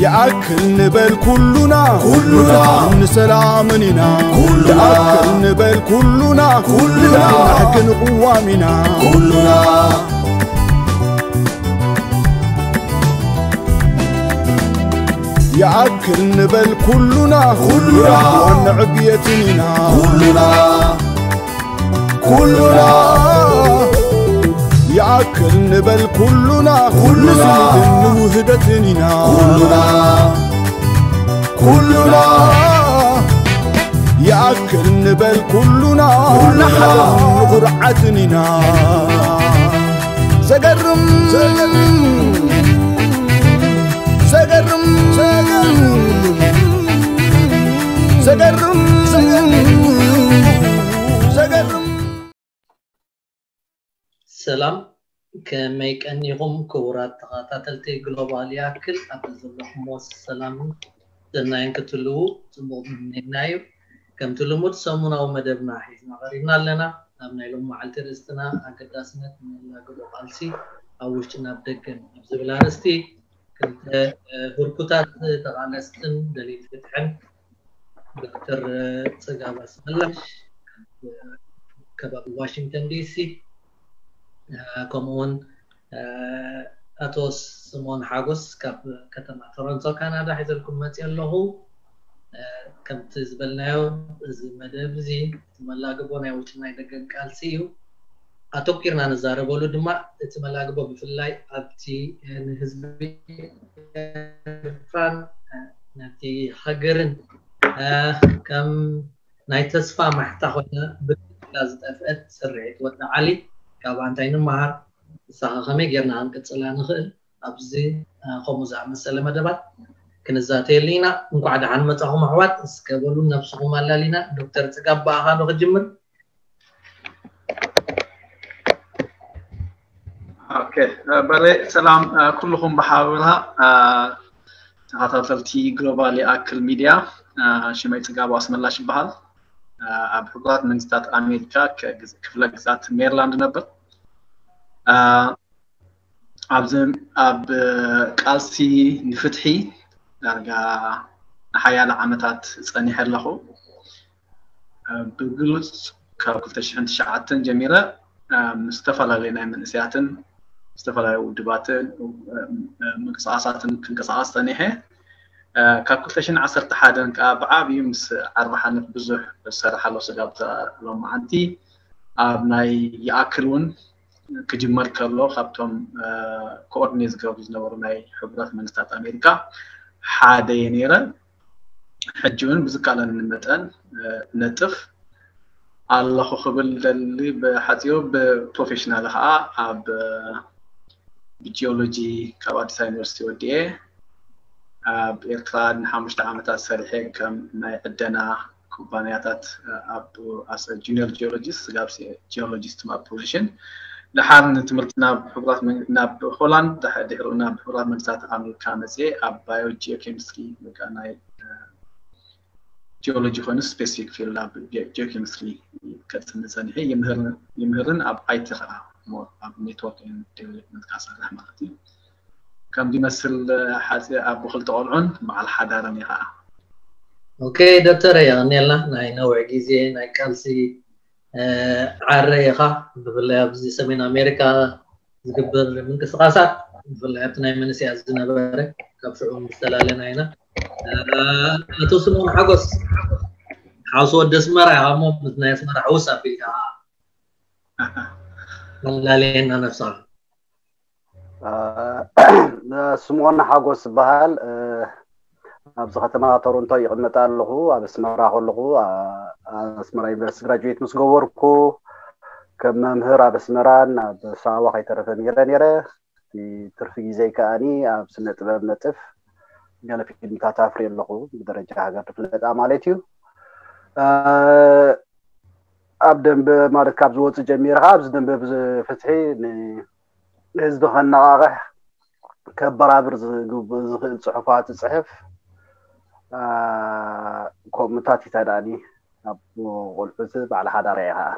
ይኣክል ንበል ኩሉና፣ ኩሉና። ንሰላምን ኢና። ኩሉና። ይኣክል ንበል ኩሉና፣ ኩሉና። ንፍትሕን ቅዋም ኢና። ኩሉና። ይኣክል ንበል ኩሉና፣ ኩሉና። ንዕብየትን ኢና። ኩሉና። ኩሉና። ይኣክል ንበል ኩሉና፣ ኩሉና። ንስኒትን ንውህደትን ኢና። ኩሉና። ኩሉና። ይኣክል ንበል ኩሉና፣ ኩሉና። ንሓበን ንኹርዓትን ኢና። ዘገርም፣ ዘገርም፣ ዘገርም፣ ዘገርም፣ ዘገርም። ሰላም፣ ከመይ ቀኒኹም ክቡራት ተኸታተልቲ ግሎባል ይኣክል? ኣብ ዘለኹሞ ሰላምን ሰናይን ክትህልዉ ጽቡቕ ምምኔና እዩ። ከምቲ ልሙድ ሰሙናዊ መደብና ሒዝና ቀሪብና ኣለና። ኣብ ናይ ሎም መዓልቲ ርእስትና ኣገዳስነት መላግቦ ቃልሲ ኣብ ውሽጥን ኣብ ደገን ኣብ ዝብል ኣርእስቲ ክልተ፣ እ፣ ህርኩታት ተቓለስትን ደለይቲ ፍትሕን ዶክተር ጽጋብ ኣስመላሽ ካብ ከባቢ ዋሽንግተን ዲሲ፣ እ፣ ከምኡ እውን፣ እ፣ ኣቶ ስምኦን ሓጎስ ካብ ከተማ ቶሮንቶ ካናዳ ሒዘልኩም መፅእ ኣለኹ። እ፣ ከምቲ ዝበልናዮ፣ እዚ መደብ እዚ እቲ መላግቦ ናይ ውሽጢ ናይ ደገን ቃልሲ እዩ። ኣተኲርና ንዛረበሉ ድማ እቲ መላግቦ ብፍላይ ኣብቲ፣ እ፣ ንህዝቢ ኤርትራን፣ እ፣ ነቲ ሃገርን፣ እ፣ ከም ናይ ተስፋ ማሕታ ኮይና ብድላ ዝጠፍአት ስርሒት ወዲ ዓሊ፣ ካብኣ እንታይ ንመሃር? ንሳኸ ከመይ ጌርና ክንቅጽላ ንኽእል? ኣብዚ፣ እ፣ ከምኡ ዝኣመሰለ መደባት ክንዛተየሉ ኢና። እንኳዕ ደሓን መጻኹም ኣሕዋት። እስከ በሉ ነብስኹም ኣላሊና። ዶክተር ጽጋብ፣ ብኣኻ ዶ ክጅምር? ኦኬ፣ እ፣ በለ ሰላም፣ እ፣ ኩልኹም ብሓበራ፣ እ፣ ተኸታተልቲ ግሎባል ይኣክል ሚድያ፣ እ፣ ሽመይ ጽጋቡ ኣስመላሽ ይበሃል። እ፣ ኣብ ሕቡራት መንግስታት ኣሜሪካ ከ-፣ ክፍለ ግዛት ሜሪላንድ ነበር። እ፣ ኣብዚ ኣብ ቃልሲ ንፍትሒ ዳርጋ ንሓያለ ዓመታት ጸኒሐ ኣለኹ። ብግሉጽ ካብ ክልተ ሽሕን ትሽዓተን ጀሚረ፣ ምስ ዝተፈላለዩ ናይ መንእሰያትን ዝተፈላለዩ ውድባትን ምንቅስቓሳትን ክንቀሳቐስ ጸኒሐ። ካብ ክልተ ሽሕን ዓሰርተ ሓደን ከኣ ብዓብዩ ምስ ዓርቢ ሓንፍ ብዙሕ ዝሰርሕ ኣሎ። ስጋብ እዛ ሎማዓንቲ ኣብ ናይ ይኣክል እውን ክጅመር ከሎ ካብቶም፣ እ፣ ኮኦርዲኔት ዝገብሩ ዝነበሩ ናይ ሕቡራት መንግስታት ኣሜሪካ ሓደ እየ ነይረ። ሕጂ እውን ብዝከኣለኒ መጠን፣ እ፣ ነጥፍ ኣለኹ ክብል ደሊ። ብሓጺሩ ብፕሮፌሽናል ከዓ ኣብ፣ እ፣ ብጂኦሎጂ ካብ ኣዲስ ኣበባ ዩኒቨርሲቲ ወዲኤ ኣብ ኤርትራ ንሓሙሽተ ዓመታት ሰሪሐ ከም ናይ ዕደና ኩባንያታት ኣብ፣ as a junior geologist ስጋብ ጂኦሎጂስት ኣብ ፖዚሽን። ደሓር ንትምህርቲ ናብ ሕቡራት መን-፣ ናብ ሆላንድ፣ ድሕ-፣ ድሕሪኡ ናብ ሕቡራት መንግስታት ኣሜሪካ መፅየ ኣብ ባዮ ጂኦኬሚስትሪ ወይ ከዓ ናይ፣ እ፣ ጂኦሎጂ ኮይኑ ስፔሲፊክ ፊልድ ኣብ ጂኦኬሚስትሪ ከፅኒ ፀኒሐ። ይምህር-፣ ይምህርን ኣብ ኣይቲ ከዓ ሞ-፣ ኣብ ኔትወርክ ኤንድ ዴቨሎፕመንት ከዓ ሰርሕ ማለት እዩ። ከም ዝመስል ሓፂ ኣቦ ክልተ ቆልዑን በዓል ሓዳርን እየ ከዓ። ኦኬ ዶክተር፣ የቐንየልና ናይ ነዊሕ ግዜ ናይ ቃልሲ፣ እ፣ ዓረ ኢኻ። ብፍላይ ኣብዚ ሰሜን ኣሜሪካ ዝግበር ምንቅስቓሳት፣ ብፍላይ ኣብቲ ናይ መንእሰያት ዝነበረ፣ ካብ ሽዑ ምስ ተላለና ኢና። እ፣ ኣቶ ስምኦን ሓጎስ፣ ሓውሲ ወዲ ኣስመራ ኢኻ እሞ ምስ ናይ ኣስመራ ሕውስ ኣቢልካ መላለየና ነብስኻ። እ፣ ስምኦን ሓጎስ ዝበሃል፣ እ፣ ኣብዚ ከተማ ቶሮንቶ ይቕመጥ ኣለኹ። ኣብ ኣስመራ ከለኹ፣ እ፣ ኣስመራ ዩኒቨርሲቲ ግራጁዌት ምስ ገበርኩ፣ ከም መምህር ኣብ ኣስመራን ኣብ ሳዋ ከይተረፈ ነይረ ነይረ። እቲ ትርፊ ግዜይ ከኣኒ ኣብ ስነ ጥበብ ነጥፍ፣ ገለ ፊልምታት ኣፍርየ ኣለኹ፣ ብደረጃ ሃገር ዝፍለጣ ማለት እዩ። እ፣ ኣብ ደንበ ማለት ካብ ዝወጽእ ጀሚረ ከዓ ኣብዚ ደንበ ብዝ-፣ ፍትሒ ን-፣ ንህዝቢ ከነቓቕሕ ከበራብር ዝግብ-፣ ዝኽእል ጽሑፋት እጽሕፍ፣ እ፣ ከምኡታት ይተዳእኒ። ኣብ ቆልዑት በዓል ሓዳር እየ ከዓ።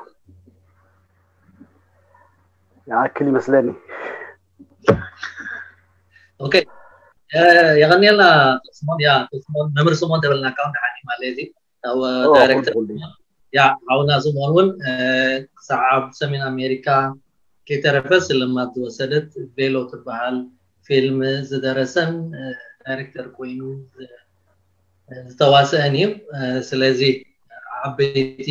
ይኣክል ይመስለኒ። ኦኬ። የቐንየልና። ስሞን ያ ስሞን መምህር ስሞን ተበልና ካብ ደሓኒ ማለት እዚ ዳይሬክተር። ያ ሓውና ስሞን እውን ክሳብ ኣብ ሰሜን ኣሜሪካ ከይተረፈ ስልማት ዝወሰደት ቬሎ ትበሃል ፊልም ዝደረሰን ዳይሬክተር ኮይኑ ዝተዋሰአን እዩ። ስለዚ ዓበይቲ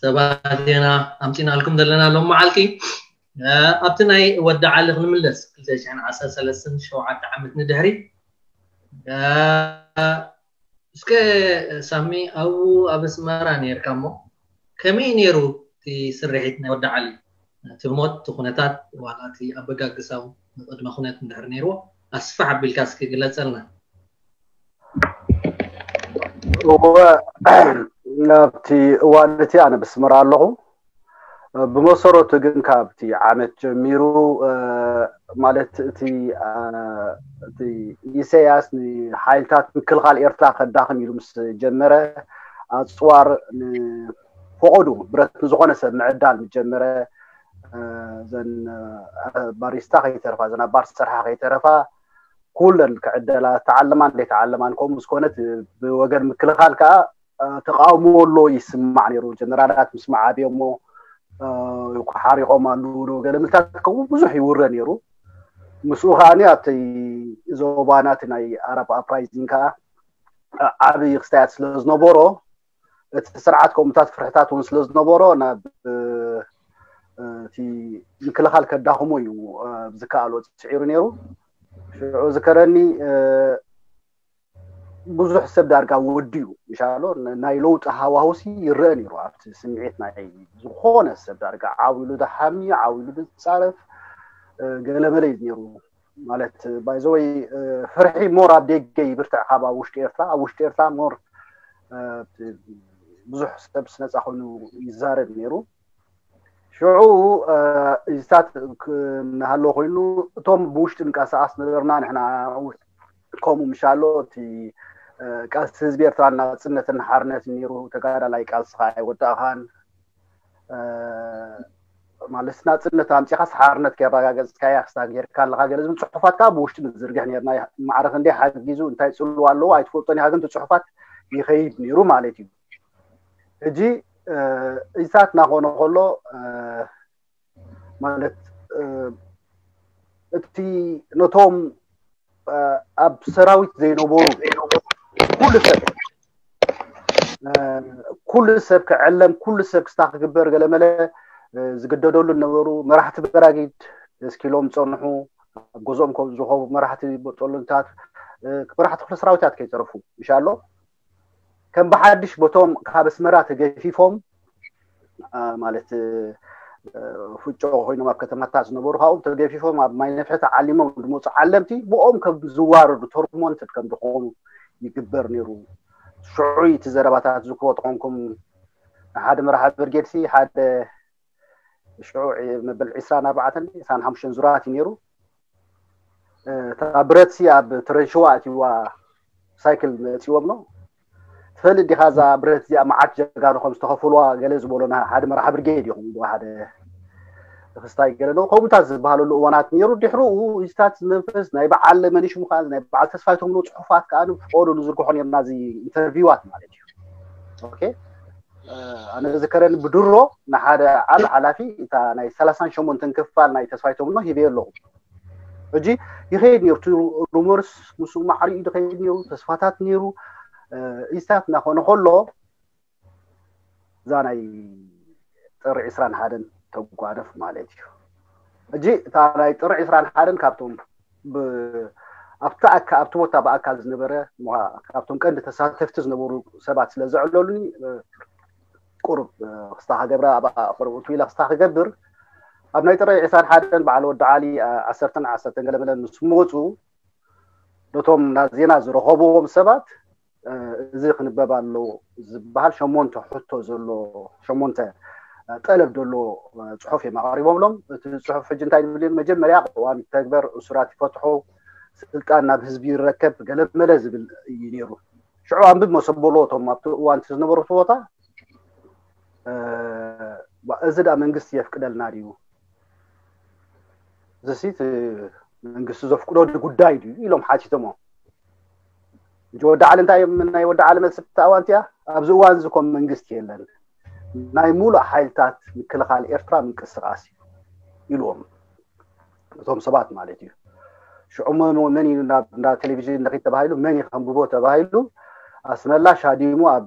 ሰባት ኢና ኣምፂናልኩም ዘለና ሎም መዓልቲ። ኣብቲ ናይ ወዲ ዓሊ ክንምለስ ክልተ ሽሕን ዓሰርተ ሰለስተን ሸውዓተ ዓመት ንድሕሪ እስከ ሳሚ ኣብኡ ኣብ ኣስመራ ነርካ እሞ ከመይ ነይሩ እቲ ስርሒት ናይ ወዲ ዓሊ? እቲ ሞት እቲ ኩነታት ዋላ እቲ ኣበጋግሳው ንቅድመ ኩነት እንድሕር ነይርዎ ኣስፋሕ ኣቢልካ እስኪ ግለፀልና። እወ ናብቲ እዋን እቲ ኣነ ብስመራ ኣለኹ። ብመሰረቱ ግን ካብቲ ዓመት ጀሚሩ ማለት እቲ እቲ ኢሳያስ ንሓይልታት ምክልኻል ኤርትራ ከዳኽም ኢሉ ምስ ጀመረ ኣፅዋር ንፈቐዱ ብረት ንዝኾነ ሰብ ምዕዳል ምስ ጀመረ ዘን ባሪስታ ከይተረፋ ዘን ኣባር ዝሰርሓ ከይተረፋ ኩለን ክዕደላ ተዓለማን ዘይተዓለማን ከምኡ ዝኾነት ብወገን ምክልኻል ከዓ ተቃውሞ ኣሎ ይስማዕ ነይሩ። ጀነራላት ምስ መዓብዮሞ ሓሪቆም ኣለዉ ዶ ገለ ምልታት ከምኡ ብዙሕ ይውረ ነይሩ። ምስኡ ከዓኒ ኣብቲ ዞባና እቲ ናይ ኣረብ ኣፕራይዚንግ ከዓ ዓብዪ ክስታያት ስለ ዝነበሮ እቲ ስርዓት ከምኡታት ፍርሕታት እውን ስለ ዝነበሮ ናብ እቲ ምክልኻል ከዳኽሞ እዩ ዝከኣሎ ፅዒሩ ነይሩ። ሽዑ ዝከረኒ ብዙሕ ሰብ ዳርጋ ወድዩ ይሻሎ ናይ ለውጢ ሃዋሁሲ ይረአ ነይሩ ኣብቲ ስምዒት ናይ ዝኾነ ሰብ ዳርጋ ዓው ኢሉ ዝሓሚ ዓው ኢሉ ዝፃረፍ ገለመለ እዩ ነይሩ። ማለት ባይዘወይ ፍርሒ ሞር ኣብ ደገ ይብርትዕ ካብ ኣብ ውሽጢ ኤርትራ ኣብ ውሽጢ ኤርትራ ሞር ብዙሕ ሰብ ስነፃ ኮይኑ ይዛረብ ነይሩ። ሽዑ እዚታት እናሃለወ ኮይኑ እቶም ብውሽጢ ንቀሳቀስ ነበርና ንሕና ከምኡ ምሻሎ እቲ ቃልሲ ህዝቢ ኤርትራ ናፅነትን ሓርነትን ነይሩ። ተጋዳላይ ቃልስኻ ኣይወዳእኻን ማለት ናፅነት ኣምፂኻስ ሓርነት ከየረጋገፅካያ ክስታ ጌርካ ኣለካ ገለ ዝብል ፅሑፋት ከዓ ብውሽጢ ንዝርግሕ ነርና። ማዕረ ክንደይ ሓጊዙ እንታይ ፅልዋ ኣለዎ ኣይትፈልጦን ኢኻ፣ ግን እቲ ፅሑፋት ይኸይድ ነይሩ ማለት እዩ። ሕጂ እዚታት እናኾነ ከሎ ማለት እቲ ነቶም ኣብ ሰራዊት ዘይነበሩ ኩሉ ሰብ ኩሉ ሰብ ክዕለም ኩሉ ሰብ ክስታ ክግበር ገለመለ ዝግደደሉ ነበሩ። መራሕቲ በራጊድ እስኪሎም ፀንሑ ኣብ ገዝኦም ከም ዝኸቡ መራሕቲ በጦሎንታት መራሕቲ ክፍለ ሰራዊታት ከይተረፉ ይሻሎ ከም ብሓድሽ በቶም ካብ ኣስመራ ተገፊፎም ማለት ፍጮ ኮይኖም ኣብ ከተማታት ዝነበሩ ካብኦም ተገፊፎም ኣብ ማይ ነፍሒ ተዓሊሞም ዝመፁ ዓለምቲ ብኦም ከም ዝዋረዱ ቶርሞንትድ ከም ዝኾኑ ይግበር ነይሩ። ሽዑ እቲ ዘረባታት ዝክቦ ተኾንኩም ሓደ መራሒ ብርጌድ ሲ ሓደ ሽዑ መበል ዕስራን ኣርባዕተን ዕስራን ሓሙሽተን ዙራት እዩ ነይሩ። እታ ብረት ሲ ኣብ ትረንሽዋ ኣትዋ ሳይክል መፂዎም ነው ትፈልጥ ዲኻ? እዛ ብረት እዚኣ መዓት ጀጋኑ ከም ዝተኸፍልዋ ገለ ዝበሎና ሓደ መራሒ ብርጌድ ይኹም ሓደ ክስታይ ገለ ነው ከምኡታት ዝበሃለሉ እዋናት ነይሩ። ድሕርኡ እዚታት መንፈስ ናይ በዓል መንሽ ምዃን ናይ በዓል ተስፋይ ተምሎ ፅሑፋት ከዓ ፍቆዶ ንዝርግሖ ነርና እዚ ኢንተርቪዋት ማለት እዩ። ኦኬ ኣነ ዝከረኒ ብድሮ ንሓደ ዓል ሓላፊ እታ ናይ ሰላሳን ሸሞንተን ክፋል ናይ ተስፋይ ተምሎ ሂበዮ ኣለኹ። ሕጂ ይኸይድ ነይሩ እቲ ሩመርስ ምስኡ ማዕሪኡ ዝኸይድ ነይሩ ተስፋታት ነይሩ ኢስታት እናኾነ ከሎ እዛ ናይ ጥሪ ዕስራን ሓደን ተጓደፍ ማለት እዩ። ሕጂ እታ ናይ ጥሪ ዕስራን ሓደን ካብቶም ኣብቲ ኣካ ኣብቲ ቦታ ብኣካል ዝነበረ ካብቶም ቀንዲ ተሳተፍቲ ዝነበሩ ሰባት ስለ ዘዕለሉኒ ቁሩብ ክስታ ክገብራ ኣብ ቁሩብ እቱ ኢለ ክስታ ክገብር ኣብ ናይ ጥሪ ዕስራን ሓደን በዓል ወዲ ዓሊ ዓሰርተን ዓሰርተን ገለመለ ምስ መፁ ነቶም ዜና ዝረኸብዎም ሰባት እዚ ክንበብ ኣለዎ ዝበሃል ሸሞንተ ሕቶ ዘሎ ሸሞንተ ጠለብ ዘሎ ፅሑፍ እዮም ኣቕሪቦምሎም። እቲ ፅሑፍ ሕጂ እንታይ ዝብል እዩ? መጀመርያ ቅዋም ይተግበር፣ እሱራት ይፈትሑ፣ ስልጣን ናብ ህዝቢ ይረከብ ገለመለ ዝብል እዩ ነይሩ። ሽዑ ኣንብብ መሰበሎ እቶም ኣብቲ እዋን እቲ ዝነበሩ እቲ ቦታ እዚ ዳ መንግስቲ የፍቅደልና ድዩ? ዝሲ መንግስቲ ዘፍቅዶ ጉዳይ ድዩ ኢሎም ሓቲቶሞ። ሕጂ ወዲ ዓሊ እንታይ እዮም? ናይ ወዲ ዓሊ መልሲ ኣብታ እዋን እቲኣ፣ ኣብዚ እዋን እዚ ኮም መንግስቲ የለን፣ ናይ ሙሉእ ሓይልታት ምክልኻል ኤርትራ ምንቅስቃስ እዩ ኢልዎም፣ እቶም ሰባት ማለት እዩ። ሽዑ መ- መን እዩ ናብ እንዳ ቴሌቪዥን ንኺድ ተባሂሉ፣ መን እዩ ከንብቦ ተባሂሉ፣ ኣስመላ ሻዲሙ ኣብ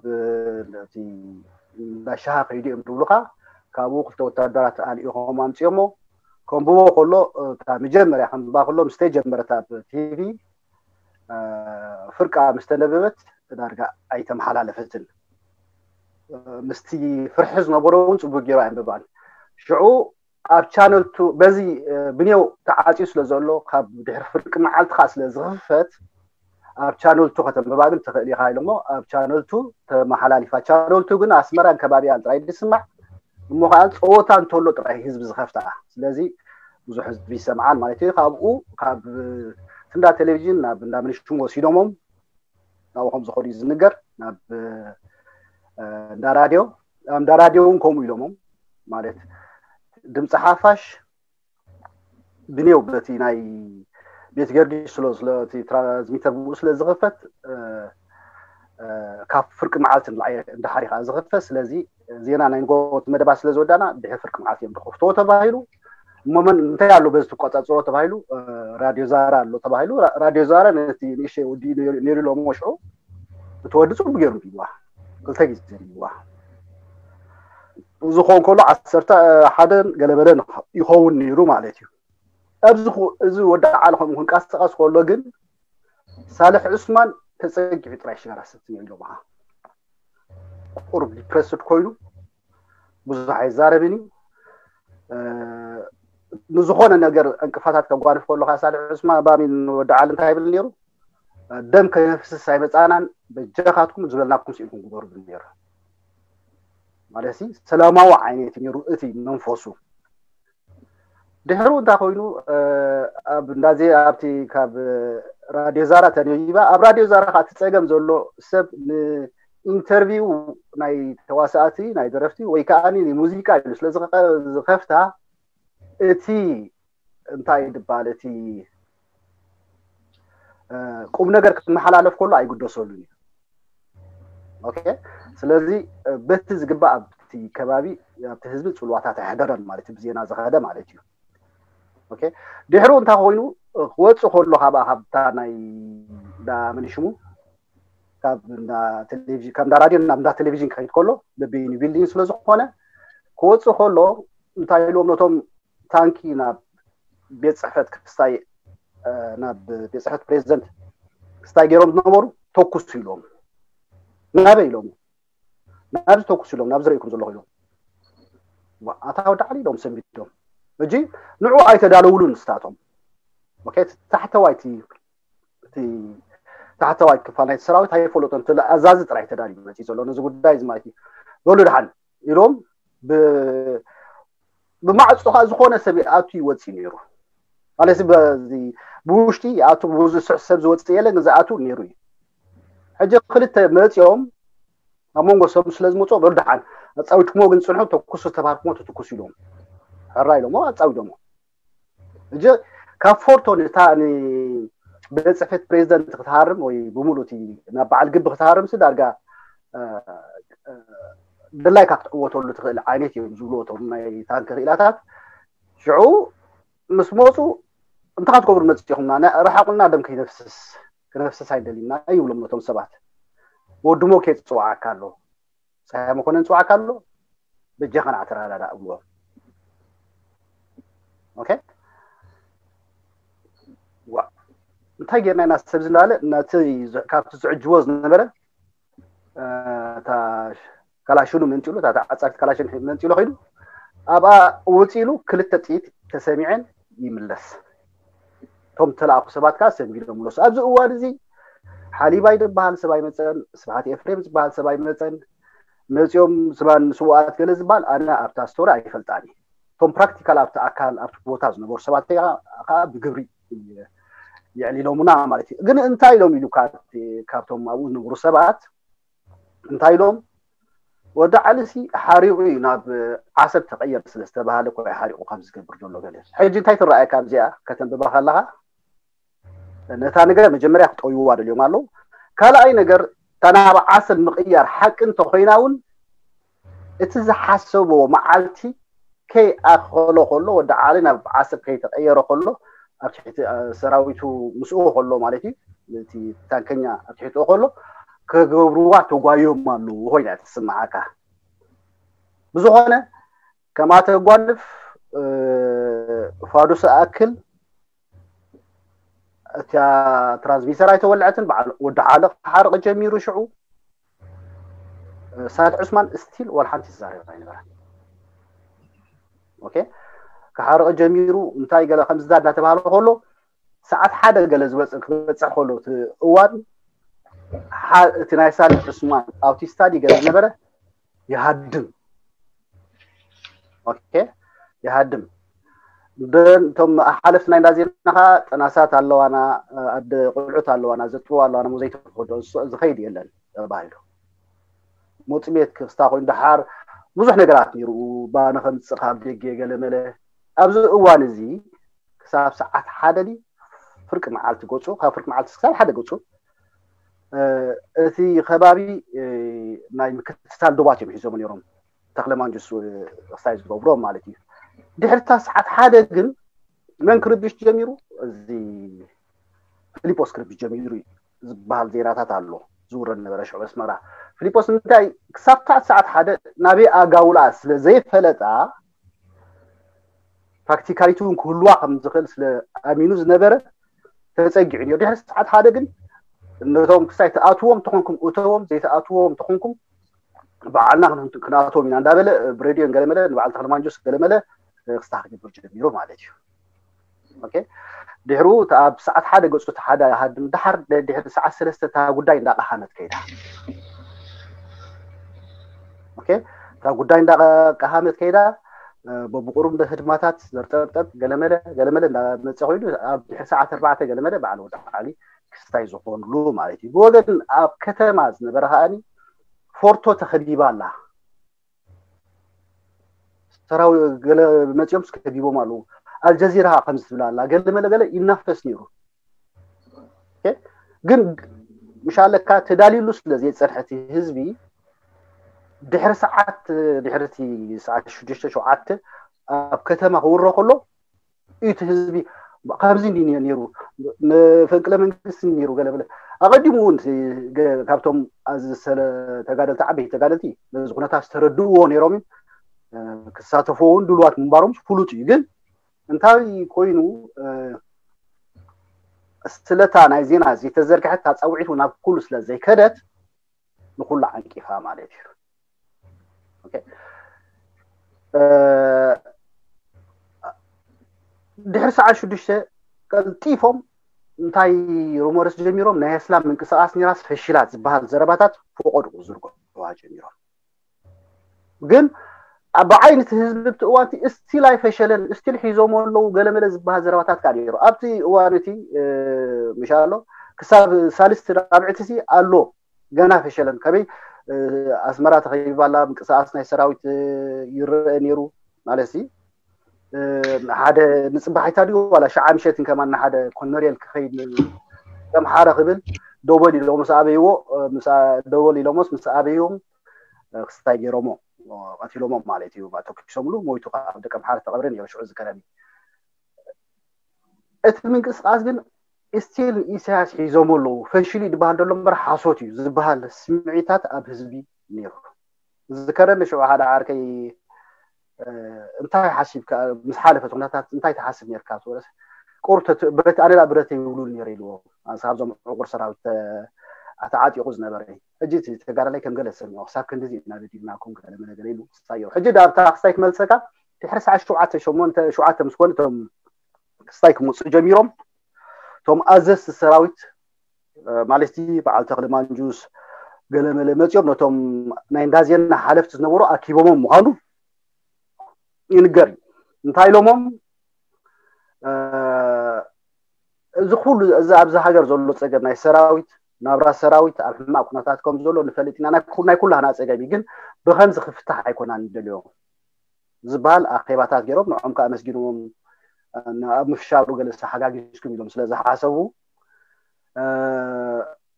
እቲ እንዳ ሻሃ ከይዱ እዮም ዝብሉኻ። ካብኡ ክልተ ወታደራት ኣልኢኾም ኣምፅኦሞ። ከንብቦ ከሎ፣ እታ መጀመርያ ከንብባ ከሎ፣ ምስ ተጀመረት ኣብ ቲቪ ፍርቃ ምስ ተነበበት፣ ዳርጋ ኣይተመሓላለፈትን። ምስቲ ፍርሒ ዝነበሮ እውን ፅቡቅ ገይሩ ኣየንበባን። ሽዑ ኣብ ቻነል ቱ፣ በዚ ብኔው ተዓፅዩ ስለ ዘሎ፣ ካብ ድሕሪ ፍርቂ መዓልቲ ከዓ ስለ ዝኽፈት፣ ኣብ ቻነል ቱ ከተንብባ ግን ትኽእል ኢኻ ኢሎሞ ኣብ ቻነል ቱ ተመሓላሊፋ። ቻነል ቱ ግን ኣስመራን ከባቢኣን ጥራይ ዝስማዕ እሞ ከዓ ፀወታ እንተሎ ጥራይ ህዝቢ ዝኸፍታ። ስለዚ ብዙሕ ህዝቢ ይሰምዓን ማለት እዩ። ካብኡ ካብ እንዳ ቴሌቪዥን ናብ እንዳ ምንሽም ወሲዶሞም ናብኡ ከም ዝኾኑ እዩ ዝንገር። ናብ እንዳ ራድዮ፣ ኣብ እንዳ ራድዮ እውን ከምኡ ኢሎሞም ማለት ድምፂ ሓፋሽ ብኔው በቲ ናይ ቤት ገርጊስ ስለ ስለ እቲ ትራንስሚተር ብኡ ስለ ዝኸፈት ካብ ፍርቂ መዓልቲ እንዳሓሪ ከዓ ዝኸፈት። ስለዚ ዜና ናይ ንጎት መደባት ስለ ዝወዳና ድሕሪ ፍርቂ መዓልቲ እዮም ዝኸፍትዎ ተባሂሉ። እሞ መን እንታይ ኣሎ በዚ ትቆፃፅሮ ተባሂሉ፣ ራድዮ ዛራ ኣሎ ተባሂሉ። ራድዮ ዛራ ነቲ ንእሽተይ ወዲ ነይሩ ኢሎም ሽዑ እቲ ወዲ ፅቡቅ ገይሩ ቢዋ ክልተ ግዜ ቢዋ ዝኾን ከሎ ዓሰርተ ሓደን ገለበለን ይኸውን ነይሩ ማለት እዩ። ኣብዚ እዚ ወዲ ዓሊ ከምኡ ክንቀሳቀስ ከሎ ግን ሳልሕ ዑስማን ተፀጊዑ ጥራይ ሽጋራ ሰትዮ ኢሎምኻ። ቁሩብ ዲፕረስድ ኮይኑ ብዙሕ ኣይዛረብን እዩ። ንዝኾነ ነገር ዕንቅፋታት ከጓንፍ ከሎ ከዓ ሳልሕ ዑስማን ባሚን ወዲ ዓሊ እንታይ ይብል ነይሩ? ደም ከነፍስስ ኣይመፃናን፣ በጃኻትኩም ዝበልናኩም ስኢልኩም ግበሩ ዝብል ነይሩ። ማለት ሰላማዊ ዓይነት ነይሩ እቲ መንፈሱ። ድሕሩ እንታይ ኮይኑ ኣብ እንዳዜ ኣብቲ ካብ ራድዮ ዛራ ተነቢባ። ኣብ ራድዮ ዛራ ከዓ እቲ ፀገም ዘሎ ሰብ ንኢንተርቪው ናይ ተዋሳእቲ ናይ ደረፍቲ ወይ ከዓ ንሙዚቃ ኢሉ ስለ ዝኸፍታ እቲ እንታይ ድባል እቲ ቁም ነገር ክመሓላለፍ ከሎ ኣይግደሰሉን እዩ። ኦኬ። ስለዚ በቲ ዝግባእ ኣብቲ ከባቢ ኣብቲ ህዝቢ ፅልዋታት ኣይሕደረን ማለት እዩ፣ ብዜና ዝኸደ ማለት እዩ። ኦኬ። ድሕሩ እንታይ ኮይኑ ክወፅእ ከሎ ካብኣ ካብታ ናይ ዳ መን ሽሙ ካብ እንዳ ቴሌቪዥን ካብ እንዳ ራድዮ ናብ እንዳ ቴሌቪዥን ክኸይድ ከሎ በበይኑ ቢልዲንግ ስለ ዝኾነ ክወፅእ ከሎ እንታይ ኢልዎም ነቶም ታንኪ ናብ ቤት ፅሕፈት ክስታይ ናብ ቤት ፅሕፈት ፕሬዚደንት ክስታይ ገይሮም ዝነበሩ ተኩሱ ኢሎም ናበይ ኢሎም ናብዚ ተኩሱ ኢሎም ናብዚ ርእይኩም ዘለኹ ኢሎም ኣታ ወዲ ዓሊ ኢሎም ሰንቢዶም። ሕጂ ንዑ ኣይተዳለውሉን ንስታቶም። ኦኬ። ታሕተዋይቲ እቲ ታሕተዋይ ክፋል ናይቲ ሰራዊት ኣይፈለጦን፣ እቲ ኣዛዚ ጥራይ ተዳልዩ መፂኡ ዘሎ ነዚ ጉዳይ እዚ ማለት እዩ። በሉ ድሓን ኢሎም ብማዕፆ ከዓ ዝኾነ ሰብ ይኣቱ ይወፅእ ነይሩ ማለት በዚ ብውሽጢ ይኣቱ ብዙ ስሕ ሰብ ዝወፅእ የለን ዝኣቱ ነይሩ እዩ። ሕጂ ክልተ መፂኦም ኣብ መንጎ ሰብ ስለ ዝመፁ በሉ ድሓን ኣፃዊድኩሞ ግን ፅንሑ ተኩሱ ዝተባህልኩሞ ተትኩሱ ኢሎም ሕራ ኢሎሞ ኣፃዊዶሞ። እጂ ካብ ፎርቶ ንታ ንቤት ፅሕፈት ፕሬዚደንት ክትሃርም ወይ ብምሉእ እቲ ናብ በዓል ግቢ ክትሃርም ሲ ዳርጋ ድላይካ ክትዕወተሉ ትኽእል ዓይነት እዮም ዝብልዎ እቶም ናይ ታንክ ክኢላታት። ሽዑ ምስ መፁ እንታይ ክትገብሩ መፂኹምና? ርሓቁልና፣ ደም ከይነፍስስ ክነፍስስ ኣይደሊና ይብሎም ነቶም ሰባት። ወዲ ሞኬ ዝፅዋዓካ ኣሎ፣ ፀሃይ መኮነን ዝፅዋዓካ ኣሎ፣ በጃኻ ንዓተራዳዳ እብልዎም። ኦኬ። ዋ እንታይ ጌርና ኢና ሰብ ዝናለ ነቲ ካብቲ ዝዕጅቦ ዝነበረ እታ ካላሽኑ መንጢሉ እታ ተዓጻፊት ካላሽን መንጢሉ ከይዱ ኣብኣ ውፅ ኢሉ ክልተ ጥይት ተሰሚዐን ይምለስ። እቶም ተለኣኹ ሰባት ከዓ ሰንቢዶም ምለሱ። ኣብዚ እዋን እዚ ሓሊባይ ዝበሃል ሰብ ኣይመፀን፣ ስብሓት ኤፍሬም ዝበሃል ሰብ ኣይመፀን። መፂኦም ስማን ስውኣት ገለ ዝበሃል ኣነ ኣብታ ስቶሪ ኣይፈልጣን እየ። እቶም ፕራክቲካል ኣብቲ ኣካል ኣብቲ ቦታ ዝነበሩ ሰባት ከዓ ብግብሪ የዕሊሎምና ማለት እዩ። ግን እንታይ ኢሎም ኢሉ ካብቶም ኣብኡ ዝነበሩ ሰባት እንታይ ኢሎም ወዲ ዓሊ ሲ ሓሪቑ እዩ ናብ ዓሰብ ተቐየር ስለ ዝተባሃለ እኮ እዩ ሓሪቑ ካብ ዝገብር ዘሎ ገለ። ሕጂ እንታይ ትረኣየካ ኣብዚኣ ከተንብባ ከለኻ ነታ ነገር መጀመርያ ክጠውይዋ ደልዮም ኣለዉ። ካልኣይ ነገር፣ እታ ናብ ዓሰብ ምቕያር ሓቂ እንተኾይና እውን፣ እቲ ዝሓሰብዎ መዓልቲ ከይኣኸሎ ከሎ፣ ወዲ ዓሊ ናብ ዓሰብ ከይተቐየረ ከሎ፣ ኣብ ትሕቲ ሰራዊቱ ምስኡ ከሎ ማለት እዩ፣ እቲ ታንከኛ ኣብ ትሕቲኡ ከሎ፣ ክገብርዋ ተጓዮም ኣለዉ ኮይና ትስምዓካ። ብዝኾነ፣ ከምኣ ተጓንፍ ፋዱስ ኣክል እታ ትራንስሚተር ኣይተወልዐትን። በዓል ወዲ ዓለ ክሓርቕ ጀሚሩ ሽዑ። ሳልሕ ዑስማን ስቲል ዋላ ሓንቲ ዝዛረብ ኣይነበረን። ኦኬ፣ ክሓርቕ ጀሚሩ። እንታይ ገለ ከምዚ እናተባህለ ከሎ፣ ሰዓት ሓደ ገለ ዝበፅሕ ክበፅሕ ከሎ እቲ እዋን፣ እቲ ናይ ሳልሕ ዑስማን ኣብቲ ስታዲ ገለ ዝነበረ ይሃድም። ኦኬ፣ ይሃድም። እቶም ሓለፍቲ ናይ እንዳዜና ከዓ ጥናሳት ኣለዋና፣ ኣደ ቆልዑት ኣለዋና፣ ዘጥብዋ ኣለዋና፣ ሞ ዘይተፈዶ ዝኸይድ የለን ተባሂሉ። ሞፂ ቤት ክስታ ኮይኑ ደሓር ብዙሕ ነገራት ነይሩ። ባነ ከምፅእ ካብ ደገ ገለመለ። ኣብዚ እዋን እዚ ክሳብ ሰዓት ሓደ ድዩ ፍርቂ መዓልቲ ገፁ፣ ካብ ፍርቂ መዓልቲ ክሳብ ሓደ ገፁ፣ እቲ ከባቢ ናይ ምክትታል ዶባት እዮም ሒዞም ነይሮም፣ ተክለ ማንጁስ ክሳይ ዝገብሮም ማለት እዩ። ድሕርታ ሰዓት ሓደ ግን መን ክርብሽ ጀሚሩ? እዚ ፊሊጶስ ክርብሽ ጀሚሩ ዝበሃል ዜናታት ኣሎ ዝውረድ ነበረ ሽዑ ኣስመራ። ፊሊጶስ እንታይ ክሳብ ሰዓት ሓደ ናበይ ኣጋውላ ስለ ዘይፈለጣ፣ ፕራክቲካሊቲ እውን ክህልዋ ከም ዝኽእል ስለ ኣሚኑ ዝነበረ ተፀጊዑ ነይሩ። ድሕሪ ሰዓት ሓደ ግን ነቶም ክሳይ ትኣትዎም ተኾንኩም እተዎም፣ ዘይትኣትዎም ተኾንኩም በዓልና ክን- ክንኣትዎም ኢና እንዳበለ ብሬድዮን ገለመለ ንበዓል ተኽለ ማንጆስ ገለመለ ክስታ ክገብር ጀሚሩ ማለት እዩ። ኦኬ፣ ድሕሩ እቲ ኣብ ሰዓት ሓደ ገፁ እቲ ሓደ ሃድም ደሓር ድሕሪ ሰዓት ሰለስተ እታ ጉዳይ እንዳቀሃመት ከይዳ። ኦኬ፣ እታ ጉዳይ እንዳቀሃመት ከይዳ፣ በብቁሩብ ህድማታት ዘርጠብጠብ ገለመለ ገለመለ እንዳመፀ ኮይኑ ኣብ ድሕሪ ሰዓት ኣርባዕተ ገለመለ በዓል ወዲ ዓሊ ክስታይ ዝኾንሉ ማለት እዩ። ብወገን ኣብ ከተማ ዝነበረ ከዓኒ ፎርቶ ተኸቢባ ኣላ። ሰራዊ ገለ መፂኦም ከቢቦም ኣለዉ። ኣልጀዚራ ከምዚ ትብል ኣላ፣ ገለመለ ገለ ይናፈስ ነይሩ። ኦኬ? ግን ምሻለካ ተዳልዩሉ ስለ ዘይፀንሐ እቲ ህዝቢ ድሕሪ ሰዓት፣ ድሕሪ እቲ ሰዓት ሽዱሽተ ሸውዓተ ኣብ ከተማ ክውረ ከሎ እቲ ህዝቢ ከምዚ እንዲ ነይሩ፣ መፈንቅለ መንግስቲ ነይሩ ገለ በለ። ኣቐዲሙ እውን እቲ ገ- ካብቶም ኣዚ ዝሰለ ተጋደልቲ፣ ዓበይቲ ተጋደልቲ ነዚ ኩነታት ዝተረድእዎ ነይሮም እዮም። ክሳተፍዎ እውን ድልዋት ምንባሮም ፍሉጥ እዩ። ግን እንታይ ኮይኑ፣ ስለታ ናይ ዜና ዝተዘርግሐት እታ ፃውዒት እውን ናብ ኩሉ ስለ ዘይከደት ንኩሉ ዓንቂፋ ማለት እዩ። ኦኬ። ድሕሪ ሰዓት ሽዱሽተ ቀልጢፎም እንታይ ሩሞርስ ጀሚሮም፣ ናይ እስላም ምንቅስቃስ ኒራስ ፈሽላት ዝበሃል ዘረባታት ፈቆድቁ ዝርግሕዋ ጀሚሮም። ግን ኣብ ዓይኒ እቲ ህዝቢ እቲ እዋን እቲ እስቲል ኣይፈሸለን፣ እስቲል ሒዞሞ ኣለዉ ገለመለ ዝበሃል ዘረባታት ከዓ ነይሩ። ኣብቲ እዋን እቲ ምሻ ኣሎ ክሳብ ሳልስቲ ራብዕቲ ሲ ኣሎ ገና ፈሸለን። ከመይ ኣስመራ ተኸቢባ ኣላ፣ ምንቅስቃስ ናይ ሰራዊት ይረአ ነይሩ ማለት ሲ ሓደ ንፅባሒታ ድዩ ዋላ ሸዓ ምሸትን ከማን ንሓደ ኮነሬል ክኸይድ ከም ሓረ ክብል ደወል ኢሎሞስ ኣበይዎ። ደወል ኢሎሞስ ምስ ኣበይዎም ክስታይ ገይሮሞ ቀቲሎሞ ማለት እዩ። ተኩሶምሉ ሞይቱ ኣብ ደቀምሓረ ተቐብረ ነይሩ ሽዑ ዝከረኒ። እቲ ምንቅስቃስ ግን ስቲል ኢሳያስ ሒዞሞ ኣለዉ ፈሽሉ ይድበሃል ደሎ እምበር ሓሶት እዩ ዝበሃል ስምዒታት ኣብ ህዝቢ ነይሩ። ዝከረኒ ሽዑ ሓደ ዓርከይ እንታይ ሓሲብካ ምስ ሓለፈት ኩነታት እንታይ ትሓስብ ነርካ ትበለስ ቁርብ ብረት ኣነላ ብረት ይብሉ ነይረ ኢልዎ። ካብዞም ዕቁር ሰራዊት ተዓጢቑ ዝነበረ ሕጂ ተጋዳላይ ከም ገለ ሰሚዖ ክሳብ ክንዲዚ ኢና በዲልናኩም ገለ መለ ገለ ኢሉ ክሳዮ ሕጂ ዳብታ ክሳይ ክመልሰካ ድሕሪ ሰዓት ሸውዓተ ሸሞንተ ሸውዓተ ምስ ኮነ እቶም ክስታይ ክመፁ ጀሚሮም። እቶም ኣዘዝቲ ሰራዊት ማለት በዓል ተኽሊ ማንጁስ ገለመለ መፂኦም ነቶም ናይ እንዳዜና ሓለፍቲ ዝነበሩ ኣኪቦሞም ምዃኑ ይንገር እዩ። እንታይ ኢሎሞም እዚ ኩሉ እዚ ኣብዚ ሃገር ዘሎ ፀገም ናይ ሰራዊት ናብራ ሰራዊት ኣብ ሕማቅ ኩነታት ከም ዘሎ ንፈልጥ ኢና። ናይ ኩላህና ፀገም እዩ፣ ግን ብከምዚ ክፍታሕ ኣይኮና ንደልዮ ዝበሃል ኣኼባታት ገይሮም ንዖም ከዓ ኣመስጊኖም ኣብ ምፍሻሉ ገለ ሓጋጊዝኩም ኢሎም ስለ ዝሓሰቡ እ፣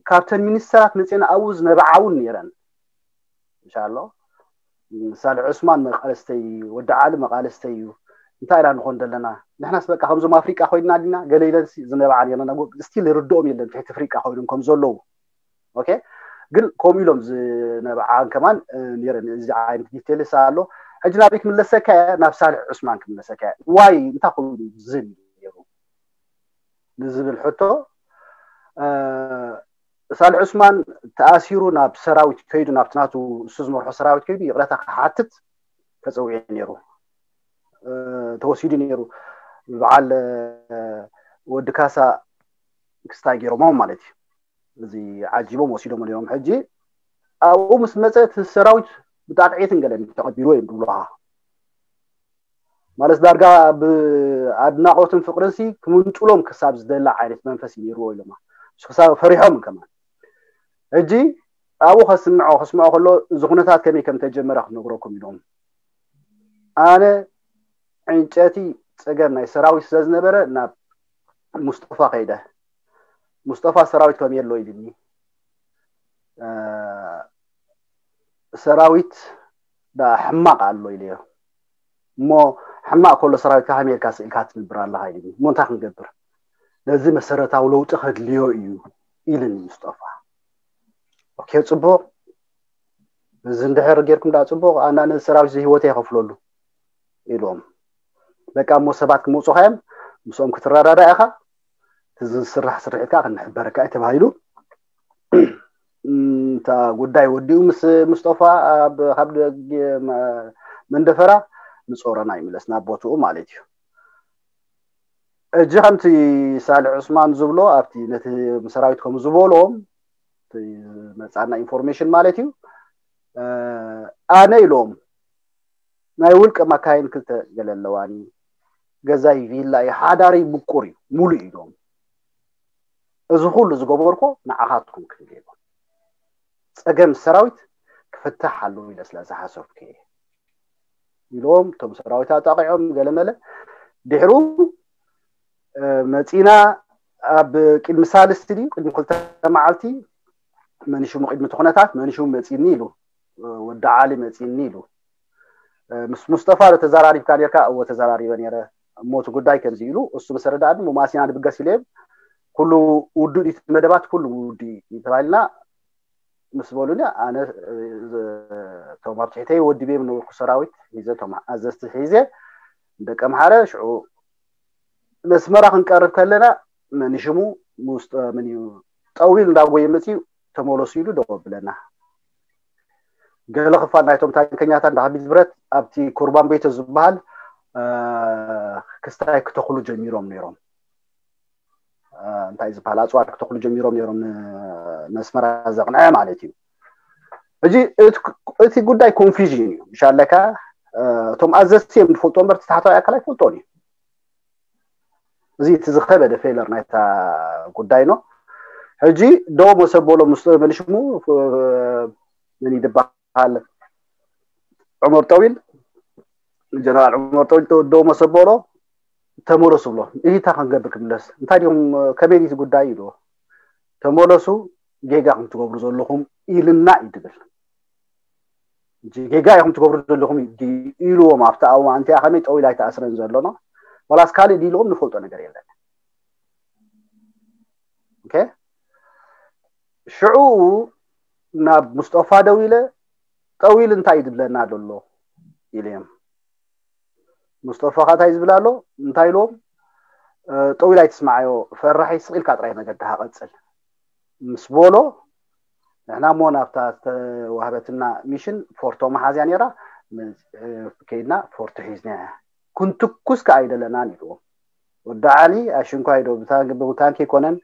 ካብተን ሚኒስተራት መፅየን ኣብኡ ዝነበዓ እውን ነይረን። እንሻሎ ሳልሕ ዑስማን መቃለስተይ እዩ፣ ወዲ ዓሊ መቃለስተይ እዩ። እንታይ ኢና ንኾን ዘለና? ንሕናስ በቃ ከምዞም ኣፍሪቃ ኮይንና ዲና? ገለ ኢለን ሲ-፣ ዝነበዓ ነይረን። ስቲል ይርድኦም የለን ትሕቲ ኣፍሪቃ ኮይኖም ከም ዘለዉ። ኦኬ፣ ግን ከምኡ ኢሎም ዝነበዓን ከማን፣ እ፣ ነይረን። እዚ ዓይነት ዲቴልስ ኣሎ። ሕጂ ናበይ ክምለሰካ እየ? ናብ ሳልሕ ዑስማን ክምለሰካ እየ። ዋይ እንታይ ኮይኑ ዝን ኢሉ ነይሩ ንዝብል ሕቶ፣ እ፣ ሳልሕ ዑስማን ተኣሲሩ ናብ ሰራዊት ከይዱ፣ ናብቲ ናቱ እሱ ዝመርሖ ሰራዊት ከይዱ ይቕረታ ክሓትት ተፀዊዑ ነይሩ። እ፣ ተወሲዱ ነይሩ። በዓል፣ እ፣ ወዲ ካሳ ክስታይ ገይሮሞ ማለት እዩ። እዚ ዓጂቦም ወሲዶሞ ነይሮም። ሕጂ ኣብኡ ምስ መፀ እቲ ሰራዊት ብጣቕዒትን ገለን ተቐቢልዎ እዮም ዝብሉኻ። ማለት ዳርጋ ብኣድናቖትን ፍቕርን ሲ ክምንጥሎም ክሳብ ዝደላ ዓይነት መንፈስ እዩ ነይርዎ ኢሎማ። እሱ ክሳብ ፈሪሖም ከማን። ሕጂ ኣብኡ ከስምዖ፣ ከስምዖ ከሎ እዚ ኩነታት ከመይ ከም ተጀመረ ክነግረኩም ኢሎም። ኣነ ዕንጨቲ ፀገም ናይ ሰራዊት ስለ ዝነበረ ናብ ሙስጠፋ ከይደ። ሙስጠፋ ሰራዊት ከም የሎ ኢልኒ። እ፣ ሰራዊት ዳ ሕማቕ ኣሎ ኢለዮ። እሞ ሕማቕ ከሎ ሰራዊትካ ከመይ ኢልካ ስኢልካ ትነብር ኣለኻ ኢልኒ። እሞ እንታይ ክንገብር? ነዚ መሰረታዊ ለውጢ ከድልዮ እዩ ኢልኒ ሙስጠፋ። ኦኬ፣ ጽቡቕ። እዚ እንድሕር ጌርኩም ዳ ጽቡቕ፣ ኣና ነዚ ሰራዊት እዚ ህይወተይ ይኸፍለሉ ኢሎም። በቃ እሞ ሰባት ክመጹኻ እዮም፣ ምስኦም ክትረዳዳእ ኢኻ፣ እቲ ዝስራሕ ስርሒት ከዓ ክንሕበረካ እዩ ተባሂሉ። እም፣ እታ ጉዳይ ወዲኡ ምስ ሙስጠፋ ኣብ፣ ካብ ደገ መ-፣ መንደፈራ ንጾረና ይምለስ ናብ ቦትኡ ማለት እዩ። ሕጂ ከምቲ ሳልሕ ዑስማን ዝብሎ ኣብቲ ነቲ ሰራዊት ከም ዝበሎም እቲ መጻና ኢንፎርሜሽን ማለት እዩ። እ፣ ኣነ ኢሎም ናይ ውልቀ መካይን ክልተ ገለ ኣለዋኒ፣ ገዛይ ቪላ እዩ፣ ሓዳረይ ምቁር እዩ፣ ሙሉእ እዩ ኢሎም። እዚ ኩሉ ዝገበርኮ ንዓኻትኩም ክብል ኢሎም። ጸገም ሰራዊት ክፍታሕ ኣለዎ ኢለ ስለ ዝሓሰብኩ እየ ኢሎም። እቶም ሰራዊት ኣጣቂዖም ገለመለ። ድሕሩ፣ እ፣ መጺና ኣብ ቅድሚ ሳልስቲ ድዩ ቅድሚ ክልተ መዓልቲ መን ሽሙ ቅድሚ እቲ ኩነታት መን ሽሙ መጺኒ ኢሉ፣ እ፣ ወዲ ዓሊ መጺኒ ኢሉ። እ፣ ምስ ሙስጠፋ ዶ ተዘራሪብካ ኔርካ? እወ ተዘራሪበ ኔረ። እሞ እቲ ጉዳይ ከምዚ ኢሉ እሱ ምስ ረዳእኒ እሞ ማሲና ንብገስ ኢለ ኩሉ ውዱእ ድዩ እቲ መደባት? ኩሉ ውዱእ እዩ ተባሂልና ምስ በሉኒ ኣነ፣ እ፣ ዝ-፣ እቶም ኣብ ትሕተይ ወዲበ ዝነበርኩ ሰራዊት ሒዘ እቶም ኣዘዝቲ ሒዘ ደቂ ኣምሓረ ሽዑ መስመራ ክንቀርብ ከለና መን ሽሙ ሙስጠ-፣ ምን እዩ ጠዊል እንዳጎየ መፅዩ ተመለሱ ኢሉ ደው ኣብለና። ገለ ክፋል ናይቶም ታንከኛታት እንዳ ከቢድ ብረት ኣብቲ ኩርባን ቤተ ዝበሃል፣ እ፣ ክስታይ ክተኽሉ ጀሚሮም ነይሮም። እ፣ እንታይ ዝበሃል ኣፅዋር ክተኽሉ ጀሚሮም ነይሮም ን-፣ ንኣስመራ ዘቕንዐ ማለት እዩ። ሕጂ እቲ፣ እቲ ጉዳይ ኮንፊዥን እዩ። ምሻለካ፣ እ፣ እቶም ኣዘዝቲ እዮም ዝፈልጡ እምበር እቲ ታሕተዋይ ኣካል ኣይፈልጦን እዩ። እዚ እቲ ዝኸበደ ፌለር ናይታ ጉዳይ ነው። ሕጂ ደው መሰበሎ ምስ መን ሽሙ፣ እ፣ መን ይድበሃል? ዑመር ጠዊል፣ ጀነራል ዑመር ጠዊል ደው መሰበሎ ተመለሱ ብሎ። እዚ እንታይ ክንገብር ክምለስ? እንታይ ዲኹም፣ ከመይ ድዩ እቲ ጉዳይ ኢልዎ። ተመለሱ፣ ጌጋ ከም ትገብሩ ዘለኹም ኢልና እዩ ትብል። ጌጋ ኢኹም ትገብሩ ዘለኹም ድዩ ኢልዎም ኣብቲ እዋን እቲኣ። ከመይ ጠዊል ኣይተኣስረን ዘሎ ነው? ዋላስ ካልእ ድዩ ኢልዎም ንፈልጦ ነገር የለን። ኦኬ? ሽዑ ናብ ሙስጠፋ ደው ኢለ፣ ጠዊል እንታይ እዩ ዝብለና ዘሎ ኢለዮም። ሙስጠፋ ኸ እንታይ ዝብል ኣሎ? እንታይ ኢልዎም? እ፣ ጠዊል ኣይትስምዓዮ፣ ፈራሒ ስቕ ኢልካ ጥራይ መገድኻ ቀጽል ምስ በሎ፣ ንሕና እሞ ናብታ ዝተዋህበትና ሚሽን ፎርቶ መሓዝያ ነይራ፣ መ-፣ እ፣ ከይድና ፎርቶ ሒዝና ክንትኩስ ከኣ ኣይደለናን ኢልዎም። ወዲ ዓሊ ኣሽንኳይ ዶ ብታ-፣ ብታንኪ ኣይኮነን፣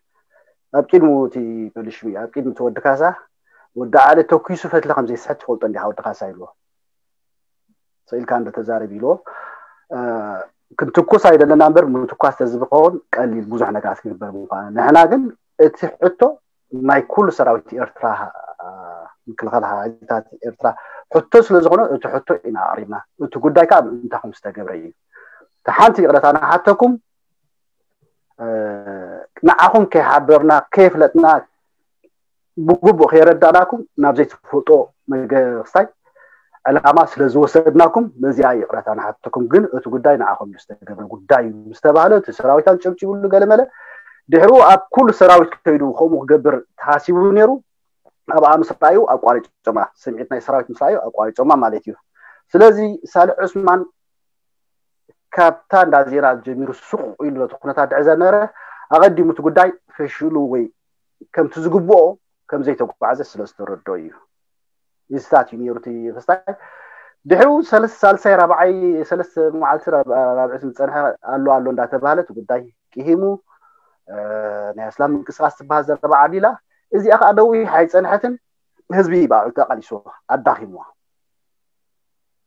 ኣብ ቅድሚኡ እቲ ፖሊስ ሽሚ፣ ኣብ ቅድሚ እቲ ወዲ ካሳ፣ ወዲ ዓሊ ተኩሱ ፈትሊ ከም ዘይስሕት ትፈልጦ እንዲኻ ወዲ ካሳ ኢልዎ። ስኢልካ እንዶ ተዛረብ ኢልዎ። እ፣ ክንትኩስ ኣይደለና እምበር ምትኳስ ተዝኸውን ቀሊል ብዙሕ ነገራት ክግበር ምዃነ። ንሕና ግን እቲ ሕቶ ናይ ኩሉ ሰራዊት ኤርትራ፣ እ፣ ምክልኻል ሓይልታት ኤርትራ ሕቶ ስለ ዝኾነ እቲ ሕቶ ኢና ኣቕሪብና። እቲ ጉዳይ ከዓ ምእንታኹም ዝተገብረ እዩ። እቲ ሓንቲ ይቕረታ ንሓተኩም፣ እ፣ ንዓኹም ከይሓበርና ከየፍለጥና ብግቡእ ከየረዳእናኩም ናብ ዘይትፈልጦ መገስታይ ዕላማ ስለ ዝወሰድናኩም በዚኣ ይቕረታ ንሓተኩም። ግን እቲ ጉዳይ ንዓኹም እዩ ዝተገብረ ጉዳይ እዩ ምስ ተባህለ እቲ ሰራዊት ኣንጨብጭብሉ ገለመለ። ድሕሩ ኣብ ኩሉ ሰራዊት ከይዱ ከምኡ ክገብር ተሓሲቡ ነይሩ። ኣብኣ ምስ ረኣዩ ኣቋሪጮማ፣ ስምዒት ናይ ሰራዊት ምስ ረኣዩ ኣቋሪጮማ ማለት እዩ። ስለዚ ሳልሕ ዑስማን ካብታ እንዳ ዜና ጀሚሩ ሱቕ ኢሉ ነቲ ኩነታት ድሕሪ ዘነበረ ኣቐዲሙ እቲ ጉዳይ ፈሽሉ ወይ ከምቲ ዝግብኦ ከም ዘይተጓዓዘ ስለ ዝተረድኦ እዩ። ይስታት እዩ ነይሩ እቲ ክስታይ። ድሕሪኡ ሰለስተ ሳልሳይ ራብዓይ ሰለስተ መዓልቲ ራብዒ ዝፀንሐ ኣሎ ኣሎ እንዳተባሃለ እቲ ጉዳይ ቂሂሙ ናይ እስላም ምንቅስቃስ ትበሃል ዘረባ ዓብሊላ። እዚኣ ከዓ ነዊሕ ኣይፀንሐትን ህዝቢ ባዕሉ ተቃሊስዎ ኣዳኺምዋ።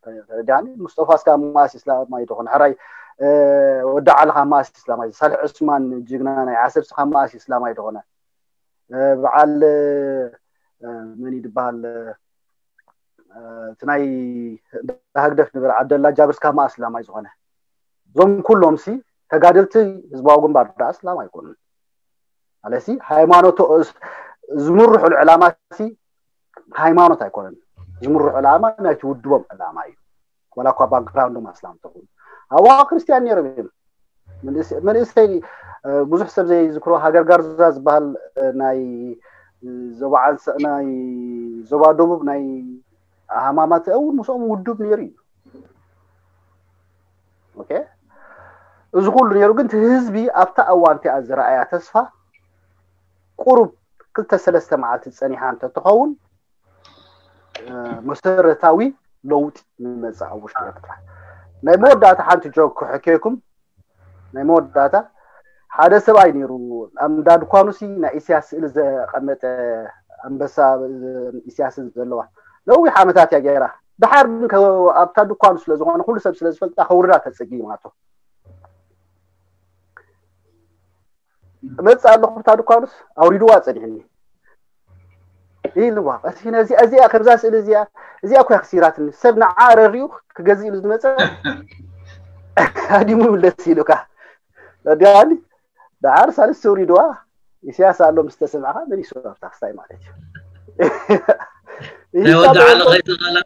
ተረዳኒ። ሙስጠፋ እስካ ማስ እስላማይ ትኾነ ሕራይ ወዲ ዓልኻ ማስ እስላማይ ሳልሕ ዑስማን ጅግና ናይ ዓሰብ ስኻ ማስ እስላማይ ትኾነ በዓል መን ይድበሃል እቲ ናይ ህግደፍ ንበር ዓብደላ ጃብር ስካ ማስ እስላማይ ዝኾነ እዞም ኩሎም ሲ ተጋደልቲ ህዝባዊ ግንባር ዳ እስላም ኣይኮኑን። ኣለሲ ሃይማኖት ዝምርሑሉ ዕላማ ሲ ሃይማኖት ኣይኮነን። ዝምርሑ ዕላማ ናይቲ ውድቦም ዕላማ እዩ። ዋላ እኳ ባክግራውንዶም ኣስላም ተኾኑ ኣብዋ ክርስቲያን ነይሮም እዮም። መንእሰይ ብዙሕ ሰብ ዘይዝክሮ ሃገር ጋርዛ ዝበሃል ናይ ዞባ ዓንሰ ናይ ዞባ ደቡብ ናይ ሃማማት እውን ምስኦም ውዱብ ነይሩ እዩ። ኦኬ እዚ ኩሉ ነይሩ ግን ህዝቢ ኣብታ እዋን እቲኣ ዝረኣያ ተስፋ ቁሩብ ክልተ ሰለስተ መዓልቲ ፀኒሓ እንተትኸውን መሰረታዊ ለውጢ ንመፅእ ኣብ ውሽጢ ኤርትራ። ናይ መወዳእታ ሓንቲ ጆክ ክሕከየኩም። ናይ መወዳእታ ሓደ ሰብኣይ ነይሩ ኣብ እንዳ ድኳኑ ሲ ናይ ኢሳያስ ስእሊ ዘቐመጠ ኣንበሳ ኢሳያስ ዘለዋ ነዊሕ ዓመታት እያ ገይራ። ድሓር ግን ኣብታ ድኳኑ ስለ ዝኾነ ኩሉ ሰብ ስለ ዝፈልጣ ከውርዳ ተፀጊማቶ። እመፅእ ኣለኹ ብታ ድኳኑስ ኣውሪድዋ ፀኒሕኒ ኢልዋ። ቀሲ ነዚኣ እዚኣ ከምዛ ስእሊ እዚኣ እዚኣ እኮ ክሲራትኒ ሰብ ንዓ ረሪኡ ክገዝእ ኢሉ ዝመፀ ሃዲሙ ምለስ ኢሉካ ዲኣኒ። ደሓር ሳልስቲ ኣውሪድዋ ኢሳያስ ኣሎ ምስ ተሰምዕካ መሊሱ ኣብታ ክስታይ ማለት እዩ። ናይ ወዲ ዓለ ከይተቓላ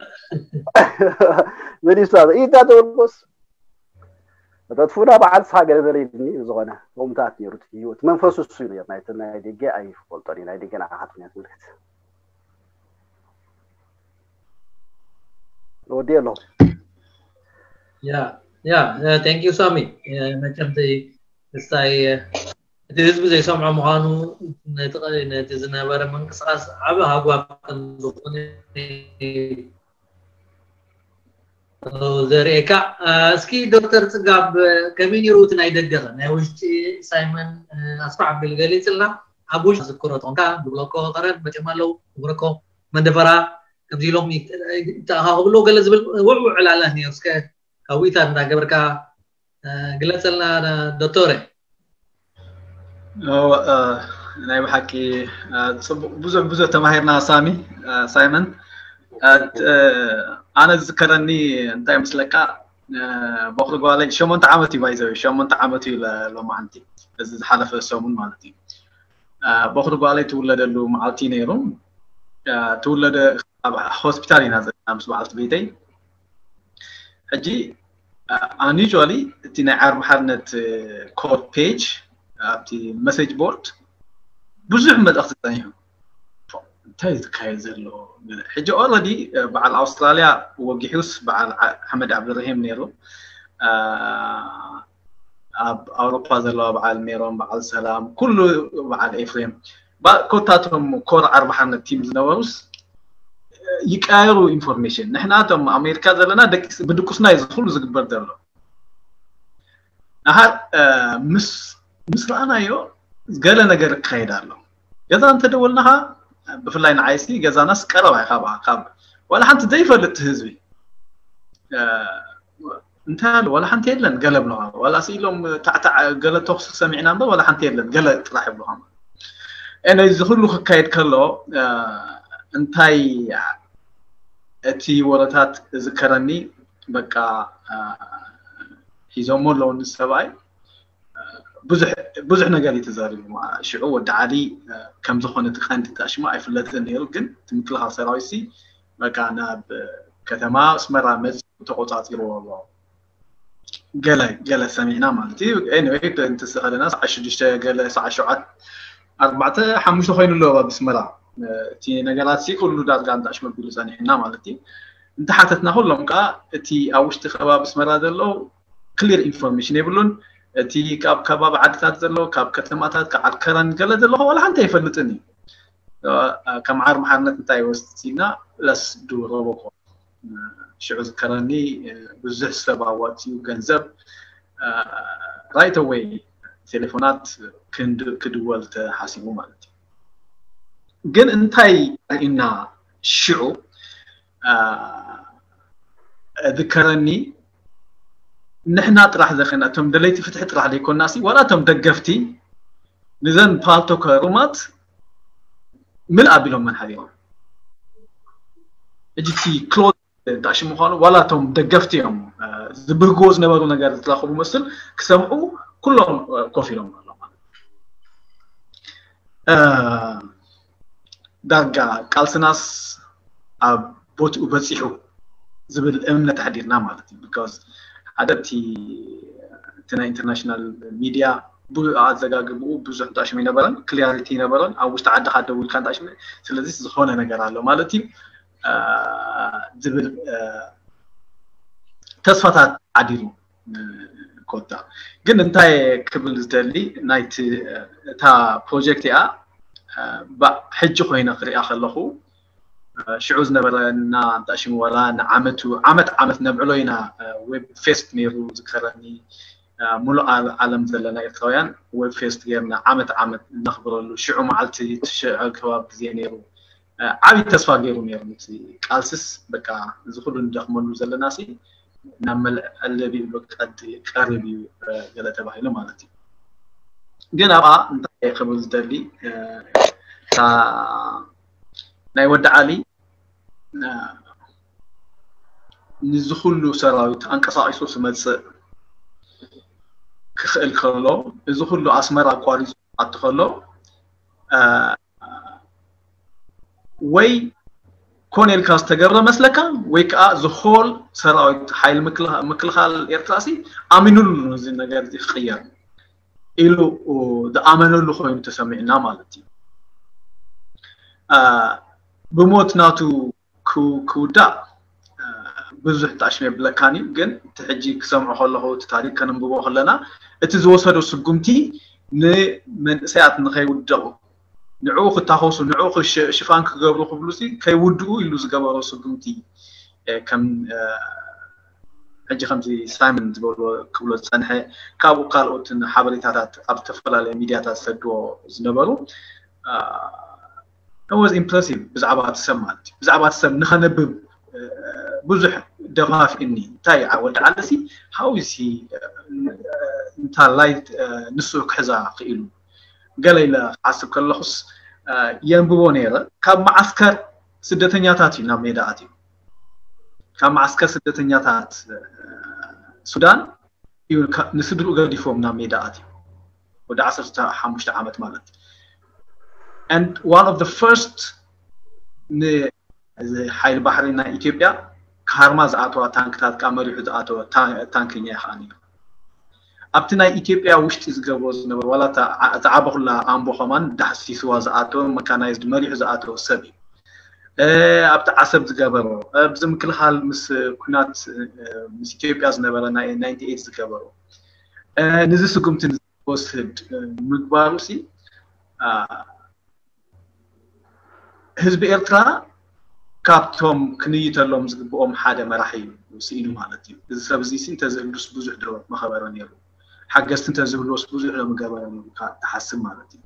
መሊሱ ኢታ ተወልቆስ ተጥፉና በዓል ስኻ ገለ በለ ኢልኒ። ዝኾነ ከምታት ነይሩ እቲ ህይወት መንፈሱ እሱ እዩ ነይሩ። ናይቲ ናይ ደገ ኣይፈልጦን እዩ። ናይ ደገ ንዓኻ ትምክንያት ምልክት ወዲ ኣለኹ። ያ ያ thank you ሳሚ። መቸም እስታይ እቲ ህዝቢ ዘይሰምዖ ምዃኑ ነቲ ዝነበረ ምንቅስቃስ ዓቢ ሃጓፍ ከም ዝኾነ ዘርእየካ። እስኪ ዶክተር ፅጋብ ከመይ ነይሩ እቲ ናይ ደገኸ ናይ ውሽጢ ሳይመን ኣስፋሕ ኣቢል ገሊፅልና። ኣብ ውሽጢ ዝክሮ ተኾንካ ብብሎኮ ቀረብ መፅኦም ኣለዉ ብብሎኮ መንደፈራ ከምዚ ኢሎም ይተኣኻኽብሎ ገለ ዝብል ውዕውዕ ዕላለ ነይሩ። እስከ ካዊታ እንዳገበርካ ግለፀልና ዶክተረ። ናይ ብሓቂ ብዙሕ ብዙሕ ተማሂርና ሳሚ ሳይመን። ኣነ ዝዝከረኒ እንታይ ምስለካ በኩሪ ጓለይ ሸሞንተ ዓመት እዩ ባይዘው ሸሞንተ ዓመት እዩ ሎማዓንቲ እዚ ዝሓለፈ ሰሙን ማለት እዩ። በኩሪ ጓለይ ትውለደሉ መዓልቲ ነይሩ። ትውለደ ኣብ ሆስፒታል ኢና ዘለና ምስ በዓልቲ ቤተይ። ሕጂ ኣኒሊ እቲ ናይ ዓርቢ ሓርነት ኮድ ፔጅ ኣብቲ መሴጅ ቦርድ ብዙሕ መልእኽቲ ጸኒሑ እንታይ ዝካየድ ዘሎ። ሕጂ ኦረዲ በዓል ኣውስትራልያ ወጊሑስ በዓል ሓመድ ዓብድረሂም ነይሩ። ኣብ ኣውሮፓ ዘለዋ በዓል ሜሮን በዓል ሰላም ኩሉ በዓል ኤፍሬም ኮታቶም ኮር ዓርቢ ሓርነት ቲም ዝነበሩስ ይቀያየሩ ኢንፎርሜሽን። ንሕና እቶም ኣሜሪካ ዘለና ብድቁስና እዩ ዝኩሉ ዝግበር ዘሎ። ንሓር ምስ ምስ ረኣናዮ ገለ ነገር ይካየድ ኣሎ። ገዛ እንተደወልናኻ ብፍላይ ንዓይሲ ገዛናስ ቀረባ እዩ ካብ ካብ ዋላ ሓንቲ ዘይፈልጥ ህዝቢ እንታይ ኣሎ ዋላ ሓንቲ የለን ገለ ብለኻ ዋላ ስኢሎም ታዕታዕ ገለ ተኩሲ ሰሚዕና እምበር ዋላ ሓንቲ የለን ገለ ጥራሕ ይብለኻ። ኤነ እዚ ኩሉ ክካየድ ከሎ እንታይ እቲ ወረታት ዝከረኒ በቃ ሒዞሞ ኣለዉ ንሰብኣይ ብዙሕ ብዙሕ ነገር እዩ ተዛሪቡ። ሽዑ ወዲ ዓሊ ከም ዝኾነ እቲ ቀንዲ ታሽሙ ኣይፍለጥን ነይሩ፣ ግን እቲ ምክልኻል ሰራዊት ሲ በቃ ናብ ከተማ ኣስመራ መጽ ተቆጻጺርዎ ኣሎ። ገለ ገለ ሰሚዕና ማለት እዩ። Anyway፣ እንተስኸለና ሰዓ ሽዱሽተ ገለ ሰዓ ሸውዓተ ኣርባዕተ ሓሙሽተ ኮይኑ ኣሎ ኣብ ኣስመራ። እቲ ነገራት ሲ ኩሉ ዳርጋ እንታሽመ ቢሉ ጸኒሕና ማለት እዩ። እንተሓተትና ኩሎም ከዓ እቲ ኣብ ውሽጢ ከባቢ ኣስመራ ዘሎ clear information የብሉን። እቲ ካብ ከባቢ ዓድታት ዘሎ፣ ካብ ከተማታት፣ ካብ ዓድ ከረን ገለ ዘሎ ዋላ ሓንቲ ኣይፈልጥን እዩ። ከም ዓር መሓርነት እንታይ ወስድና ለስ ዱረቦኮ ሽዑ ዝከረኒ ብዙሕ ሰብ ኣዋፅኡ ገንዘብ right away ቴሌፎናት ክድወል ተሓሲቡ ማለት እዩ። ግን እንታይ ርኢና ሽዑ ዝከረኒ ንሕና ጥራሕ ዘኸና እቶም ደለይቲ ፍትሒ ጥራሕ ዘይኮና ሲ ዋላ እቶም ደገፍቲ ንዘን ፓልቶክ ሩማት ምልእ ኣቢሎም መን ሓቢሮም እጅቲ ክሎዝ እንታሽ ምዃኑ ዋላ እቶም ደገፍቲ እዮም ዝብህግዎ ዝነበሩ ነገር ዝረኸቡ መስል ክሰምዑ ኩሎም ኮፍ ኢሎም ኣሎ ማለት ዳርጋ ቃልስናስ ኣብ ቦትኡ በፂሑ ዝብል እምነት ኣሕዲርና ማለት እዩ። Because ሓደ እቲ ናይ international media ኣዘጋግብኡ ብዙሕ እንታሽም ይነበረን clarity ይነበረን ኣብ ውሽጢ ዓድኻ ደው ኢልካ እንታሽም ስለዚ ዝኾነ ነገር ኣሎ ማለት እዩ ዝብል ተስፋታት ኣዲሩ ኮታ ግን እንታይ ክብል ዝደሊ ናይቲ እታ ፕሮጀክት እያ ሕጂ ኮይነ ክሪኣ ከለኹ ሽዑ ዝነበረና እንታሽም ወላ ንዓመቱ ዓመት ዓመት ነብዕሎ ኢና። ዌብ ፌስት ነይሩ ዝከረኒ ሙሉእ ዓለም ዘለና ኤርትራውያን ዌብ ፌስት ጌርና ዓመት ዓመት እነኽብረሉ ሽዑ መዓልቲ ትሽዐ ከባቢ ግዜ ነይሩ። ዓብዪ ተስፋ ገይሩ ነይሩ እቲ ቃልስስ በቃ እዚ ኩሉ ንደኽመሉ ዘለና ሲ ናብ መልዐለቢ ቀዲ ቀርብ እዩ ገለ ተባሂሉ ማለት እዩ። ግን ኣብኣ እንታይ ክብል ዝደሊ እታ ናይ ወዲ ዓሊ ንዚ ኩሉ ሰራዊት ኣንቀሳቂሱ ክመፅእ ክኽእል ከሎ እዚ ኩሉ ኣስመራ ኣቋሪፁ ኣቲ ከሎ ወይ ኮነ ኢልካ ዝተገብረ መስለካ ወይ ከዓ ዝሆል ሰራዊት ሓይል ምክልኻል ኤርትራ ሲ ኣሚኑሉ ነዚ ነገር እዚ ክቅየር ኢሉ ዝኣመነሉ ኮይኑ ተሰሚዕና ማለት እዩ። ብሞት ናቱ ክውዳእ ብዙሕ ጣሽም የብለካን እዩ። ግን እቲ ሕጂ ክሰምዖ ከለኹ እቲ ታሪክ ከነንብቦ ከለና እቲ ዝወሰዶ ስጉምቲ ንመንእሰያት ንኸይውደቑ ንዕኡ ክታኸሱ ንዕኡ ሽፋን ክገብሩ ክብሉ ከይውድኡ ኢሉ ዝገበሮ ስጉምቲ ከም ሕጂ ከምዚ ሳይመን ዝበሎ ክብሎ ዝፀንሐ ካብኡ ካልኦትን ሓበሬታታት ኣብ ዝተፈላለዩ ሚድያታት ዝሰድዎ ዝነበሩ was impressive ብዛዕባ እቲ ሰብ ማለት እዩ። ብዛዕባ እቲ ሰብ ንኸነብብ ብዙሕ ደፋፊእኒ እንታይ ወዲ ዓለሲ ሃውሲ እንታይ ላይት ንሱ ክሕዛ ክኢሉ ገለ ኢለ ክሓስብ ከለኹስ የንብቦ ነይረ። ካብ መዓስከር ስደተኛታት እዩ ናብ ሜዳ ኣትዩ። ካብ መዓስከር ስደተኛታት ሱዳን እዩ ንስድርኡ ገዲፎም ናብ ሜዳ ኣትዩ። ወዲ ዓሰርተ ሓሙሽተ ዓመት ማለት and one of the first ንሓይሊ ባሕሪ ናይ ኢትዮጵያ ካርማ ዝኣተዋ ታንክታት ካ መሪሑ ዝኣተወ ታንክኛ ይኸኣኒ ኣብቲ ናይ ኢትዮጵያ ውሽጢ ዝገብሮ ዝነበሩ ዋላ ዝዓበኹላ ኣምቦ ከማን ዳሕሲስዋ ዝኣተወ መካናይዝድ መሪሑ ዝኣተወ ሰብ እዩ። ኣብቲ ዓሰብ ዝገበሮ ኣብዚ ምክልኻል ምስ ኩናት ምስ ኢትዮጵያ ዝነበረ ናይ ናይንቲ ኤይት ዝገበሮ ንዚ ስጉምቲ ወስድ ምግባሩ ሲ ህዝቢ ኤርትራ ካብቶም ክንይተሎም ዝግብኦም ሓደ መራሒ እዩ ስኢኑ ማለት እዩ። እዚ ሰብ እዚ እንተዝህሉስ ብዙሕ ዶ መኸበረ ነይሩ? ሓገዝቲ እንተዝህልዎስ ብዙሕ ዶ ምገበረ ነይሩ ትሓስብ ማለት እዩ።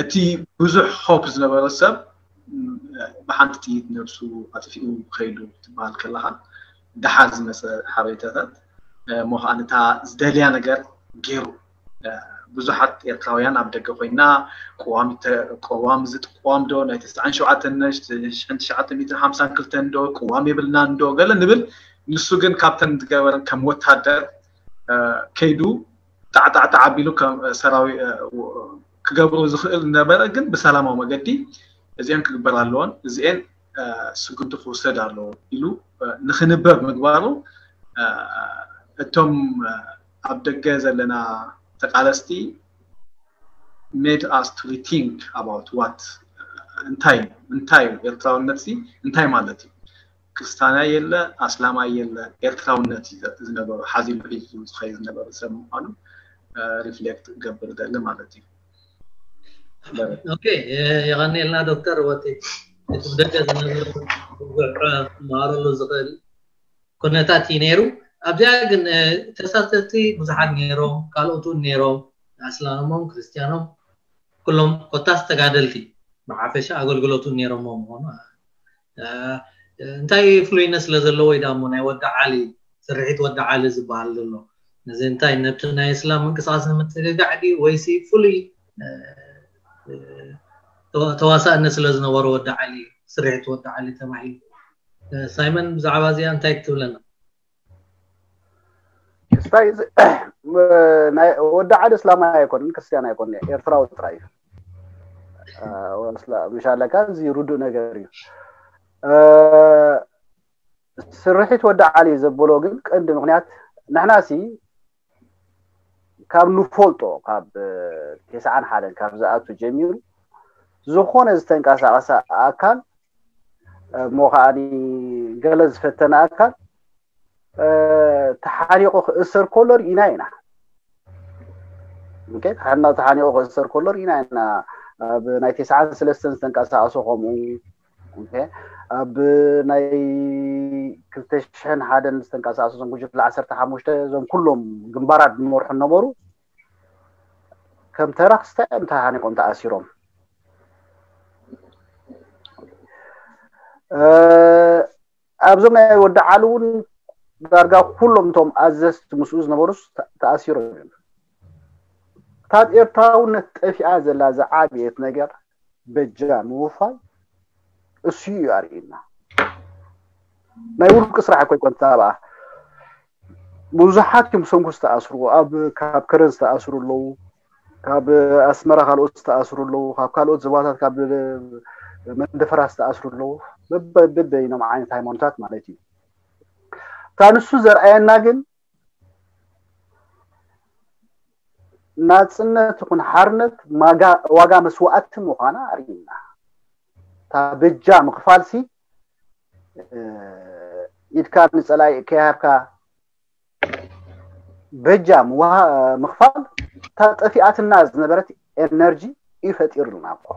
እቲ ብዙሕ ሆፕ ዝነበረ ሰብ ብሓንቲ ጥይት ነብሱ ኣጥፊኡ ከይዱ ትበሃል ከለኻ ደሓር ዝመፀ ሓበሬታታት እሞ ከዓ ነታ ዝደልያ ነገር ገይሩ ብዙሓት ኤርትራውያን ኣብ ደገ ኮይና ቅዋም እዚ ቅዋም ዶ ናይ ተስዓን ሸውዓተን ሽሕን ትሽዓተ ሚእትን ሓምሳን ክልተን ዶ ቅዋም የብልናን ዶ ገለ ንብል። ንሱ ግን ካብተን ዝገበረን ከም ወታደር ከይዱ ጣዕጣዕጣዕ ኣቢሉ ከም ሰራዊ ክገብሮ ዝኽእል ነበረ፣ ግን ብሰላማዊ መገዲ እዚአን ክግበር ኣለዎን እዚአን ስጉምቲ ክውሰድ ኣለዎ ኢሉ ንክንበብ ምግባሩ እቶም ኣብ ደገ ዘለና ተቃለስቲ made us to rethink about what እንታይ እንታይ ኤርትራውነት ሲ እንታይ ማለት እዩ? ክርስታናይ የለ ኣስላማይ የለ ኤርትራውነት ዝነበሩ ሓዚሉ ሒዙ ዝኸይ ዝነበሩ ሰብ ምኳኑ reflect ገብር ደሊ ማለት እዩ። ኦኬ፣ የቐኒልና ዶክተር። ወቲ እቲ ብደገ ዝነበሩ ብዙሕ ክመሃረሉ ዝኽእል ኩነታት እዩ ነይሩ። ኣብዚኣ ግን ተሳተፍቲ ብዙሓት ነይሮም፣ ካልኦት እውን ነይሮም፣ ኣስላሞም ክርስቲያኖም ኩሎም ኮታስ ተጋደልቲ ብሓፈሻ ኣገልግሎት እውን ነይሮሞ ምኾኑ እንታይ ፍሉይነት ስለ ዘለዎ ወይ ዳሞ ናይ ወዲ ዓሊ ስርሒት ወዲ ዓሊ ዝበሃል ዘሎ ነዚ እንታይ ነብቲ ናይ እስላም ምንቅስቃስ ንምትግጋዕ ድዩ ወይሲ ፍሉይ ተዋሳእነት ስለ ዝነበሮ ወዲ ዓሊ ስርሒት ወዲ ዓሊ ተባሂሉ? ሳይመን ብዛዕባ እዚኣ እንታይ ትብለና? ስታይ ወዲ ዓሊ እስላማይ ኣይኮንን ክርስቲያን ኣይኮንን ኤርትራዊ ጥራይ እዩ። ምሻለካ እዚ ርዱእ ነገር እዩ። ስርሒት ወዲ ዓሊ ዘበሎ ግን ቀንዲ ምክንያት ንሕና ሲ ካብ ንፈልጦ ካብ ተስዓን ሓደን ካብ ዝኣቱ ጀሚሩ ዝኾነ ዝተንቀሳቀሰ ኣካል እሞ ከዓኒ ገለ ዝፈተነ ኣካል ተሓኒቑ ክእሰር ከሎ ርኢና ኢና። ኦኬ፣ ተሓና ተሓኒቑ ክእሰር ከሎ ርኢና ኢና። ኣብ ናይ ተስዓን ሰለስተን ዝተንቀሳቀሰ ከምኡ ኦኬ፣ ኣብ ናይ ክልተ ሽሕን ሓደን ዝተንቀሳቀሱ እዞም ጉጅለ ዓሰርተ ሓሙሽተ እዞም ኩሎም ግንባራት ዝመርሑ ነበሩ ከም ተራ ክስታይ እዮም ተሓኒቆም ተኣሲሮም። ኣብዞም ናይ ወዲ ዓሊ እውን ዳርጋ ኩሎም እቶም ኣዘዝቲ ምስኡ ዝነበሩስ ተኣሲሮም እዮም። ካብ ኤርትራውነት ጠፊኣ ዘላ ዝዓበየት ነገር በጃ ምውፋይ እሱ እዩ ኣርእና። ናይ ውልቂ ስራሕ እኮ ይኮን ተባኣ ብዙሓት እዮም ሰንኩ ዝተኣስሩ ኣብ ካብ ከረን ዝተኣስሩ ኣለዉ ካብ ኣስመራ ካልኦት ዝተኣስሩ ኣለዉ ካብ ካልኦት ዝባታት ካብ መንደፈራ ዝተኣስሩ ኣለዉ በበይኖም ዓይነት ሃይማኖታት ማለት እዩ። እታ ንሱ ዘርኣየና ግን ናፅነት ይኹን ሓርነት ዋጋ መስዋእቲ ምዃና ኣርእዩና። እታ በጃ ምኽፋል ሲ ኢድካ ንፀላኢ ከይሃብካ በጃ ምኽፋል እታ ጠፊኣትና ዝነበረት ኤነርጂ እዩ ፈጢሩልና እኮ።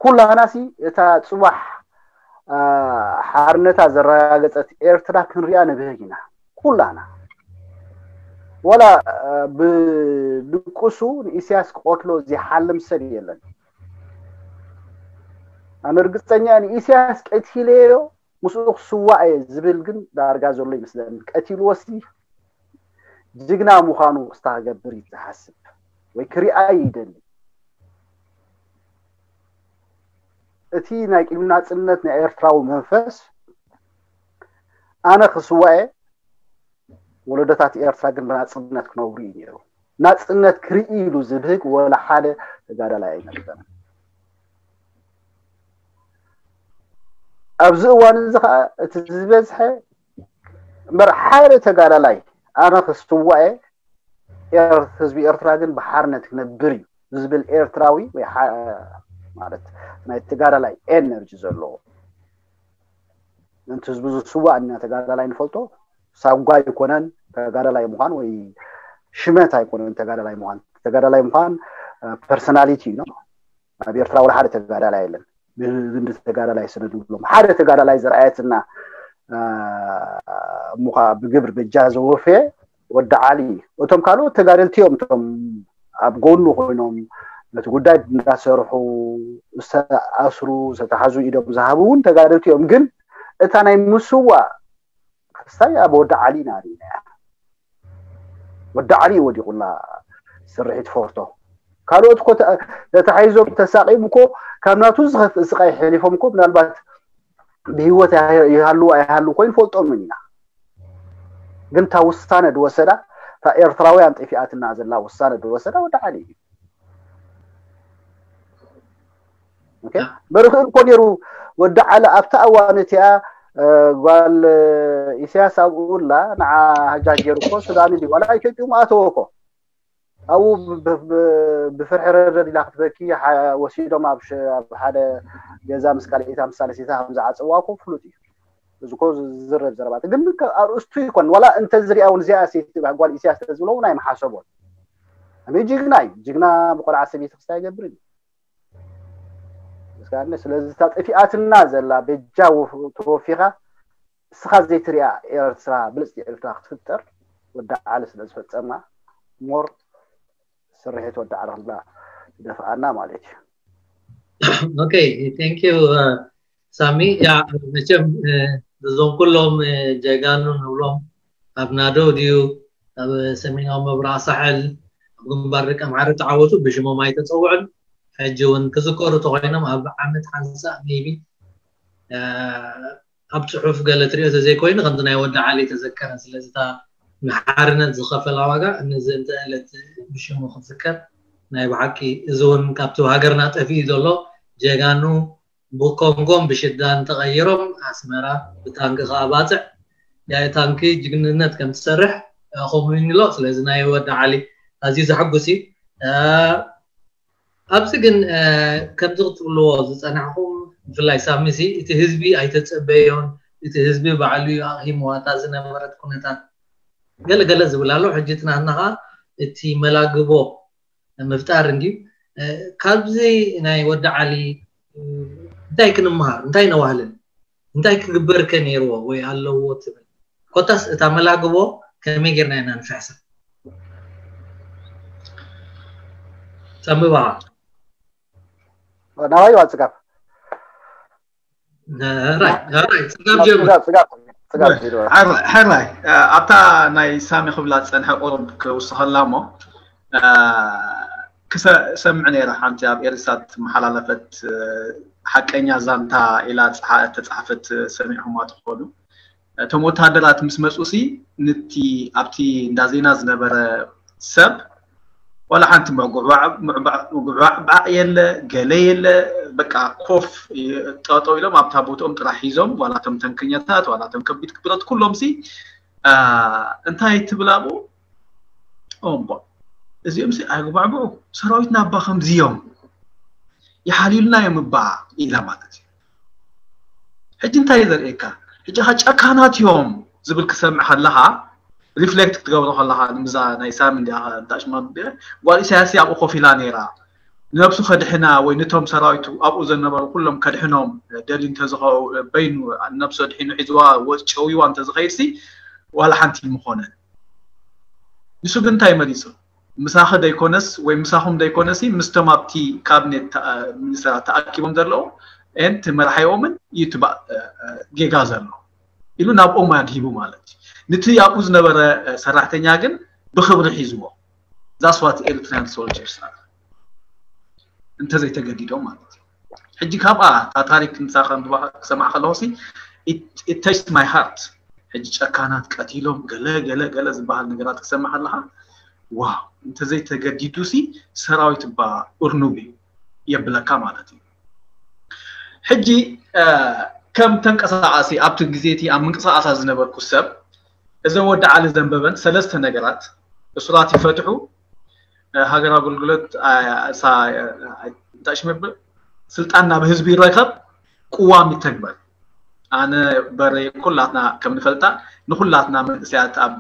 ኩላና ሲ እታ ፅባሕ ሓርነታ ዘረጋገፀት ኤርትራ ክንሪኣ ንብህግ ኢና ኩላና። ወላ ብድቁሱ ንኢሳያስ ክቐትሎ ዝሓልም ሰብ የለን። ኣነ ርግፀኛ ንኢሳያስ ቀቲለዮ ምስኡ ክስዋእ እየ ዝብል ግን ዳርጋ ዘሎ ይመስለኒ። ቀቲልዎሲ ጅግና ምዃኑ ክስታ ክገብር እዩ ዝሓስብ ወይ ክሪኣ ይደሊ። እቲ ናይ ቅድሚ ናፅነት ናይ ኤርትራዊ መንፈስ ኣነ ክስዋእ እየ ወለዶታት ኤርትራ ግን ብናፅነት ክነብሩ እዩ ነይሩ። ናፅነት ክርኢ ኢሉ ዝብህግ ወላ ሓደ ተጋዳላይ ኣይነበረን። ኣብዚ እዋን እዚ ከዓ እቲ ዝበዝሐ እምበር ሓደ ተጋዳላይ ኣነ ክስዋኤ ህዝቢ ኤርትራ ግን ብሓርነት ክነብር እዩ ዝብል ኤርትራዊ ወይ ማለት ናይ ተጋዳላይ ኤነርጂ ዘለዎ ነቲ ህዝቢ ዝስዋእ እና ተጋዳላይ ንፈልጦ ሳጓ ኣይኮነን ተጋዳላይ ምዃን ወይ ሽመት ኣይኮነን ተጋዳላይ ምዃን ተጋዳላይ ምዃን ፐርሶናሊቲ እዩ። ኣብ ኤርትራ ወላ ሓደ ተጋዳላይ የለን። ብግንዲ ተጋዳላይ ስነ ንብሎም ሓደ ተጋዳላይ ዘርኣየትና እሞ ከዓ ብግብሪ በጃ ዘወፈየ ወዲ ዓሊ እቶም ካልኦት ተጋደልቲ እዮም እቶም ኣብ ጎኑ ኮይኖም ነቲ ጉዳይ እንዳሰርሑ ዝተኣስሩ ዝተታሕዙ ኢዶም ዝሃቡ እውን ተጋደልቲ እዮም። ግን እታ ናይ ምስዋእ ክስታይ ኣብ ወዲ ዓሊ ኢና ርኢናያ። ወዲ ዓሊ እዩ ወዲቑላ ስርሒት ፎርቶ። ካልኦት እኮ ተታሒዞም ተሳቒም እኮ ካብ ናቱ ዝኸፍእ ስቓይ ሕሊፎም እኮ ምናልባት ብህይወት ይሃሉ ኣይሃሉ እኮ ይንፈልጦምን ኢና። ግን እታ ውሳነ ዝወሰዳ፣ እታ ኤርትራውያን ጠፊኣትና ዘላ ውሳነ ዝወሰዳ ወዲ ዓሊ እዩ። ኦኬ፣ በርክእል እኮ ነይሩ። ወዲ ዓሊ ኣብታ እዋን እቲኣ ጓል ኢሳያስ ኣብኡ ላ ንዓ ሃጃ ገይሩ እኮ ሱዳን እንዲ ዋላ ኢትዮጵያ ምኣተወ እኮ ኣብኡ ብፍርሒ ረደድ ኢላ ክትበኪ ወሲዶም ኣብ ሓደ ገዛ ምስ ካልኣይታ ምስ ሳልሲታ ከም ዝዓፀዋ እኮ ፍሉጥ እዩ። እዚ እኮ ዝዝረብ ዘረባት ግን ኣርእስቱ ይኮን ዋላ እንተዝሪኣ እውን እዚኣ ጓል ኢሳያስ ተዝብሎ እውን ኣይምሓሰቦን። ኣበይ ጅግና እዩ። ጅግና ብቆልዓ ሰበይቲ ክስታይ ይገብር እዩ። ስለዚ እታ ጠፊኣትና ዘላ በጃ ተወፊኻ እስኻ ዘይትሪኣ ኤርትራ ብልፅቲ ኤርትራ ክትፍጠር ወዲ ዓሊ ስለ ዝፈፀማ ሞር ስርሒት ወዲ ዓሊ ክንብላ ይደፍኣና ማለት እዩ። Okay, thank you ሳሚ። ያ መቸም እዞም ኩሎም ጀጋኑ ንብሎም ኣብ ናዶ ድዩ ኣብ ሰሜናዊ ምብራቕ ሳሕል ኣብ ግንባር ደቂ ኣምሓራ ተዓወቱ ብሽሞም ኣይተፀውዑን። ሕጂ እውን ክዝከሩ ተኮይኖም ኣብ ዓመት ሓንሳእ maybe ኣብ ፅሑፍ ገለ ትሪኦ ተዘይኮይኑ ከምዚ ናይ ወዲ ዓሊ ተዘከረ። ስለዚ እታ ንሓርነት ዝኸፈላ ዋጋ እነዚ እንተ ዕለት ብሽሙ ክዝከር ናይ ብሓቂ እዚ እውን ካብቲ ሃገርና ጠፊኡ ዘሎ ጀጋኑ ብኮንጎን ብሽዳን ተቐይሮም ኣስመራ ብታንኪ ከዓ ባፅዕ ያኢ ታንኪ ጅግንነት ከም ትሰርሕ ከምኡ ይንሎ። ስለዚ ናይ ወዲ ዓሊ ኣዝዩ ዘሐጉስ እዩ። ኣብዚ ግን ከምዚ ክትብልዎ ዝፀናሕኩም ብፍላይ ሳሚ ሲ እቲ ህዝቢ ኣይተፀበዮን፣ እቲ ህዝቢ ባዕሉ እዩ ኣቕሂምዋ እታ ዝነበረት ኩነታት ገለ ገለ ዝብል ኣሎ። ሕጂ ትናትና ከዓ እቲ መላግቦ ምፍጣር እንድዩ። ካብዚ ናይ ወዲ ዓሊ እንታይ ክንምሃር እንታይ ነዋህልን እንታይ ክግበር ከ ነይርዎ ወይ ኣለዎ ትብል? ኮታስ እታ መላግቦ ከመይ ጌርና ኢና ንፍሕሳ? ጸምባ ናባይ ዋ ጽጋብ ራይ ራይ ጽጋብ ጀምር። ጽጋብ ጽጋብ ጽጋብ ሂዱ። ሕራይ ሕራይ ኣብታ ናይ ሳሚ ክብላ ዝጸንሐ ቁሩብ ክውስኸላ እሞ ክሰምዕ ነይረ። ሓንቲ ኣብ ኤሪሳት መሓላለፈት ሓቀኛ ዛንታ ኢላ ተፃሓፈት ሰሚዕኹማ ትኾኑ። እቶም ወታደራት ምስ መፁ ሲ ንቲ ኣብቲ እንዳ ዜና ዝነበረ ሰብ ዋላ ሓንቲ ምዕጉባዕ የለ ገለ የለ በቃ ኮፍ ጠጠው ኢሎም ኣብታ ቦትኦም ጥራሕ ሒዞም ዋላ ቶም ተንከኛታት ዋላ ቶም ከቢድ ክብረት ኩሎም ሲ እንታይ ትብል ኣብኡ እምቦ እዚኦም ሲ ኣይጉባዕብዑ ሰራዊትና እባ ከምዚ እዮም ይሓልዩልና እዮም እባ ኢላ ማለት እዩ። ሕጂ እንታይ ዘርእየካ ሕጂ ካ ጨካናት እዮም ዝብል ክሰምዕ ከለኻ ሪፍሌክት ክትገብሮ ከለኻ ንምዛ ናይ ሳሚ እንዲያ ዳሽማ ጓል ኢሳያስ ኣብኡ ኮፍ ኢላ ነይራ ንነብሱ ከድሕና ወይ ነቶም ሰራዊቱ ኣብኡ ዘነበሩ ኩሎም ከድሕኖም ደልዩ እንተዝኸው በይኑ ነብሱ ኣድሒኑ ሒዝዋ ጨውይዋ እንተዝኸይድ ሲ ዋላ ሓንቲ ምኾነ ንሱ ግን እንታይ መሪፁ ምሳኺ ደይኮነስ ወይ ምሳኹም ደይኮነሲ ምስቶም ኣብቲ ካቢኔት ሚኒስተራት ተኣኪቦም ዘለዉ ን መራሒኦምን እዩ እቲ ጌጋ ዘሎ ኢሉ ናብኦም ኣድሂቡ ማለት እዩ። ንቲ ኣብኡ ዝነበረ ሰራሕተኛ ግን ብክብሪ ሒዝዎ that's what Eritrean soldiers are እንተዘይተገዲዶም ማለት እዩ። ሕጂ ካብኣ እታ ታሪክ ንሳ ከንብባ ክሰምዓ ከለኹ ሲ it touched my heart ሕጂ ጨካናት ቀቲሎም ገለ ገለ ገለ ዝበሃል ነገራት ክሰምዕ ኣለኻ ዋው እንተዘይተገዲዱ ሲ ሰራዊት እባ እርኑብ እዩ የብለካ ማለት እዩ። ሕጂ ከም ተንቀሳቃሲ ኣብቲ ግዜ እቲ ኣብ ምንቅስቃሳት ዝነበርኩ ሰብ እዘን ወዲ ዓሊ ዘንበበን ሰለስተ ነገራት እሱራት ይፈትሑ ሃገር ኣገልግሎት እንታይ ሽመብል ስልጣን ናብ ህዝቢ ይረከብ ቅዋም ይተግበር ኣነ በረ ኩላትና ከም ንፈልጣ ንኩላትና መንእሰያት ኣብ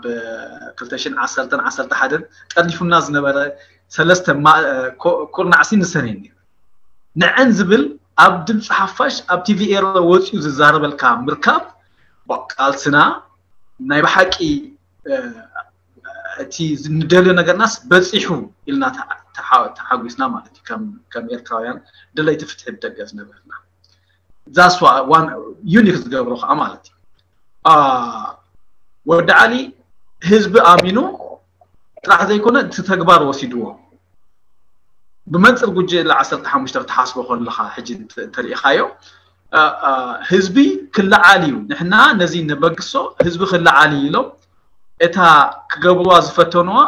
ክልተ ሽሕን ዓሰርተን ዓሰርተ ሓደን ጠርኒፉና ዝነበረ ሰለስተ ኩርናዕሲ ንሰን እዩ ነይሩ ንዐን ዝብል ኣብ ድምፂ ሓፋሽ ኣብ ቲቪ ኤረ ወፂኡ ዝዛረበልካ ምርካብ ቃልስና ናይ ብሓቂ እቲ ንደልዮ ነገርናስ በፂሑ ኢልና ተሓጒስና ማለት እዩ ከም ኤርትራውያን ደለይቲ ፍትሒ ብደገ ዝነበርና ዛስዋ ዋን ዩኒክ ዝገብሮ ከዓ ማለት እዩ ወዲ ዓሊ ህዝቢ ኣሚኑ ጥራሕ ዘይኮነ እቲ ተግባር ወሲድዎ ብመንፅር ጉጅለ ዓሰርተ ሓሙሽተ ክትሓስቦ ከለካ ሕጂ እንተሪኢካዮ ህዝቢ ክለዓል እዩ ንሕና ነዚ ነበግሶ ህዝቢ ክለዓል እዩ ኢሎም እታ ክገብርዋ ዝፈተንዋ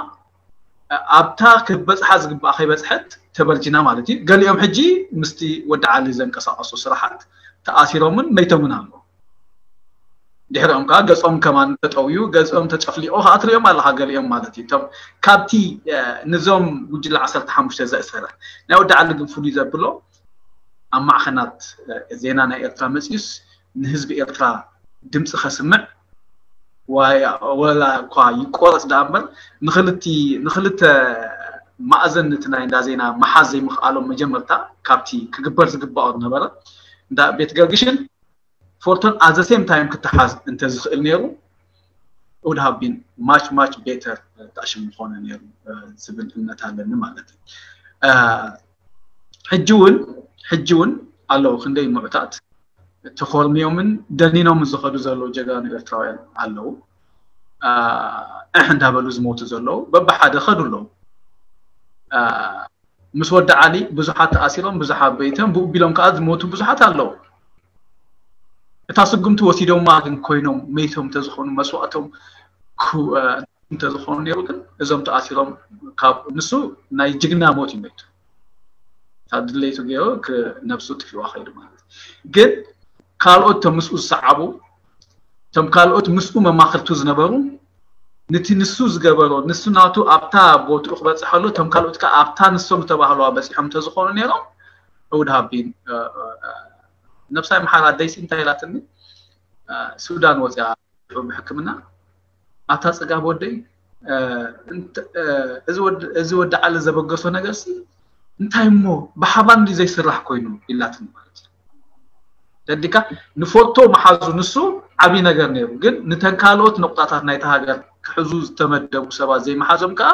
ኣብታ ክበፅሓ ዝግባእ ከይበፅሐት ተበርጂና ማለት እዩ። ገሊኦም ሕጂ ምስቲ ወዲ ዓሊ ዘንቀሳቐሱ ስራሓት ተኣሲሮምን መይቶምን ኣለዉ። ድሕሪኦም ከዓ ገፆም ከማን ተጠውዩ፣ ገፆም ተጨፍሊቑ ከዓ ትሪኦም ኣለኻ ገሊኦም ማለት እዩ። እቶም ካብቲ ንዞም ጉጅለ ዓሰርተ ሓሙሽተ ዘእሰረ ናይ ወዲ ዓሊ ግን ፍሉይ ዘብሎ ኣብ ማዕኸናት ዜና ናይ ኤርትራ መፅዩስ ንህዝቢ ኤርትራ ድምፂ ከስምዕ ወላ እኳ ይቆረፅ ደኣ እምበር ንክልተ ማእዘን እቲ ናይ እንዳ ዜና መሓዝ ዘይምኽኣሎም መጀመርታ ካብቲ ክግበር ዝግባኦ ዝነበረ እንዳ ቤት ገርግሽን ፎርቶን at the same time ክተሓዝ እንተዝኽእል ነይሩ would have been much much better ጣዕሽም ምኾነ ነይሩ ዝብል እምነት ኣለኒ ማለት እዩ። ሕጂ እውን ሕጂ እውን ኣለዉ ክንደይ ምዑታት ተኾርምዮምን ደኒኖምን ዝኸዱ ዘለዉ ጀጋኑ ኤርትራውያን ኣለዉ። እሕ እንዳበሉ ዝሞቱ ዘለዉ በብሓደ ኸዱ ኣለዉ። ምስ ወዲ ዓሊ ብዙሓት ተኣሲሮም ብዙሓት በይቶም ብኡ ቢሎም ከዓ ዝሞቱ ብዙሓት ኣለዉ። እታ ስጉምቲ ወሲዶማ ግን ኮይኖም መይቶም እንተዝኾኑ መስዋእቶም እንተዝኾኑ ነይሩ ግን እዞም ተኣሲሮም ካብ ንሱ ናይ ጅግና ሞት እዩ መይቱ። ካብ ድሌቱ ገይሩ ነብሱ ጥፊዋ ከይዱ ማለት ግን ካልኦት ቶም ምስኡ ዝሰዓቡ ቶም ካልኦት ምስኡ መማክርቱ ዝነበሩ ንቲ ንሱ ዝገበሮ ንሱ ናቱ ኣብታ ቦትኡ ክበፅሐሉ ቶም ካልኦት ከዓ ኣብታ ንሶም ዝተባህለዋ በፂሖም እንተዝኾኑ ነይሮም እውድ ሃቢን ነብሳይ መሓራ ደይሲ እንታይ ኢላትኒ ሱዳን ወፅያ ብሕክምና ኣታ ፅጋብ ወደይ እዚ ወዲ ዓሊ ዘበገሶ ነገር ሲ እንታይ እሞ ብሓባር እንዲ ዘይስራሕ ኮይኑ ኢላትኒ ማለት እዩ። ተዲካ ንፎቶ መሓዙ ንሱ ዓብይ ነገር ነይሩ ግን ንተን ካልኦት ነቁጣታት ናይታ ሃገር ክሕዙ ዝተመደቡ ሰባት ዘይመሓዞም ከዓ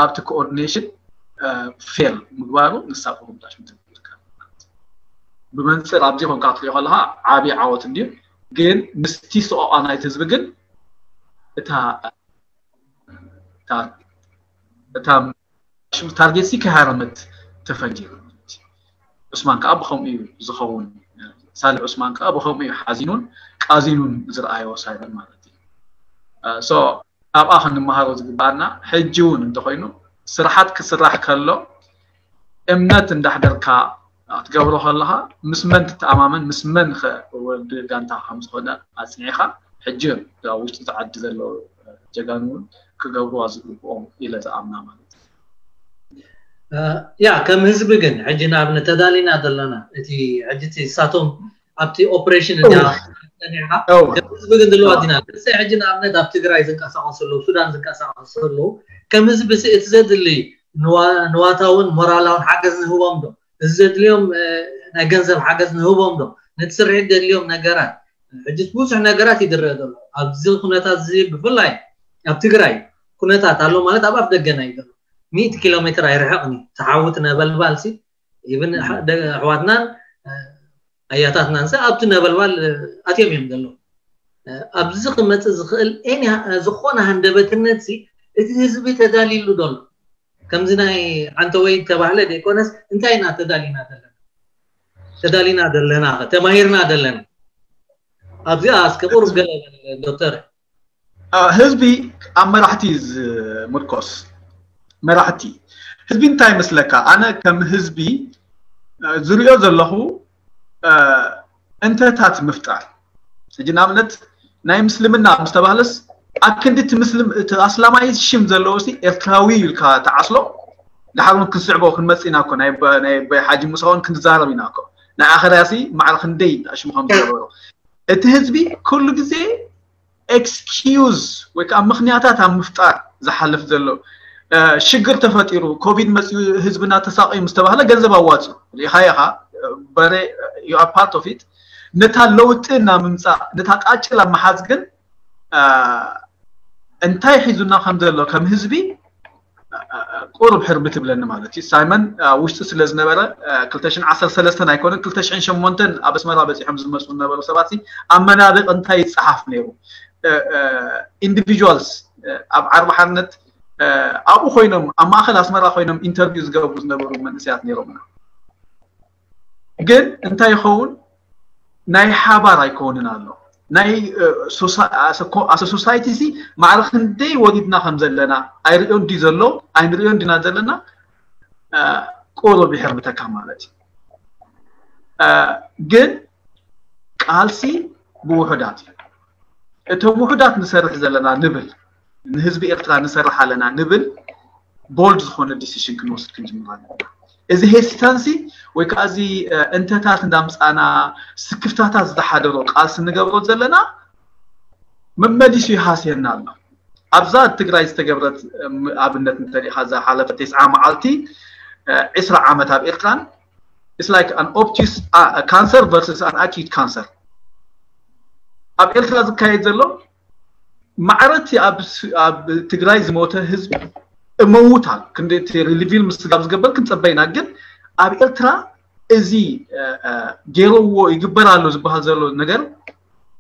ኣብቲ ኮኦርዲኔሽን ፌል ምግባሩ ንሳ ቁሩብ ዳሽ ምትብል ብመንፅር ኣብዚ ኮንካ ክትሪኦ ከለካ ዓብይ ዓወት እንድዩ ግን ምስቲ ሰቆቃ ናይቲ ህዝቢ ግን እታ እታ ታርጌት ሲ ከሃረመት ተፈንጂሩ ዑስማን ከዓ ብከምኡ እዩ ዝኸውን ሳልሕ ዑስማን ከዓ ብከምኡ እዩ ሓዚኑን ቃዚኑን ዝረኣዮ ሳይበን ማለት እዩ so ካብኣ ክንመሃሮ ዝግባኣና ሕጂ እውን እንተኮይኑ ስራሓት ክስራሕ ከሎ እምነት እንዳሕደርካ ክትገብሮ ከለካ ምስ መን ትተኣማመን ምስ መን ወዲ ጋንታ ከም ዝኮነ ኣፅኒዕካ ሕጂ ኣብ ውሽጢ እቲ ዓዲ ዘለዉ ጀጋኑ እውን ክገብርዋ ዝግብኦም ኢለ ዝኣምና ማለት ያ ከም ህዝቢ ግን ሕጂ ንኣብነት ተዳሊና ዘለና እቲ ሕጂ እሳቶም ኣብቲ ኦፕሬሽን እያ ጸኒዕካ ህዝቢ ግን ድልዋት ኢና ንሰይ ሕጂ ንኣብነት ኣብ ትግራይ ዝንቀሳቀሱ ኣለዉ ሱዳን ዝንቀሳቀሱ ኣለዉ ከም ህዝቢ እቲ ዘድሊ ንዋታውን ሞራላውን ሓገዝ ንህቦም ዶ እዚ ዘድልዮም ናይ ገንዘብ ሓገዝ ንህቦም ዶ ነቲ ስርሒት ዘድልዮም ነገራት ሕጂ ብዙሕ ነገራት ይድረእ ዘሎ ኣብዚ ኩነታት እዚ ብፍላይ ኣብ ትግራይ ኩነታት ኣሎ ማለት ኣብ ኣፍ ደገና እዩ ዘሎ ሚእቲ ኪሎ ሜትር ኣይርሕቕን እዩ ተሓውት ነበልባል ሲ ኢብን ኣሕዋትናን ኣያታትናን ሲ ኣብቲ ነበልባል ኣትዮም እዮም ዘለዉ ኣብዚ ክመፅእ ዝኽእል ዝኾነ ሃንደበትነት ሲ እቲ ህዝቢ ተዳሊሉ ዶ ኣሎ ከምዚ ናይ ዓንተወይ ተባህለ ዘይኮነስ እንታይ ኢና ተዳሊና ዘለና ተዳሊና ዘለና ተማሂርና ዘለና ኣብዚኣ እስከ ቁሩብ ገለ ዶክተር ህዝቢ ኣብ መራሕቲ ዝምርኮስ መራሕቲ ህዝቢ እንታይ ይመስለካ ኣነ ከም ህዝቢ ዝሪኦ ዘለኹ እንተታት ምፍጣር ሕጂ ንኣብነት ናይ ምስልምና ምስተባህለስ ኣብ ክንዲ እቲ ምስልም እቲ ኣስላማይ ሽም ዘለዎ ሲ ኤርትራዊ ኢልካ ተዓስሎ ድሓር እውን ክንስዕቦ ክንመፅ ኢና ኮ ናይ ሓጂ ሙሳ እውን ክንዛረብ ኢና ኮ ናይ ኣኸርያ ሲ ማዕረ ክንደይ ሽሙ ከም ዝገበሩ እቲ ህዝቢ ኩሉ ግዜ ኤክስኪዩዝ ወይ ከዓ ምክንያታት ኣብ ምፍጣር ዝሓልፍ ዘሎ ሽግር ተፈጢሩ ኮቪድ መፅኡ ህዝብና ተሳቂዩ ምስ ተባህለ ገንዘብ ኣዋፅኡ ሪኢኻዮ ኢኻ በረ you are part of it ነታ ለውጢ እና ምምፃእ ነታ ቃጭል ኣብ ምሓዝ ግን እንታይ ሒዙና ከም ዘሎ ከም ህዝቢ ቁሩብ ሕርቢ ትብለኒ ማለት እዩ ሳይመን ኣብ ውሽጢ ስለ ዝነበረ ክልተ ሽሕን ዓሰርተ ሰለስተን ኣይኮነን ክልተ ሽሕን ሸሞንተን ኣብ ኣስመራ በፂሖም ዝመፁ ዝነበሩ ሰባት ኣመናድቕ እንታይ ይፀሓፍ ነይሩ individuals ኣብ ዓርቢ ሓርነት ኣብኡ ኮይኖም ኣብ ማእኸል ኣስመራ ኮይኖም interview ዝገብሩ ዝነበሩ መንእሰያት ነይሮምና ግን እንታይ ይኸውን ናይ ሓባር ኣይከውንን ኣሎ ናይ ኣሰ ሶሳይቲ ሲ ማዕረ ክንደይ ወሪድና ከም ዘለና ኣይርእዮን ድዩ ዘሎ ኣይንርእዮን ድና ዘለና ቁሩብ ይሕርምተካ ማለት እዩ። ግን ቃልሲ ብውሑዳት እዩ። እቶም ውሑዳት ንሰርሕ ዘለና ንብል፣ ንህዝቢ ኤርትራ ንሰርሕ ኣለና ንብል፣ ቦልድ ዝኾነ ዲሲሽን ክንወስድ ክንጅምር ኣለና። እዚ ሄሲታንሲ ወይ ከዓ እዚ እንተታት እንዳምፃና ስክፍታታት ዝሓደሮ ቃልሲ ንገብሮ ዘለና መመሊሱ ይሃስየና ኣሎ። ኣብዛ ትግራይ ዝተገብረት ኣብነት እንተሪኢኻ፣ እዛ ሓለፈ ተስዓ መዓልቲ ዕስራ ዓመት ኣብ ኤርትራን it's like an obtuse cancer versus an acute cancer። ኣብ ኤርትራ ዝካየድ ዘሎ ማዕረቲ ኣብ ትግራይ ዝሞተ ህዝቢ እመውታል ክንደቲ ሪሊቪል ምስጋብ ዝገበር ክንፀበይና፣ ግን ኣብ ኤርትራ እዚ ገይረዎ ይግበር ኣሎ ዝበሃል ዘሎ ነገር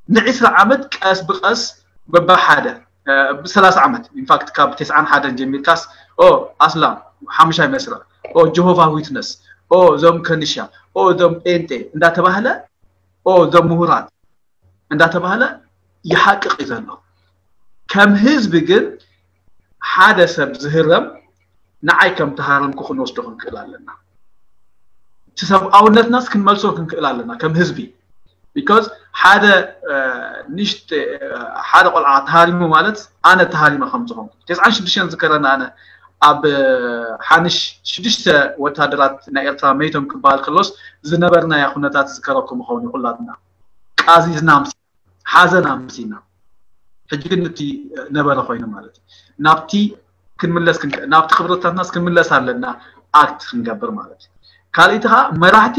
ንዒስራ ዓመት ቀስ ብቀስ በብሓደ ብሰላሳ ዓመት ኢንፋክት ካብ ተስዓን ሓደን ጀሚርካስ ኦ ኣስላም ሓሙሻይ መስረ ኦ ጀሆቫ ዊትነስ ኦ እዞም ከንሻ ኦ እዞም ጴንጤ እንዳተባህለ ኦ እዞም ምሁራት እንዳተባህለ ይሓቅቕ እዩ ዘሎ። ከም ህዝቢ ግን ሓደ ሰብ ዝህረም ንዓይ ከም ተሃረምኩ ክንወስዶ ክንክእል ኣለና። እቲ ሰብኣውነትናስ ክንመልሶ ክንክእል ኣለና ከም ህዝቢ። ቢኮዝ ሓደ ንሽት ሓደ ቆልዓ ተሃሪሙ ማለት ኣነ ተሃሪመ ከም ዝኾንኩ ተስዓን ሽዱሽተን ዝከረና ኣነ ኣብ ሓንሽ ሽዱሽተ ወታደራት ናይ ኤርትራ መይቶም ክበሃል ከሎስ ዝነበርናያ ኩነታት ዝከረኩም ይኸውን እዩ። ኩላትና ቃዚዝና ምስ ሓዘን ኣምሲና ሕጂ ግን እቲ ነበረ ኮይኑ ማለት እዩ። ናብቲ ክንምለስ ናብቲ ክብረታትናስ ክንምለስ ኣለና። ኣክት ክንገብር ማለት እዩ። ካልእቲ ከዓ መራሕቲ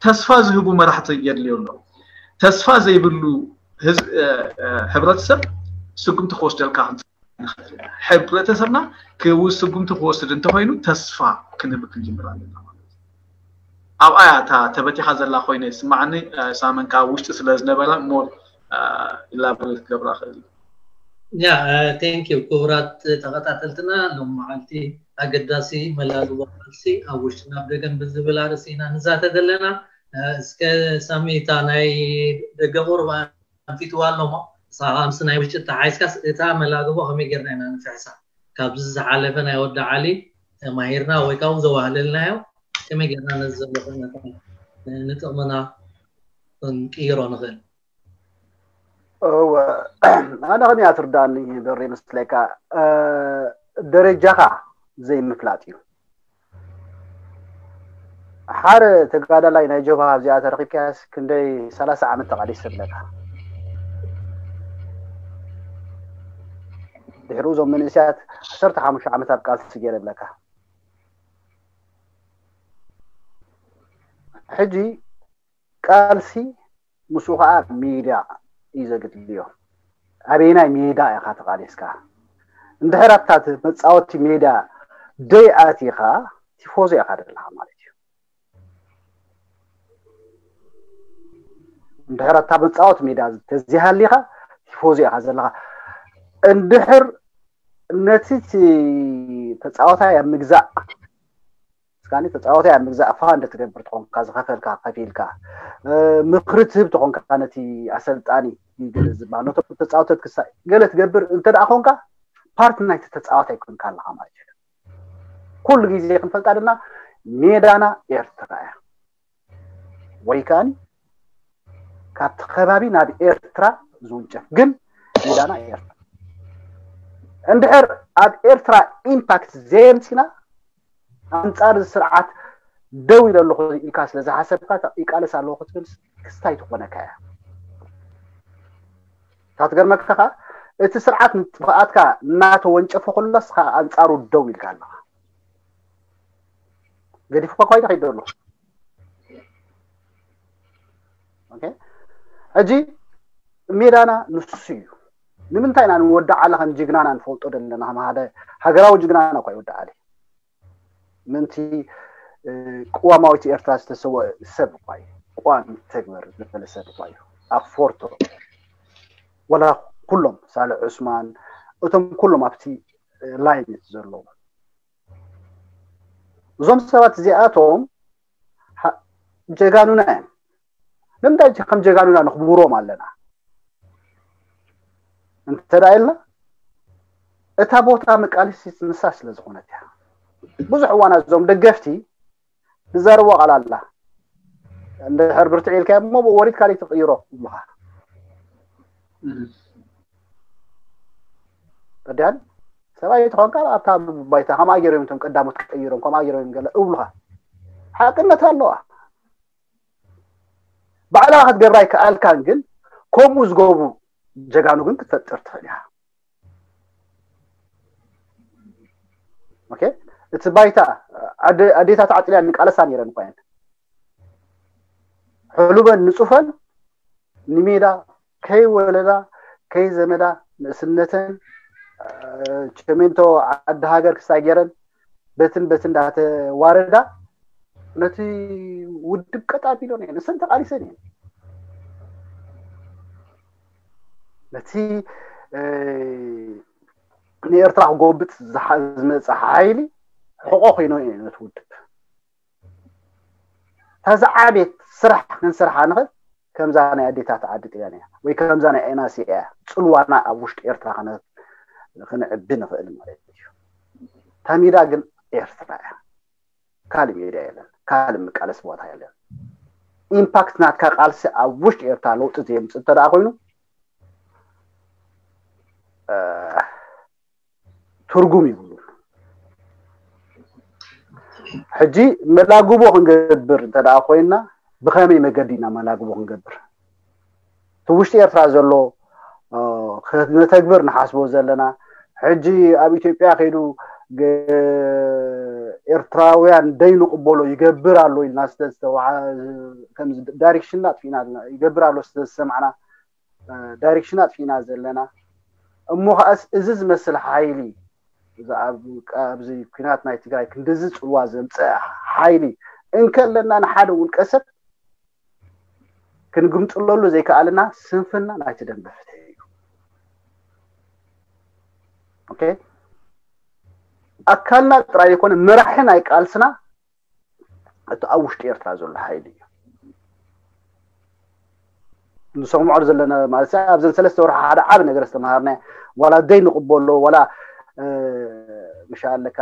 ተስፋ ዝህቡ መራሕቲ የድልዮ ኣለዉ። ተስፋ ዘይብሉ ህብረተሰብ ስጉምቲ ክወስደልካ ክንፅእል ንኽእል ኢና። ሕብረተሰብና ክውስ ስጉምቲ ክወስድ እንተኮይኑ ተስፋ ክንህብ ክንጅምር ኣለና ማለት እዩ። ኣብኣ እያ እታ ተበቲኻ ዘላ ኮይነ ይስማዓኒ። ሳመን ካብ ውሽጢ ስለ ዝነበረ ሞር ኢላቦሬት ክገብራ ክእል። ያ ቴንክ ዩ። ክቡራት ተኸታተልትና፣ ሎም መዓልቲ ኣገዳሲ መላልቦ ቃልሲ ኣብ ውሽጥን ኣብ ደገን ብዝብል ኣርእስቲ ኢና ንዛተ ዘለና። እስከ ሳሚ እታ ናይ ደገ ቁርብ ኣንፊትዋ ኣሎ እሞ ንስኻ ምስ ናይ ውሽጢ ተሓይዝካስ እታ መላግቦ ከመይ ጌርና ኢና ንፍሕሳ? ካብዚ ዝሓለፈ ናይ ወዲ ዓሊ ተማሂርና ወይ ካብኡ ዘዋህለልናዮ ከመይ ጌርና ነዚ ዘሎ ኩነታት ንጥቕምና ክንቅይሮ ንኽእል? እወ ኣነ ከመይ ትርዳኒ በሪ መስለካ ደረጃኻ ዘይምፍላጥ እዩ። ሓደ ተጋዳላይ ናይ ጀብሃ ኣብዚኣ ተረኺብካያስ ክንደይ ሰላሳ ዓመት ተቓሊስ ትብለካ። ድሕሪኡ እዞም መንእሰያት ዓሰርተ ሓሙሽተ ዓመት ኣብ ቃልሲ ገይረ ብለካ። ሕጂ ቃልሲ ምስኡ ከዓ ሜዳ እዩ ዘድልዮ። ኣበየናይ ሜዳ ኢኻ ተቓሊስካ? እንድሕር ኣብታ መፃወቲ ሜዳ ደይ ኣቲኻ ቲፎዞ ኢኻ ዘለኻ ማለት እዩ። እንድሕር ኣብታ መፃወቲ ሜዳ ተዚሃሊኻ ቲፎዞ ኢኻ ዘለኻ። እንድሕር ነቲ ተፃወታይ ኣብ ምግዛእ እስካኒ ተፃወታይ ኣብ ምግዛእ ፋንድ ትገብር ተኾንካ ዝኸፈልካ ከፊልካ ምኽሪ ትህብ ተኾንካ ነቲ ኣሰልጣኒ ዝበሃል ነቶም ተፃወተት ክሳ ገለ ትገብር እንተ ደኣ ኮንካ ፓርቲ ናይቲ ተፃዋታይ ኮንካ ኣለኻ ማለት እዩ። ኩሉ ግዜ ክንፈልጣ ደልና ሜዳና ኤርትራ እያ ወይ ከኣኒ ካብቲ ከባቢ ናብ ኤርትራ ዝውንጨፍ ግን ሜዳና ኤርትራ እንድሕር ኣብ ኤርትራ ኢምፓክት ዘየምፂና ኣንፃር እዚ ስርዓት ደው ኢለ ኣለኹ ኢልካ ስለ ዝሓሰብካ ይቃለስ ኣለኹ ክትብል ክስታይ ትኾነካ እያ። ካብ ትገርመካ ከዓ እቲ ስርዓት ንጥፍኣትካ እናተወንጨፈ ከሎ ንስኻ ኣንፃሩ ደው ኢልካ ኣለኻ። ገዲፉካ እኳ ይዳ ከይዶ ኣለኹ። ኦኬ ሕጂ ሜዳና ንሱ እዩ። ንምንታይ ኢና ንወዲ ዓሊ ከም ጅግናና ንፈልጦ ዘለና ከም ሓደ ሃገራዊ ጅግናና እኳ ይወዲ ዓሊ ምንቲ ቅዋማዊት ኤርትራ ዝተሰወ ሰብ እኳ እዩ። ቅዋም ተግበር ዝበለ ሰብ እኳ እዩ። ኣብ ፎርቶ ወላ ኩሎም ሳልሕ ዑስማን እቶም ኩሎም ኣብቲ ላይን ዘለዉ እዞም ሰባት እዚኣቶም ጀጋኑና እዮም። ንምንታይ ከም ጀጋኑና ንኽብሮም ኣለና? እንተ ደኣ ኢልና፣ እታ ቦታ መቃለሲት ንሳ ስለ ዝኾነት እያ። ብዙሕ እዋን እዞም ደገፍቲ ዝዛረብዎ ቃል ኣላ። እንድሕር ብርትዕ ኢልካ እሞ ብኡ ወሪድ ካልእ ትቕይሮ ይብሉኻ። ተዳን ሰብኣይ ተኾንካ ኣብታ ባይታ ከምኣ ገይሮም እቶም ቀዳሞት ቀይሮም ከምኣ ገይሮም ገለ እብሉኻ። ሓቅነት ኣለዋ። ባዕላ ክትገብራ ኣይከኣልካን፣ ግን ከምኡ ዝገብሩ ጀጋኑ ግን ክትፈጥር ትኽእል ኢኻ። ኦኬ፣ እቲ ባይታ ኣደ- ኣዴታት ዓጥልያን ንቃለሳ ነይረን እኳ እየን። ሕሉበን ንጹፈን ንሜዳ ከይወለዳ ከይዘመዳ ንእስነተን ቸሜንቶ ዓዲ ሃገር ክሳይ ገይረን በትን በትን እንዳተዋረዳ ነቲ ውድብ ቀጥ ኣቢሎን እየን። እሰን ተቃሊሰን እየን። ነቲ ንኤርትራ ክጎብጥ ዝመፀ ሓይሊ ሕቆ ኮይኖ እየ ነቲ ውድብ። እታ ዝዓቤት ስራሕ ክንሰርሓ ንኽእል ከምዛ ናይ ኣዴታት ዓዲ ጥልያን እያ፣ ወይ ከምዛ ናይ ኤናሲ እያ። ፅልዋና ኣብ ውሽጢ ኤርትራ ክነዕቢ ንኽእል ማለት እዩ። እታ ሜዳ ግን ኤርትራ እያ። ካልእ ሜዳ የለን፣ ካልእ መቃለሲ ቦታ የለን። ኢምፓክት ናትካ ቃልሲ ኣብ ውሽጢ ኤርትራ ለውጢ ዘየምፅእ እንተ ደኣ ኮይኑ ትርጉም ይብሉን። ሕጂ መላግቦ ክንገብር እንተ ደኣ ኮይና ብኸመይ መገዲ ኢና መላግቦ ክንገብር? እቲ ውሽጢ ኤርትራ ዘሎ ነተግብር ንሓስቦ ዘለና ሕጂ ኣብ ኢትዮጵያ ከይዱ ኤርትራውያን ደይንቕበሎ ይገብር ኣሎ ኢልና ዳይሬክሽን ኣጥፊእና ይገብር ኣሎ ስለ ዝሰማዕና ዳይሬክሽን ኣጥፊእና ዘለና እሞ ከኣስ እዚ ዝመስል ሓይሊ ኣብዚ ኩናት ናይ ትግራይ ክንድዚ ፅልዋ ዘምፀአ ሓይሊ እንከለና ንሓደ ውልቀ ሰብ ክንግምጥለሉ ዘይከኣልና ስንፍና ናይቲ ደንበ ፍትሒ እዩ። ኣካልና ጥራይ ይኮነ መራሒ ናይ ቃልስና እቲ ኣብ ውሽጢ ኤርትራ ዘሎ ሓይሊ እዩ። ንሰምዖ ዘለና ማለት ኣብዘን ሰለስተ ወርሒ ሓደ ዓቢ ነገር ዝተምሃርና ዋላ ደይ ንቕበሎ ዋላ ምሻ ኣለካ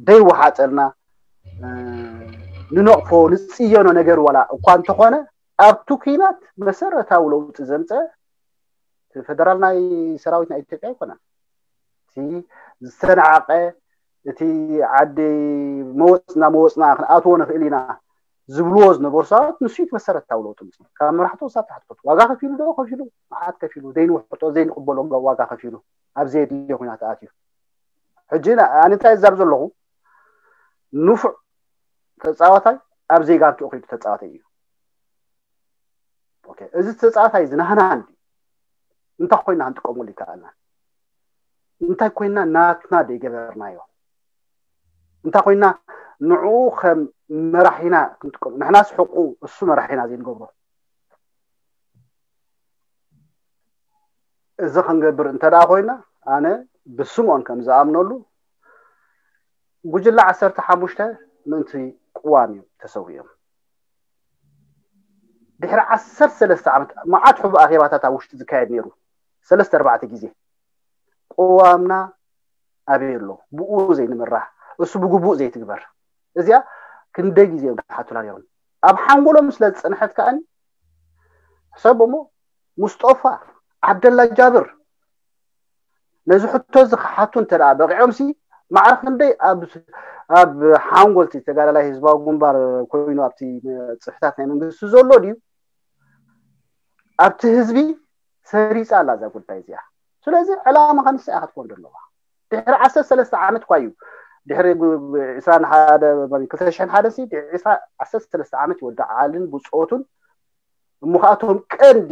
ደይ ወሓጠልና ንነቕፎ ንፅየኖ ነገር ዋላ እኳ እንተኾነ ኣብቲ ኩናት መሰረታዊ ለውጢ ዘምፀ እቲ ፈደራል ናይ ሰራዊት ናይ ኢትዮጵያ ኣይኮነን። እቲ ዝተናዕቀ እቲ ዓዲ መወፅና መወፅና ክንኣትዎ ንኽእል ኢና ዝብልዎ ዝነበሩ ሰባት ንሱ እቲ መሰረታዊ ለውጢ ምፅ ካብ መራሕቶ ክሳብ ታሕቲ ዋጋ ከፊሉ ዶ ከፊሉ መዓት ከፊሉ ዘይንውሕጦ ዘይንቕበሎ ዋጋ ከፊሉ ኣብ ዘየድልዮ ኩናት ኣትዩ ሕጂ ኣነ እንታይ እዛብ ዘለኹ ንፉዕ ተፃዋታይ ኣብ ዘይጋንትኡ ከይዱ ተፃዋታይ እዩ። እዚ ተፃዋታይ እዚ ናህና እንዲ እንታይ ኮይና ክንጥቀመሉ ይከኣልና? እንታይ ኮይና ናትና ደይገበርናዮ? እንታይ ኮይና ንዕኡ ከም መራሒና ክንጥቀም ንሕናስ ሕቁ እሱ መራሒና ዘይንገብሮ እዚ ክንገብር እንተ ደኣ ኮይና ኣነ ብስምኦን ከም ዝኣምነሉ ጉጅለ ዓሰርተ ሓሙሽተ ምእንቲ ቅዋም እዩ ተሰዊኦም ድሕሪ ዓሰርተ ሰለስተ ዓመት መዓት ሕቡ ኣኼባታት ኣብ ውሽጢ ዝካየድ ነይሩ ሰለስተ ኣርባዕተ ግዜ ቅዋምና ኣበይ ኣሎ ብኡ ዘይንምራሕ እሱ ብግቡእ ዘይትግበር እዚኣ ክንደይ ግዜ እዮም ክሓቱላ ነይሮም ኣብ ሓንጎሎም ስለ ዝፀንሐት ከኣኒ ሕሰብ እሞ ሙስጦፋ ዓብደላ ጃብር ነዚ ሕቶ እዚ ክሓቱ እንተ ደኣ በቂዖምሲ ማዕረ ክንደይ ኣብ ኣብ ሓንጎልቲ ተጋዳላይ ህዝባዊ ግንባር ኮይኑ ኣብቲ ፅፍታት ናይ መንግስቲ ዘሎ ድዩ ኣብቲ ህዝቢ ሰሪፃ ኣላ እዛ ጉዳይ እዚኣ ስለዚ ዕላማ ከንስኣ ክትኮን ዘለዋ ድሕሪ ዓሰርተ ሰለስተ ዓመት እኳ እዩ ድሕሪ ዕስራን ሓደ ክልተ ሽሕን ሓደ ሲ ዓሰርተ ሰለስተ ዓመት ይወዲ ዓልን ብፆቱን እሞ ከኣቶም ቀንዲ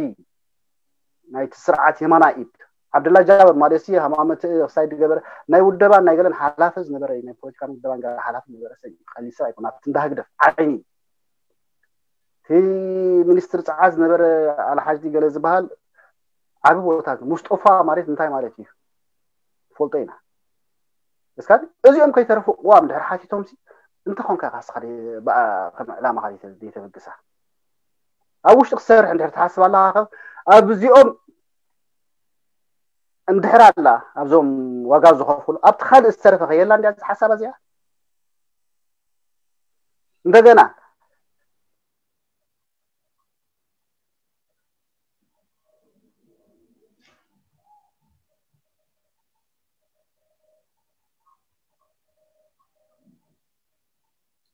ናይቲ ስርዓት የማና ኢድ ዓብደላ ጃበር ማለት ሲ ሃማመት ክሳይ ዝገበረ ናይ ውደባን ናይ ገለን ሓላፈ ዝነበረ ናይ ፖለቲካን ውደባን ገለ ሓላፈ ዝነበረ ሰብ እዩ ቀሊል ሰብ ኣይኮነ ኣብቲ እንዳ ህግደፍ ዓይኒ እቲ ሚኒስትር ፀዓት ዝነበረ ኣልሓጅ ገለ ዝበሃል ዓቢ ቦታ ሙስጦፋ ማለት እንታይ ማለት እዩ ፈልጦ ኢና እስካ እዚኦም ከይተረፉ ቅዋም ድሕሪ ሓቲቶም ሲ እንታይ ኮንካ ካስኻ ከም ዕላማ ካ ዘይተበግሳ ኣብ ውሽጢ ክሰርሕ እንድሕር ትሓስብ ኣለካ ኣብ እዚኦም እንድሕር ኣላ ኣብዞም ዋጋ ዝኸፍሉ ኣብቲ ካልእ ዝተረፈ ከየላ እንዲያ ሓሳብ እዚኣ እንደገና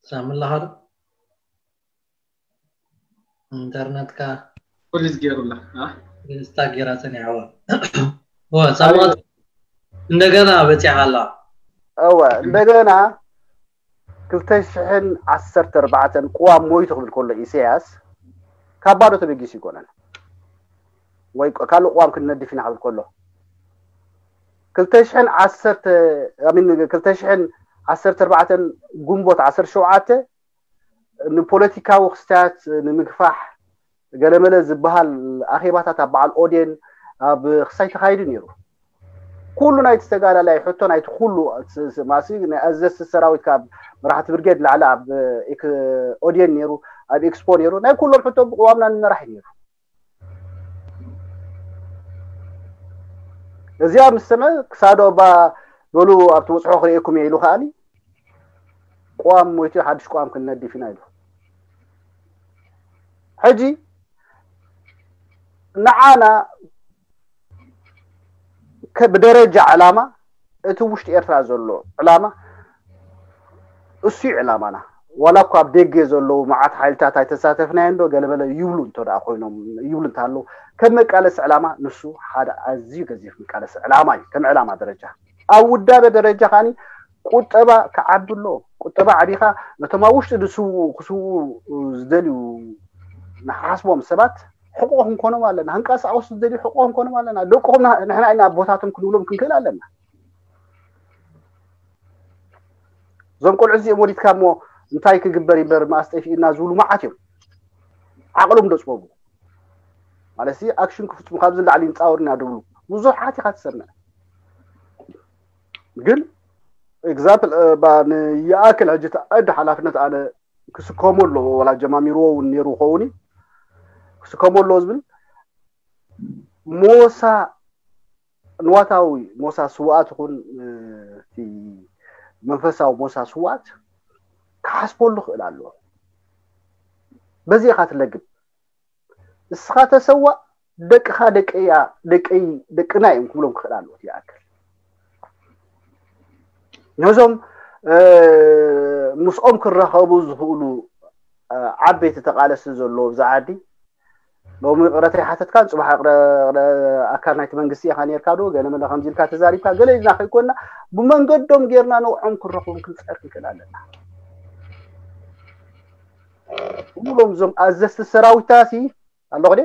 ሳምላ ኻዶ ኢንተርነትካ ፍሪዝ ገይሩላ ስታክ ጌራ ጸኒሓዋ ወ ሳምላ እንደገና በጺሓ ኣላ እወ እንደገና ክልተ ሽሕን ዓሰርተ ኣርባዕተን ቅዋም ሞይቱ ክብል ከሎ ኢሳያስ ካብ ባዶ ተበጊሱ ይኮነን ወይ ካልእ ቅዋም ክንነድፍ ኢና ክብል ከሎ ክልተ ሽሕን ዓሰርተ ክልተ ሽሕን ዓሰርተ ኣርባዕተን ግንቦት ዓሰርተ ሸውዓተ ንፖለቲካዊ ክስታያት ንምግፋሕ ገለመለ ዝበሃል ኣኼባታት ኣብ በዓል ኦዴን ኣብ ክሳይ ተኻይዱ ነይሩ። ኩሉ ናይቲ ተጋዳላይ ሕቶ ናይቲ ኩሉ ማሲ ናይ ኣዘዝቲ ሰራዊት ካብ መራሕቲ ብርጌድ ላዕሊ ኣብ ኦዴን ነይሩ ኣብ ኤክስፖ ነይሩ ናይ ኩሎም ሕቶ ብቅዋምና ንመራሕ ነይሩ። እዚኣ ምስ ሰምዐ ክሳዶ እባ በሉ ኣብቲ ውፅሖ ክርእየኩም እየ ኢሉ ከኣኒ ቅዋም ሞይቱ ሓድሽ ቅዋም ክንነድፍ ኢና ኢሉ። ሕጂ ንዓና ብደረጃ ዕላማ እቲ ውሽጢ ኤርትራ ዘሎ ዕላማ እሱ እዩ ዕላማና። ዋላ እኳ ኣብ ደገ ዘለዉ መዓት ሓይልታት ኣይተሳተፍናዮ እንዶ ገለመለ ይብሉ እንተ ደኣ ኮይኖም ይብሉ እንተሃለዉ ከም መቃለሲ ዕላማ ንሱ ሓደ ኣዝዩ ገዚፍ መቃለሲ ዕላማ እዩ ከም ዕላማ ደረጃ። ኣብ ውዳበ ደረጃ ከዓኒ ቁጠባ ክዓቢ ኣለዎ። ቁጠባ ዓቢኻ ነቶም ኣብ ውሽጢ ዝስውኡ ክስውኡ ዝደልዩ ንሓስቦም ሰባት ሕቆ ክንኮኖም ኣለና። ክንቀሳቀሱ ዝደልዩ ሕቆ ክንኮኖም ኣለና። ደቅኹም ንሕና ኢና ኣቦታቶም ክንብሎም ክንክእል ኣለና። እዞም ቆልዑ እዚኦም ወሊድካ እሞ እንታይ ክግበር ይበር መኣስ ጠፊእና ዝብሉ መዓት እዮም። ዓቕሎም ዶ ፅበቡ ማለት ሲ ኣክሽን ክፍፅሙ ካብዚ ላዕሊ ይፃወርና ድብሉ ብዙሓት ኢኻ ትሰምዕ። ግን ኤግዛምፕል ይኣክል ሕጂ ተኣድ ሓላፍነት ኣነ ክስከሞ ኣለዎ ወላ ጀማሚርዎ እውን ነይሩ ከውን ክስከሞ ኣለዎ ዝብል ሞሳ ንዋታዊ ሞሳ ስውኣት ይኹን እቲ መንፈሳዊ ሞሳ ስውኣት ክሓስበሉ ክእል ኣለዎ። በዚ ኢኻ ትለግብ። እስኻ ተሰዋእ ደቅኻ ደቀያ ደቀይ ደቅና እዮም ክብሎም ክኽእል ኣለዎ ይኣክል ነዞም ምስኦም ክራኸቡ ዝኽእሉ ዓበይቲ ተቃለስቲ ዘለዎ ብዛ ዓዲ ሎሚ ቅረታ ይሓተትካን ፅባሕ ኣካል ናይቲ መንግስቲ ኢኻ ነርካ ዶ ገለ መለ ከምዚ ኢልካ ተዛሪብካ ገለ ኢልና ከይኮንና ብመንገዶም ጌርና ንዕኦም ክረኽቦም ክንፀር ክንክእል ኣለና። ሙሎም እዞም ኣዘዝቲ ሰራዊትታሲ ኣለኹ ደ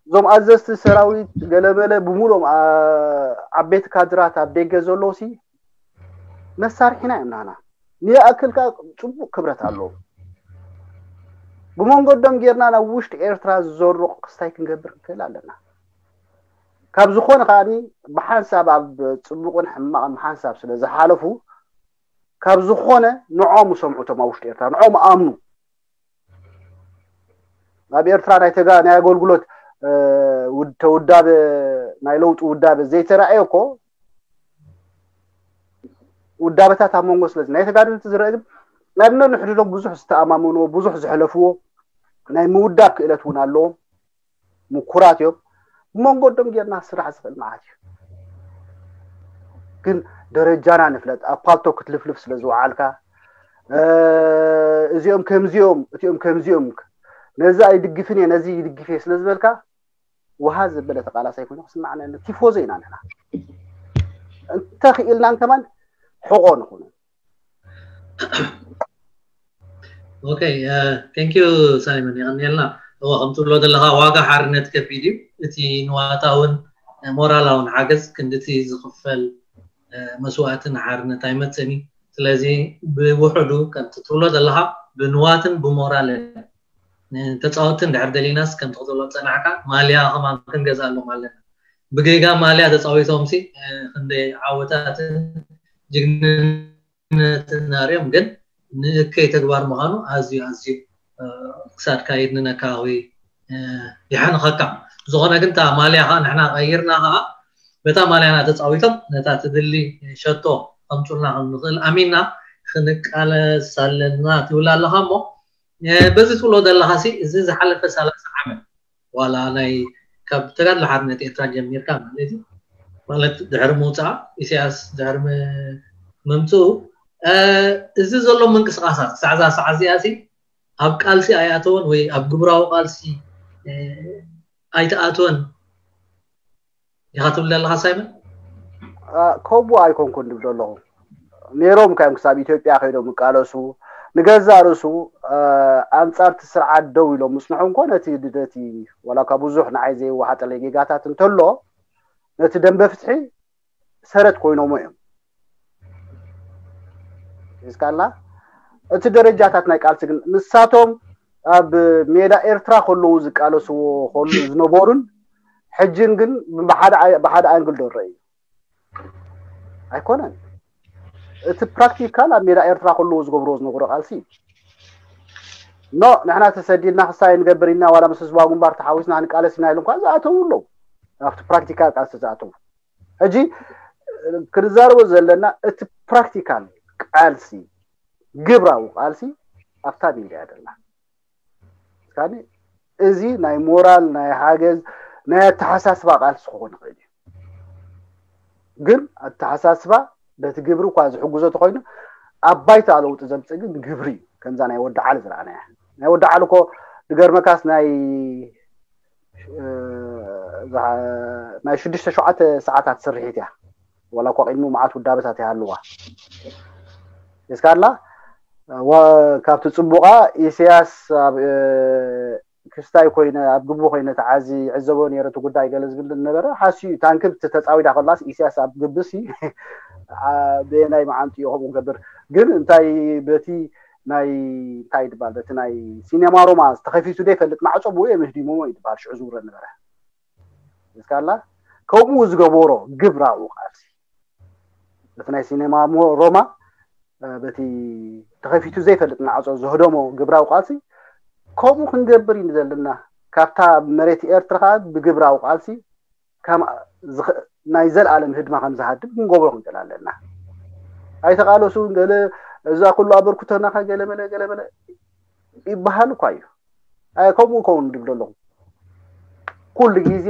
እዞም ኣዘዝቲ ሰራዊት ገለመለ ብሙሎም ዓበይቲ ካድራት ኣብ ደገ ዘለውሲ መሳርሒና እዮም ናና ንየኣክል ከዓ ፅቡቅ ክብረት ኣለዎም። ብመንገዶም ጌርና ናብ ውሽጢ ኤርትራ ዝዘርቕ ክስታይ ክንገብር ንክእል ኣለና። ካብ ዝኾነ ከዓኒ ብሓንሳብ ኣብ ፅቡቅን ሕማቅን ብሓንሳብ ስለ ዝሓለፉ ካብ ዝኾነ ንዖም ሰምዑ እቶም ኣብ ውሽጢ ኤርትራ ንዖም ኣምኑ። ኣብ ኤርትራ ናይ ተጋ ናይ ኣገልግሎት ተውዳበ ናይ ለውጢ ውዳበ ዘይተራእየ እኮ ውዳበታት ኣብ መንጎ ስለዚ ናይ ተጋደልቲ ዝረአ ግን ናይ ነንሕድዶም ብዙሕ ዝተኣማመንዎ ብዙሕ ዘሕለፍዎ ናይ ምውዳብ ክእለት እውን ኣለዎም። ምኩራት እዮም። ብመንጎዶም ጌርና ስራሕ ዝኽእል ማለት እዩ። ግን ደረጃና ንፍለጥ ኣብ ፓልቶ ክትልፍልፍ ስለ ዝወዓልካ እዚኦም ከምዚኦም እቲኦም ከምዚኦም ነዚ ኣይድግፍን እየ ነዚ ይድግፍ እየ ስለ ዝበልካ ውሃ ዘበለ ተቃላሳይ ኮይኑ ክስማዕና ቲፎዞ ኢና ንሕና እንተኽኢልናን ከማን ሕቆ ንኹኑ። ኦኬ thank you ሳይመን የቀንየልና። እወ ከም ትብሎ ዘለኻ ዋጋ ሓርነት ከቢድ እዩ። እቲ ንዋታውን ሞራላውን ሓገዝ ክንድቲ ዝኽፈል መስዋእቲ ንሓርነት ኣይመፅእን እዩ። ስለዚ ብውሕዱ ከምቲ ትብሎ ዘለኻ ብንዋትን ብሞራልን ንተፃወትቲ እንድሕር ደሊናስ ከምቲ ክትብሎ ዝፀናሕካ ማልያ ከማን ክንገዝኣሎም ኣለና። ብጌጋ ማልያ ተፃዊቶምሲ ክንደይ ዓወታትን ጅግንነትን ኣርዮም ግን ንእከይ ተግባር ምዃኑ ኣዝዩ ኣዝዩ ክሳድካ የድንነካ ወይ የሕንኸካ። ዝኾነ ግን እታ ማልያ ከዓ ንሕና ቀይርና ከዓ በታ ማልያና ተፃዊቶም ነታ ትድሊ ሸቶ ከምፁልና ከም ንኽእል ኣሚንና ክንቃለስ ኣለና ትብል ኣለኻ እሞ በዚ ትብሎ ዘለኻ ሲ እዚ ዝሓለፈ ሰላሳ ዓመት ዋላ ናይ ካብ ተጋድሎ ሓርነት ኤርትራ ጀሚርካ ማለት እዩ ማለት ድሕሪ ምውፃእ ኢሳያስ ድሕሪ ምምፅኡ እዚ ዘሎ ምንቅስቃሳት ክሳዕ እዛ ሰዓት እዚኣ ሲ ኣብ ቃልሲ ኣይኣተወን ወይ ኣብ ግብራዊ ቃልሲ ኣይተኣተወን ኢኻ ትብል ዘለኻ ሳይመን? ከምኡ ኣይኮንኩን ድብል ኣለኹ። ነይሮም ካዮም ክሳብ ኢትዮጵያ ከይዶም ይቃለሱ። ንገዛእ ርእሱ ኣንጻር እቲ ስርዓት ደው ኢሎም ምጽንሑ እንኮ ነቲ ነቲ ዋላ ካብ ብዙሕ ንዓይ ዘይወሓጠለይ ጌጋታት እንተሎ ነቲ ደንበ ፍትሒ ሰረት ኮይኖሞ እዮም። ሒዝካላ እቲ ደረጃታት ናይ ቃልሲ ግን ንሳቶም ኣብ ሜዳ ኤርትራ ከለዉ ዝቃለስዎ ከሉ ዝነበሩን ሕጅን ግን ብሓደ ኣይ- ብሓደ ኣንግል ዶ ረእዩ ኣይኮነን። እቲ ፕራክቲካል ኣብ ሜዳ ኤርትራ ከለዉ ዝገብርዎ ዝነበሩ ቃልሲ ኖ ንሕና ተሰዲድና ክሳይ ንገብር ኢና ዋላ ምስ ህዝባዊ ግንባር ተሓዊስና ክንቃለስ ኢና ኢሉ እንኳ ዝኣተዉ ኣለዉ። ኣብቲ ፕራክቲካል ቃልሲ ዝኣተዉ ሕጂ ክንዛረቦ ዘለና እቲ ፕራክቲካል ቃልሲ ግብራዊ ቃልሲ ኣብታ ሚድያ ደላ እስካኒ እዚ ናይ ሞራል ናይ ሓገዝ ናይ ኣተሓሳስባ ቃልሲ ክኾን ይኽእል እዩ። ግን ኣተሓሳስባ በቲ ግብሪ እኳ ዝሕግዞ ተኮይኑ ኣብ ባይታ ለውጢ ዘምፅእ ግን ግብሪ እዩ። ከምዛ ናይ ወዲ ዓሊ ዝረኣናያ ናይ ወዲ ዓሊ እኮ ዝገርመካስ ናይ ናይ ሽዱሽተ ሸውዓተ ሰዓታት ስርሒት እያ። ዋላ እኳ ቅድሚ መዓት ውዳበታት ይሃልዋ እስካላ ካብቲ ፅቡቃ ኢሳያስ ኣብ ክስታይ ኮይነ ኣብ ግቡ ኮይነ ተዓዚ ዕዘቦ ነይረ እቲ ጉዳይ ገለ ዝብል ነበረ ሓስዩ ታንክብ ተፃዊዳ ከላስ ኢሳያስ ኣብ ግብሲ በየናይ መዓንጥዮ ከምኡ ገብር ግን እንታይ በቲ ናይ እንታይ ይድባል በቲ ናይ ሲኔማ ሮማ ዝተኸፊቱ ዶ ይፈልጥ ማዕፆ ብኡ እዮም ህዲሞሞ ይድባል ሽዑ ዝውረ ነበረ እስካላ ከምኡ ዝገበሮ ግብራዊ ቃልሲ በቲ ናይ ሲኔማ ሮማ በቲ ተኸፊቱ ዘይፈልጥ ማዕፆ ዝህደሞ ግብራዊ ቃልሲ ከምኡ ክንገብር እዩ ዘለና ካብታ መሬት ኤርትራ ከዓ ብግብራዊ ቃልሲ ናይ ዘለኣለም ህድማ ከም ዝሃድም ክንገብሮ ክንክእል ኣለና። ኣይተቃለሱ ገለ እዛ ኩሉ ኣበርክቶና ከ ገለመለ ገለመለ ይበሃል እኳ እዩ። ከምኡ ከውን ድብል ኣለኹ። ኩሉ ግዜ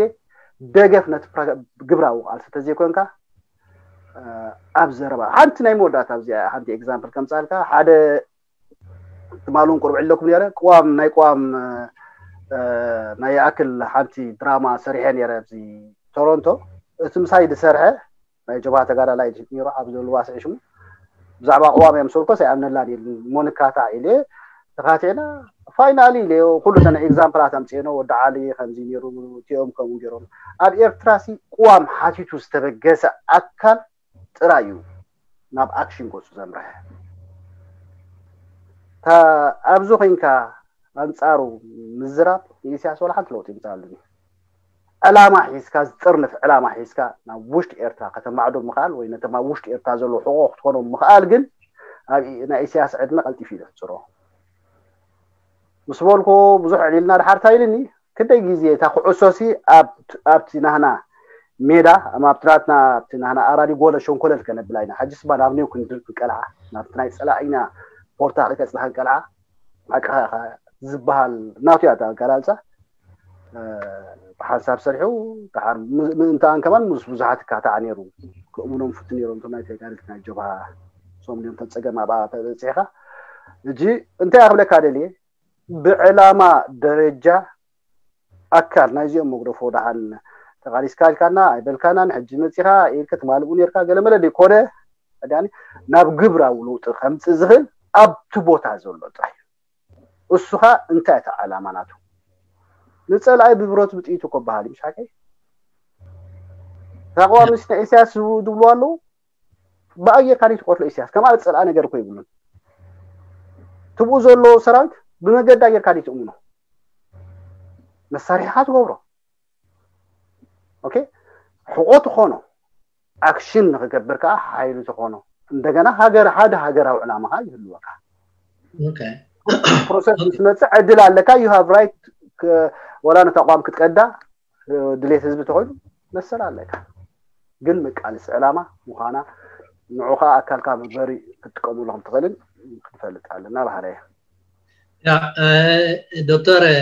ደገፍ ነቲ ግብራዊ ቃልሲ ተዘይኮንካ ኣብ ዘረባ ሓንቲ ናይ መወዳእታ ኣብዚኣ ሓንቲ ኤግዛምፕል ከምፃልካ ሓደ ትማሊ እውን ቁርብ ዕለኩም ነረ ቅዋም ናይ ቅዋም ናይ ይኣክል ሓንቲ ድራማ ሰሪሐ ነረ ኣብዚ ቶሮንቶ እቲ ምሳይ ዝሰርሐ ናይ ጀብሃ ተጋዳላይ ነይሩ ኣብ ዘልዋስዒ ሽሙ ብዛዕባ ቅዋም እዮም ሰልኮስ ኣይኣምነላን ኢሉ ሞንካታ ኢለ ተኻቲዕና ፋይናሊ ኢለ ኩሉ ተነ ኤግዛምፕላት ኣምፅኤኖ ወዲ ዓሊ ከምዚ ነይሩ እቲኦም ከምኡ ገይሮም ኣብ ኤርትራ ሲ ቅዋም ሓቲቱ ዝተበገሰ ኣካል ጥራይ እዩ ናብ ኣክሽን ገፁ ዘምርሐ ኣብዚ ኮይንካ ኣንፃሩ ምዝራብ ንኢሳያስ ወላ ሓንቲ ለውጢ ይምፃሉ ዕላማ ሒዝካ ዝጥርንፍ ዕላማ ሒዝካ ናብ ውሽጢ ኤርትራ ከተማዕዶ ምኽኣል ወይ ነቶም ኣብ ውሽጢ ኤርትራ ዘለዉ ሕቆ ክትኮኖም ምኽኣል ግን ኣብ ናይ ኢሳያስ ዕድመ ቀልጢፍ እዩ ዘሕፅሮ ምስ በልኩ ብዙሕ ዕሊልና ድሓር እንታይ ኢልኒ ክደይ ግዜ እታ ኩዕሶ ሲ ኣብቲ ናህና ሜዳ ኣብቲ ናትና ኣብቲ ናህና ኣራዲ ጎለ ሸንኮለል ከነብላ ኢና ሕጂ ስባ ናብ ኒው ክንድል ክንቀልዓ ናብቲ ናይ ፀላኢና ፖርታ ከይተፅላ ክንቀልዓ ሓቅኻ ዝበሃል ናቱ እያ ኣገላልፃ ብሓንሳብ ሰሪሑ ምእንታኣን ከማን ምስ ብዙሓት ይካታዕ ነይሩ ክእምኖም ፍቱ ነይሮም እቶም ናይ ተጋደልቲ ናይ ጀብሃ ሶም ዲኦም ተፀገም ኣብኣ ተበፂሕካ እጂ እንታይ ክብለካ ደልየ ብዕላማ ደረጃ ኣካል ናይዚኦም መግደፎ ደሓን ተቃሊስካ ኢልካና ኣይበልካናን ሕጂ መፂኻ ኢልከ ትማልኡ ነርካ ገለመለ ደይኮነ ናብ ግብራዊ ለውጢ ከምፅእ ዝኽእል ኣብቲ ቦታ ዘሎ ጥራይ እሱኻ እንታይ እቲ ዓላማ ናቱ ንፀላኢ ብብረቱ ብጥይቱ እኮ በሃል እዩ ምሽ ሓቀይ ተቃዋሚ ስነ ኢሳያስ ዝብሉ ኣለዉ ብኣየር ካሊእ ትቆትሎ ኢሳያስ ከም ኣብ ፀላኢ ነገር እኮ ይብሉን ትብኡ ዘሎ ሰራዊት ብመገዲ ኣየር ካሊእ ትእምኖ መሳሪሕኻ ትገብሮ ኦኬ ሕቆ ትኾኖ ኣክሽን ንክገብር ከዓ ሓይሉ ትኾኖ እንደገና ሃገር ሓደ ሃገራዊ ዕላማ ከዓ ይህልወካ ፕሮሰስ ምስ መፅእ ዕድል ኣለካ you have right ወላ ነተቋም ክትቀዳ ድሌት ህዝቢ ተኮይኑ መሰል ኣለካ። ግን መቃለሲ ዕላማ ምዃና ንዑ ከዓ ኣካልካ መግበሪ ክትጥቀሙሉ ከም ትኽእልን ክንፈልጥ ኣለና በሃላይ እየ። ያ እ፣ ዶክተር እ፣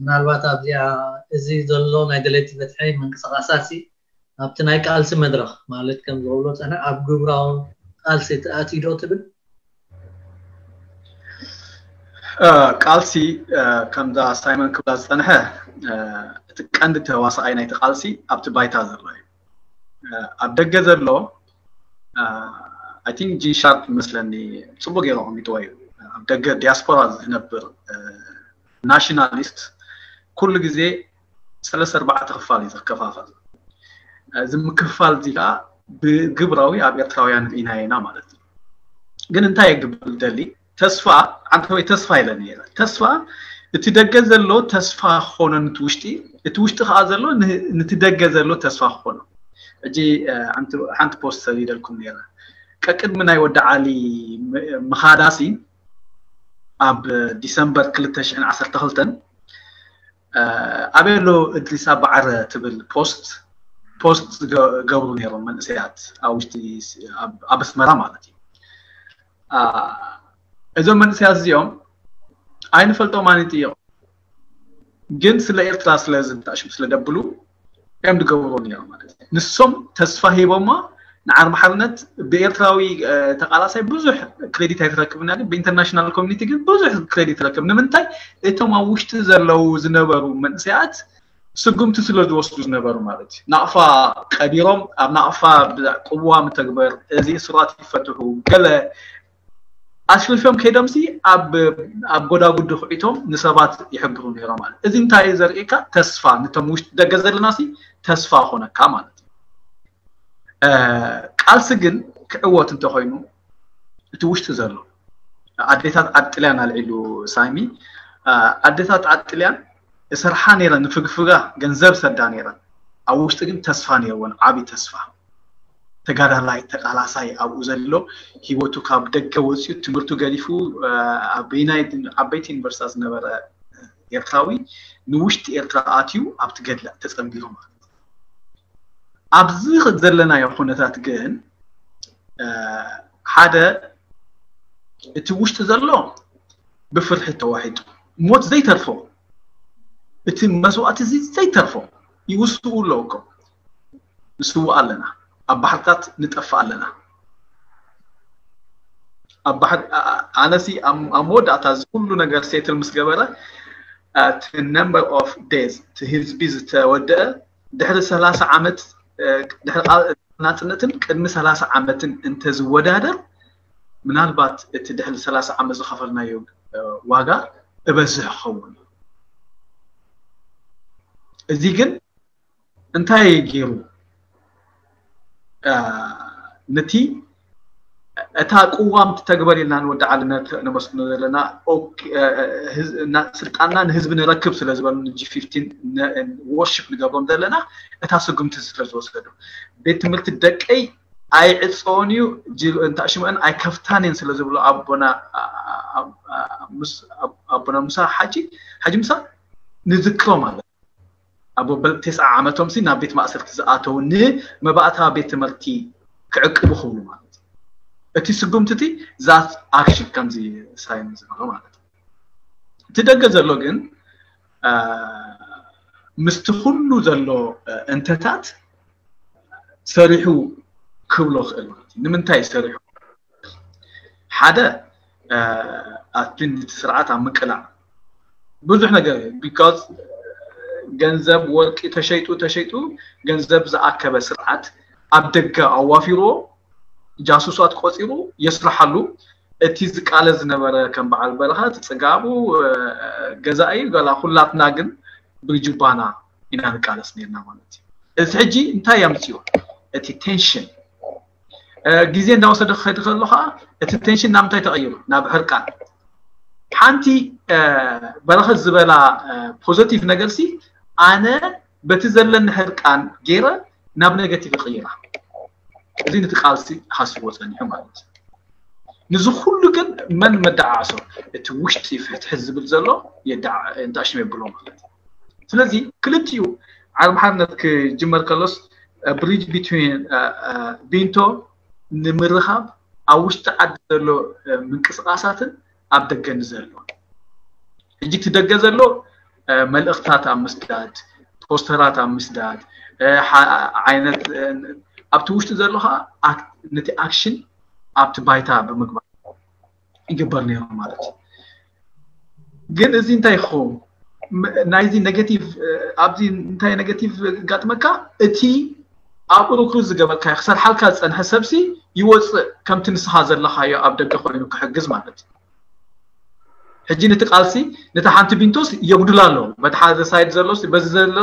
ምናልባት ኣብዚኣ እዚ ዘሎ ናይ ደለይቲ ፍትሒ ምንቅስቃሳት ሲ ኣብቲ ናይ ቃልሲ መድረኽ ማለት ከም ዝብሎ ፀነ ኣብ ግብራዊ ቃልሲ ተኣትዩ ዶ ትብል? እ፣ ቃልሲ እ፣ ከምዛ ሳይመን ክብላ ዝፀንሐ እ፣ እቲ ቀንዲ ተዋሳኣይ ናይቲ ቃልሲ ኣብቲ ባይታ ዘሎ እዩ። እ፣ ኣብ ደገ ዘሎ እ፣ I think ጂን ሻርፕ መስለኒ ፅቡቅ ገይሩ ኣቐሚጥዎ እዩ። ኣብ ደገ ዲያስፖራ ዝነብር እ፣ ናሽናሊስት ኩሉ ግዜ ሰለስተ ኣርባዕተ ክፋል እዩ ዝከፋፈል። እዚ ምክፍፋል እዚ ከዓ ብግብራዊ ኣብ ኤርትራውያን ርኢናዮ ኢና ማለት እዩ። ግን እንታይ የግብል ደሊ ተስፋ ዓንተወይ ተስፋ ኢለ ነይረ። ተስፋ እቲ ደገ ዘሎ ተስፋ ክኾኖ ንቲ ውሽጢ እቲ ውሽጢ ከዓ ዘሎ ን- ንቲ ደገ ዘሎ ተስፋ ክኾኖ። ሕጂ እ፣ ሓንቲ ሓንቲ ፖስት ሰዲደልኩም ነይረ። ቀቅድሚ ናይ ወዲ ዓሊ ም- ምኻዳሲ ኣብ ዲሰምበር ክልተ ሽሕን ዓሰርተ ክልተን ኣበሎ እድሪስ ኣባዓረ ትብል ፖስት ፖስት ዝገብሩ ነይሮም መንእሰያት ኣብ ውሽጢ ኣብ ኣስመራ ማለት እዩ። እዞም መንእሰያት እዚኦም ኣይንፈልጦም ኣይንጥይቆም፣ ግን ስለ ኤርትራ ስለ ዝንታሽም ስለ ደብሉ እዮም ዝገብሩ ነይሮም ማለት እዩ። ንሶም ተስፋ ሂቦማ ንዓርቢ ሓርነት ብኤርትራዊ ተቃላሳይ ብዙሕ ክሬዲት ኣይትረክብና፣ ግን ብኢንተርናሽናል ኮሚኒቲ ግን ብዙሕ ክሬዲት ትረክብ። ንምንታይ? እቶም ኣብ ውሽጢ ዘለዉ ዝነበሩ መንእሰያት ስጉምቲ ስለ ዝወስዱ ዝነበሩ ማለት እዩ። ናቕፋ ቀቢሮም ኣብ ናቕፋ ቅዋ ምተግበር፣ እዚ እሱራት ይፈትሑ፣ ገለ ኣሽሪፎም ከይዶምሲ ኣብ ኣብ ጎዳጉዲ ክዒቶም ንሰባት ይሕብሩ ነይሮም ማለት። እዚ እንታይ እዩ ዘርእየካ? ተስፋ ንቶም ውሽጢ ደገ ዘለናሲ ተስፋ ኾነካ ማለት እዩ። ቃልሲ ግን ክዕወት እንተኾይኑ እቲ ውሽጢ ዘሎ ኣዴታት ዓዲ ጥልያን ኣልዒሉ ሳሚ፣ ኣዴታት ዓዲ ጥልያን እሰርሓ ነይረን፣ ንፍግፍጋ ገንዘብ ሰዳ ነይረን። ኣብ ውሽጢ ግን ተስፋ ነይርወን፣ ዓቢ ተስፋ። ተጋዳላይ ተቃላሳይ ኣብኡ ዘሎ ሂወቱ ካብ ደገ ወፂኡ ትምህርቱ ገዲፉ ኣብ በይናይ ዓበይቲ ዩኒቨርሲታት ዝነበረ ኤርትራዊ ንውሽጢ ኤርትራ ኣትዩ ኣብቲ ገድለ ተፀንቢሩ ማለት እዩ። ኣብዚ ዘለናዮ ኩነታት ግን ሓደ እቲ ውሽጢ ዘሎ ብፍርሒ ተዋሒጡ ሞት ዘይተርፎ እቲ መስዋእቲ እዚ ዘይተርፎ ይውስኡ ኣለዉ እኮ። ንስውእ ኣለና፣ ኣብ ባሕርታት ንጠፍእ ኣለና። ኣብ ባሕሪ ኣነሲ ኣብ መወዳእታ እዚ ኩሉ ነገር ሴትል ምስ ገበረ እቲ number of death እቲ ህዝቢ ዝተወደአ ድሕሪ ሰላሳ ዓመት ድሕሪ ናፅነትን ቅድሚ ሰላሳ ዓመትን እንተዝወዳደር ምናልባት እቲ ድሕሪ ሰላሳ ዓመት ዝኸፈልናዮ ዋጋ እበዝሕ ክኸውን። እዚ ግን እንታይ ገይሩ ነቲ እታ ቅዋም ትተግበር ኢልና ንወዲ ዓሊ ነመስግኖ ዘለና ስልጣንና ንህዝቢ ንረክብ ስለ ዝበሉ ጂ ፊፍቲን ወርሺፕ ንገብሮም ዘለና እታ ስጉምቲ ስለ ዝወሰዱ ቤት ትምህርቲ ደቀይ ኣይዕፀውን እዩ እንታሽመአን ኣይከፍታን እየን ስለ ዝብሉ ኣቦና ኣቦና ሙሳ ሓጂ ሓጂ ሙሳ ንዝክሮም ኣለ ኣብ በል ተስዓ ዓመቶም ሲ ናብ ቤት ማእሰርቲ ዝኣተው ንመባእታ ቤት ትምህርቲ ክዕቅቡ ክብሉ ማለት እዩ። እቲ ስጉምቲ እቲ ዛት ኣክሽን ከምዚ ሳይን ዝበሎ ማለት እዩ። እቲ ደገ ዘሎ ግን ምስቲ ኩሉ ዘሎ እንተታት ሰሪሑ ክብሎ ክእል ማለት እዩ። ንምንታይ ሰሪሑ ሓደ ኣቲ ስርዓት ኣብ ምቅላዕ ብዙሕ ነገር because ገንዘብ ወርቂ ተሸይጡ ተሸይጡ ገንዘብ ዝኣከበ ስርዓት ኣብ ደገ ኣዋፊርዎ ጃሱሳት ቆፂሩ የስርሓሉ። እቲ ዝቃለ ዝነበረ ከም በዓል በረኻ እቲ ፅጋቡ ገዛኢ ገላ ኩላትና ግን ብጁባና ኢና ንቃለስ ነርና ማለት እዩ። እዚ ሕጂ እንታይ ኣምፅኦ እቲ ቴንሽን ግዜ እንዳወሰደ ክኸድ ከሎ ከዓ እቲ ቴንሽን ናብ እንታይ ተቐይሩ ናብ ሕርቃን። ሓንቲ በረኸት ዝበላ ፖዘቲቭ ነገር ሲ ኣነ በቲ ዘለኒ ሕርቃን ገይረ ናብ ኔጋቲቭ ይቕይራ። እዚ ነቲ ቃልሲ ሃስዎ ፀኒሑ ማለት እዩ። ንዚ ኩሉ ግን መን መደዓዕሶ እቲ ውሽጢ ፍትሒ ዝብል ዘሎ የዳዕ እንታሽም የብሎ ማለት እዩ። ስለዚ ክልቲኡ ዓርቢ ሓርነት ክጅመር ከሎስ ብሪጅ ቢትዊን ቢንቶ ንምርኻብ ኣብ ውሽጢ ዓዲ ዘሎ ምንቅስቃሳትን ኣብ ደገ ንዘሎ ሕጂ እቲ ደገ ዘሎ መልእኽታት ኣብ ምስዳድ፣ ፖስተራት ኣብ ምስዳድ ዓይነት፣ ኣብቲ ውሽጢ ዘሎ ከዓ ነቲ ኣክሽን ኣብቲ ባይታ ብምግባር ይግበር ነይሩ ማለት እዩ። ግን እዚ እንታይ ይኸውን? ናይዚ ኔጋቲቭ ኣብዚ እንታይ ኔጋቲቭ ጋጥመካ? እቲ ኣብኡ ርክሩት ዝገበርካዮ ክሰርሓልካ ዝፀንሐ ሰብሲ ይወፅእ፣ ከምቲ ንስኻ ዘለኻዮ ኣብ ደገ ኮይኑ ክሕግዝ ማለት እዩ። ሕጂ ነቲ ቃልሲ ነቲ ሓንቲ ቢንቶስ የጉድላ ኣሎ። በቲ ሓደ ሳይድ ዘሎ በዚ ዘሎ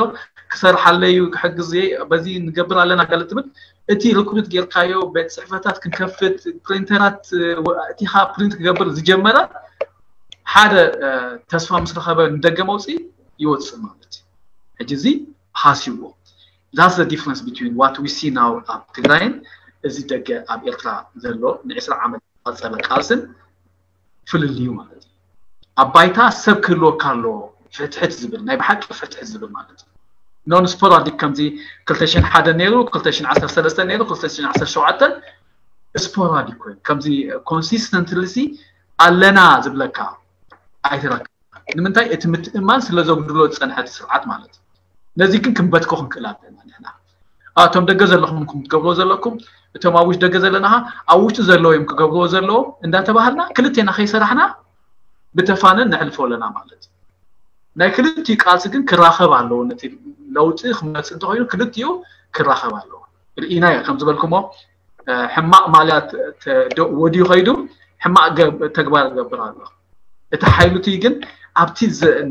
ክሰርሓለዩ ክሕግዝ በዚ ንገብር ኣለና ገለ ትብል። እቲ ርክሩት ጌርካዮ ቤት ፅሕፈታት ክንከፍት ፕሪንተራት እቲኻ ፕሪንት ክገብር ዝጀመረ ሓደ ተስፋ ምስ ረኸበ ንደገ መውፅኢ ይወፅእ ማለት እዩ። ሕጂ እዚ ሃስይዎ። That's the difference between what we see now ኣብ ትግራይን እዚ ደገ ኣብ ኤርትራ ዘሎ ንዕስራ ዓመት ዝቐፀለ ቃልስን ፍልልዩ ማለት እዩ። ኣብ ባይታ ሰብ ክህልወካ ኣለዎ፣ ፍትሕት ዝብል ናይ ብሓቂ ፍትሕት ዝብል ማለት እዩ። ኖን ስፖራዲክ ከምዚ ክልተ ሽሕን ሓደን ነይሩ፣ ክልተ ሽሕን ዓሰርተ ሰለስተን ነይሩ፣ ክልተ ሽሕን ዓሰርተ ሸውዓተን ስፖራዲክ ኮይኑ ከምዚ ኮንሲስተንትሊ ኣለና ዝብለካ ኣይትረክብ። ንምንታይ? እቲ ምትእማን ስለ ዘጉድሎ ዝፀንሐ እቲ ስርዓት ማለት እዩ። ነዚ ግን ክንበትኮ ክንክእል ኣለና ንሕና። እቶም ደገ ዘለኹም ኢኹም ክትገብርዎ ዘለኩም፣ እቶም ኣብ ውሽጢ ደገ ዘለና ኸዓ ኣብ ውሽጢ ዘለዉ እዮም ክገብርዎ ዘለዎም እንዳተባሃልና ክልቴና ከይሰራሕና ብተፋነን ነሕልፎ ኣለና ማለት እዩ። ናይ ክልቲኡ ቃልሲ ግን ክራኸብ ኣለዎ። ነቲ ለውጢ ክመፅእ እንተኾይኑ ክልቲኡ ክራኸብ ኣለዎ። ርኢናዮ ከም ዝበልኩሞ ሕማቕ ማልያ ወድዩ ከይዱ ሕማቕ ተግባር ይገብር ኣሎ። እቲ ሓይሉቲ ግን ኣብቲ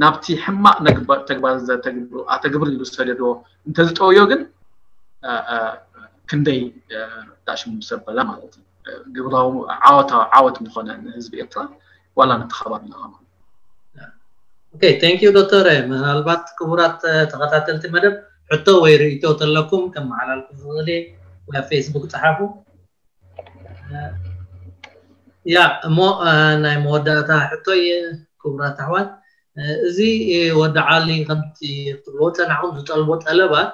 ናብቲ ሕማቕ ተግባር ኣተግብር ኢሉ ዝሰደድዎ እንተዝጠውዮ ግን ክንደይ ዳሽሙ ሰበላ ማለት እዩ። ግብራዊ ዓወት ምኾነ ንህዝቢ ኤርትራ ዋላ ነቲ ከባቢ ንኸማ ኦኬ፣ thank you ዶክተር። ምናልባት ክቡራት ተኸታተልቲ መደብ ሕቶ ወይ ርእይቶ ተለኩም ከመሓላልኩ ዝኽእል ወይ ኣብ ፌስቡክ ጸሓፉ። ያ እሞ ናይ መወዳእታ ሕቶ ክቡራት ኣሕዋት፣ እዚ ወዲ ዓሊ ከምቲ ክትብልዎ ጸናሕኩም ዝጠልቦ ጠለባት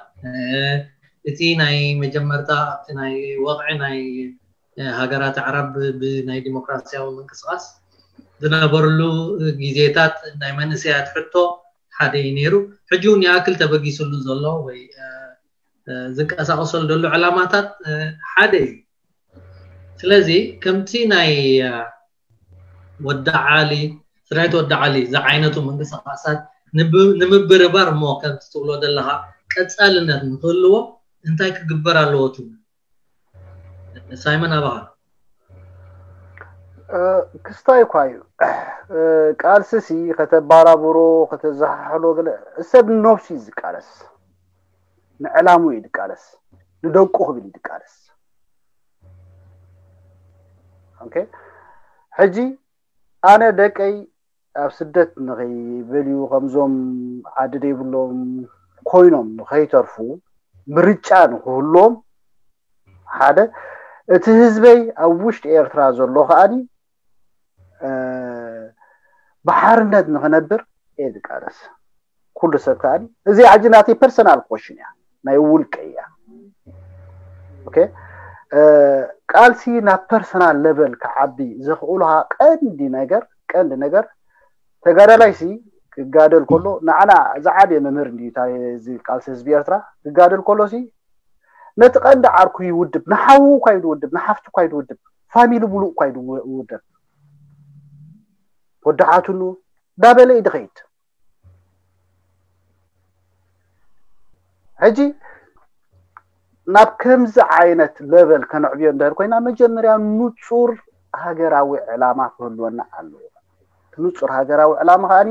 እቲ ናይ መጀመርታ ኣብቲ ናይ ወቕዒ ናይ ሃገራት ኣዕራብ ብናይ ዲሞክራሲያዊ ምንቅስቃስ ዝነበርሉ ግዜታት ናይ መንእሰያት ሕቶ ሓደ እዩ ነይሩ። ሕጂ እውን ይኣክል ተበጊስሉ ዘሎ ወይ ዝንቀሳቀሰሉ ዘሎ ዕላማታት ሓደ እዩ። ስለዚ ከምቲ ናይ ወዲ ዓሊ ስራይት ወዲ ዓሊ ዝዓይነቱ ምንቅስቃሳት ንምብርባር እሞ ከምቲ ትብሎ ዘለካ ቀፃልነት ንክህልዎ እንታይ ክግበር ኣለዎ ትብል? ሳይመን ኣባኻ ክስታይ እኳ እዩ። ቃልስሲ ከተባራብሮ ከተዘሓሕሎ ገለ ሰብ ንነብሱ እዩ ዝቃለስ፣ ንዕላሙ እዩ ዝቃለስ፣ ንደቁ ክብል እዩ ዝቃለስ። ኦኬ፣ ሕጂ ኣነ ደቀይ ኣብ ስደት ንኸይበልዩ ከምዞም ዓዲ ዘይብሎም ኮይኖም ንኸይተርፉ ምርጫ ንክህልዎም ሓደ እቲ ህዝበይ ኣብ ውሽጢ ኤርትራ ዘሎ ከኣኒ ብሓርነት ንክነብር እየ ዝቃለስ። ኩሉ ሰብ ከኣኒ እዚ ሕጂ ናተይ ፐርሰናል ኮሽን እያ፣ ናይ ውልቀ እያ። ኦኬ፣ ቃልሲ ናብ ፐርሰናል ለቨል ክዓቢ ዘኽእሉካ ቀንዲ ነገር ቀንዲ ነገር ተጋዳላይሲ ክጋደል ከሎ ንዓና ዝዓበየ መምህር እንድዩ እዚ ቃልሲ ህዝቢ ኤርትራ ክጋደል ከሎሲ ነቲ ቀንዲ ዓርኩ ይውድብ፣ ንሓዉ እኳ ይድውድብ፣ ንሓፍቱ እኳ ይድውድብ፣ ፋሚሊ ሙሉእ እኳ ይድውደብ። ወዳሓትኑ ዳበለ እዩ ድኸይድ። ሕጂ ናብ ከምዚ ዓይነት ለቨል ከነዕብዮ እንድሕር ኮይና መጀመርያ ንጹር ሃገራዊ ዕላማ ክህልወና ኣለዎ። እቲ ንጹር ሃገራዊ ዕላማ ከኣኒ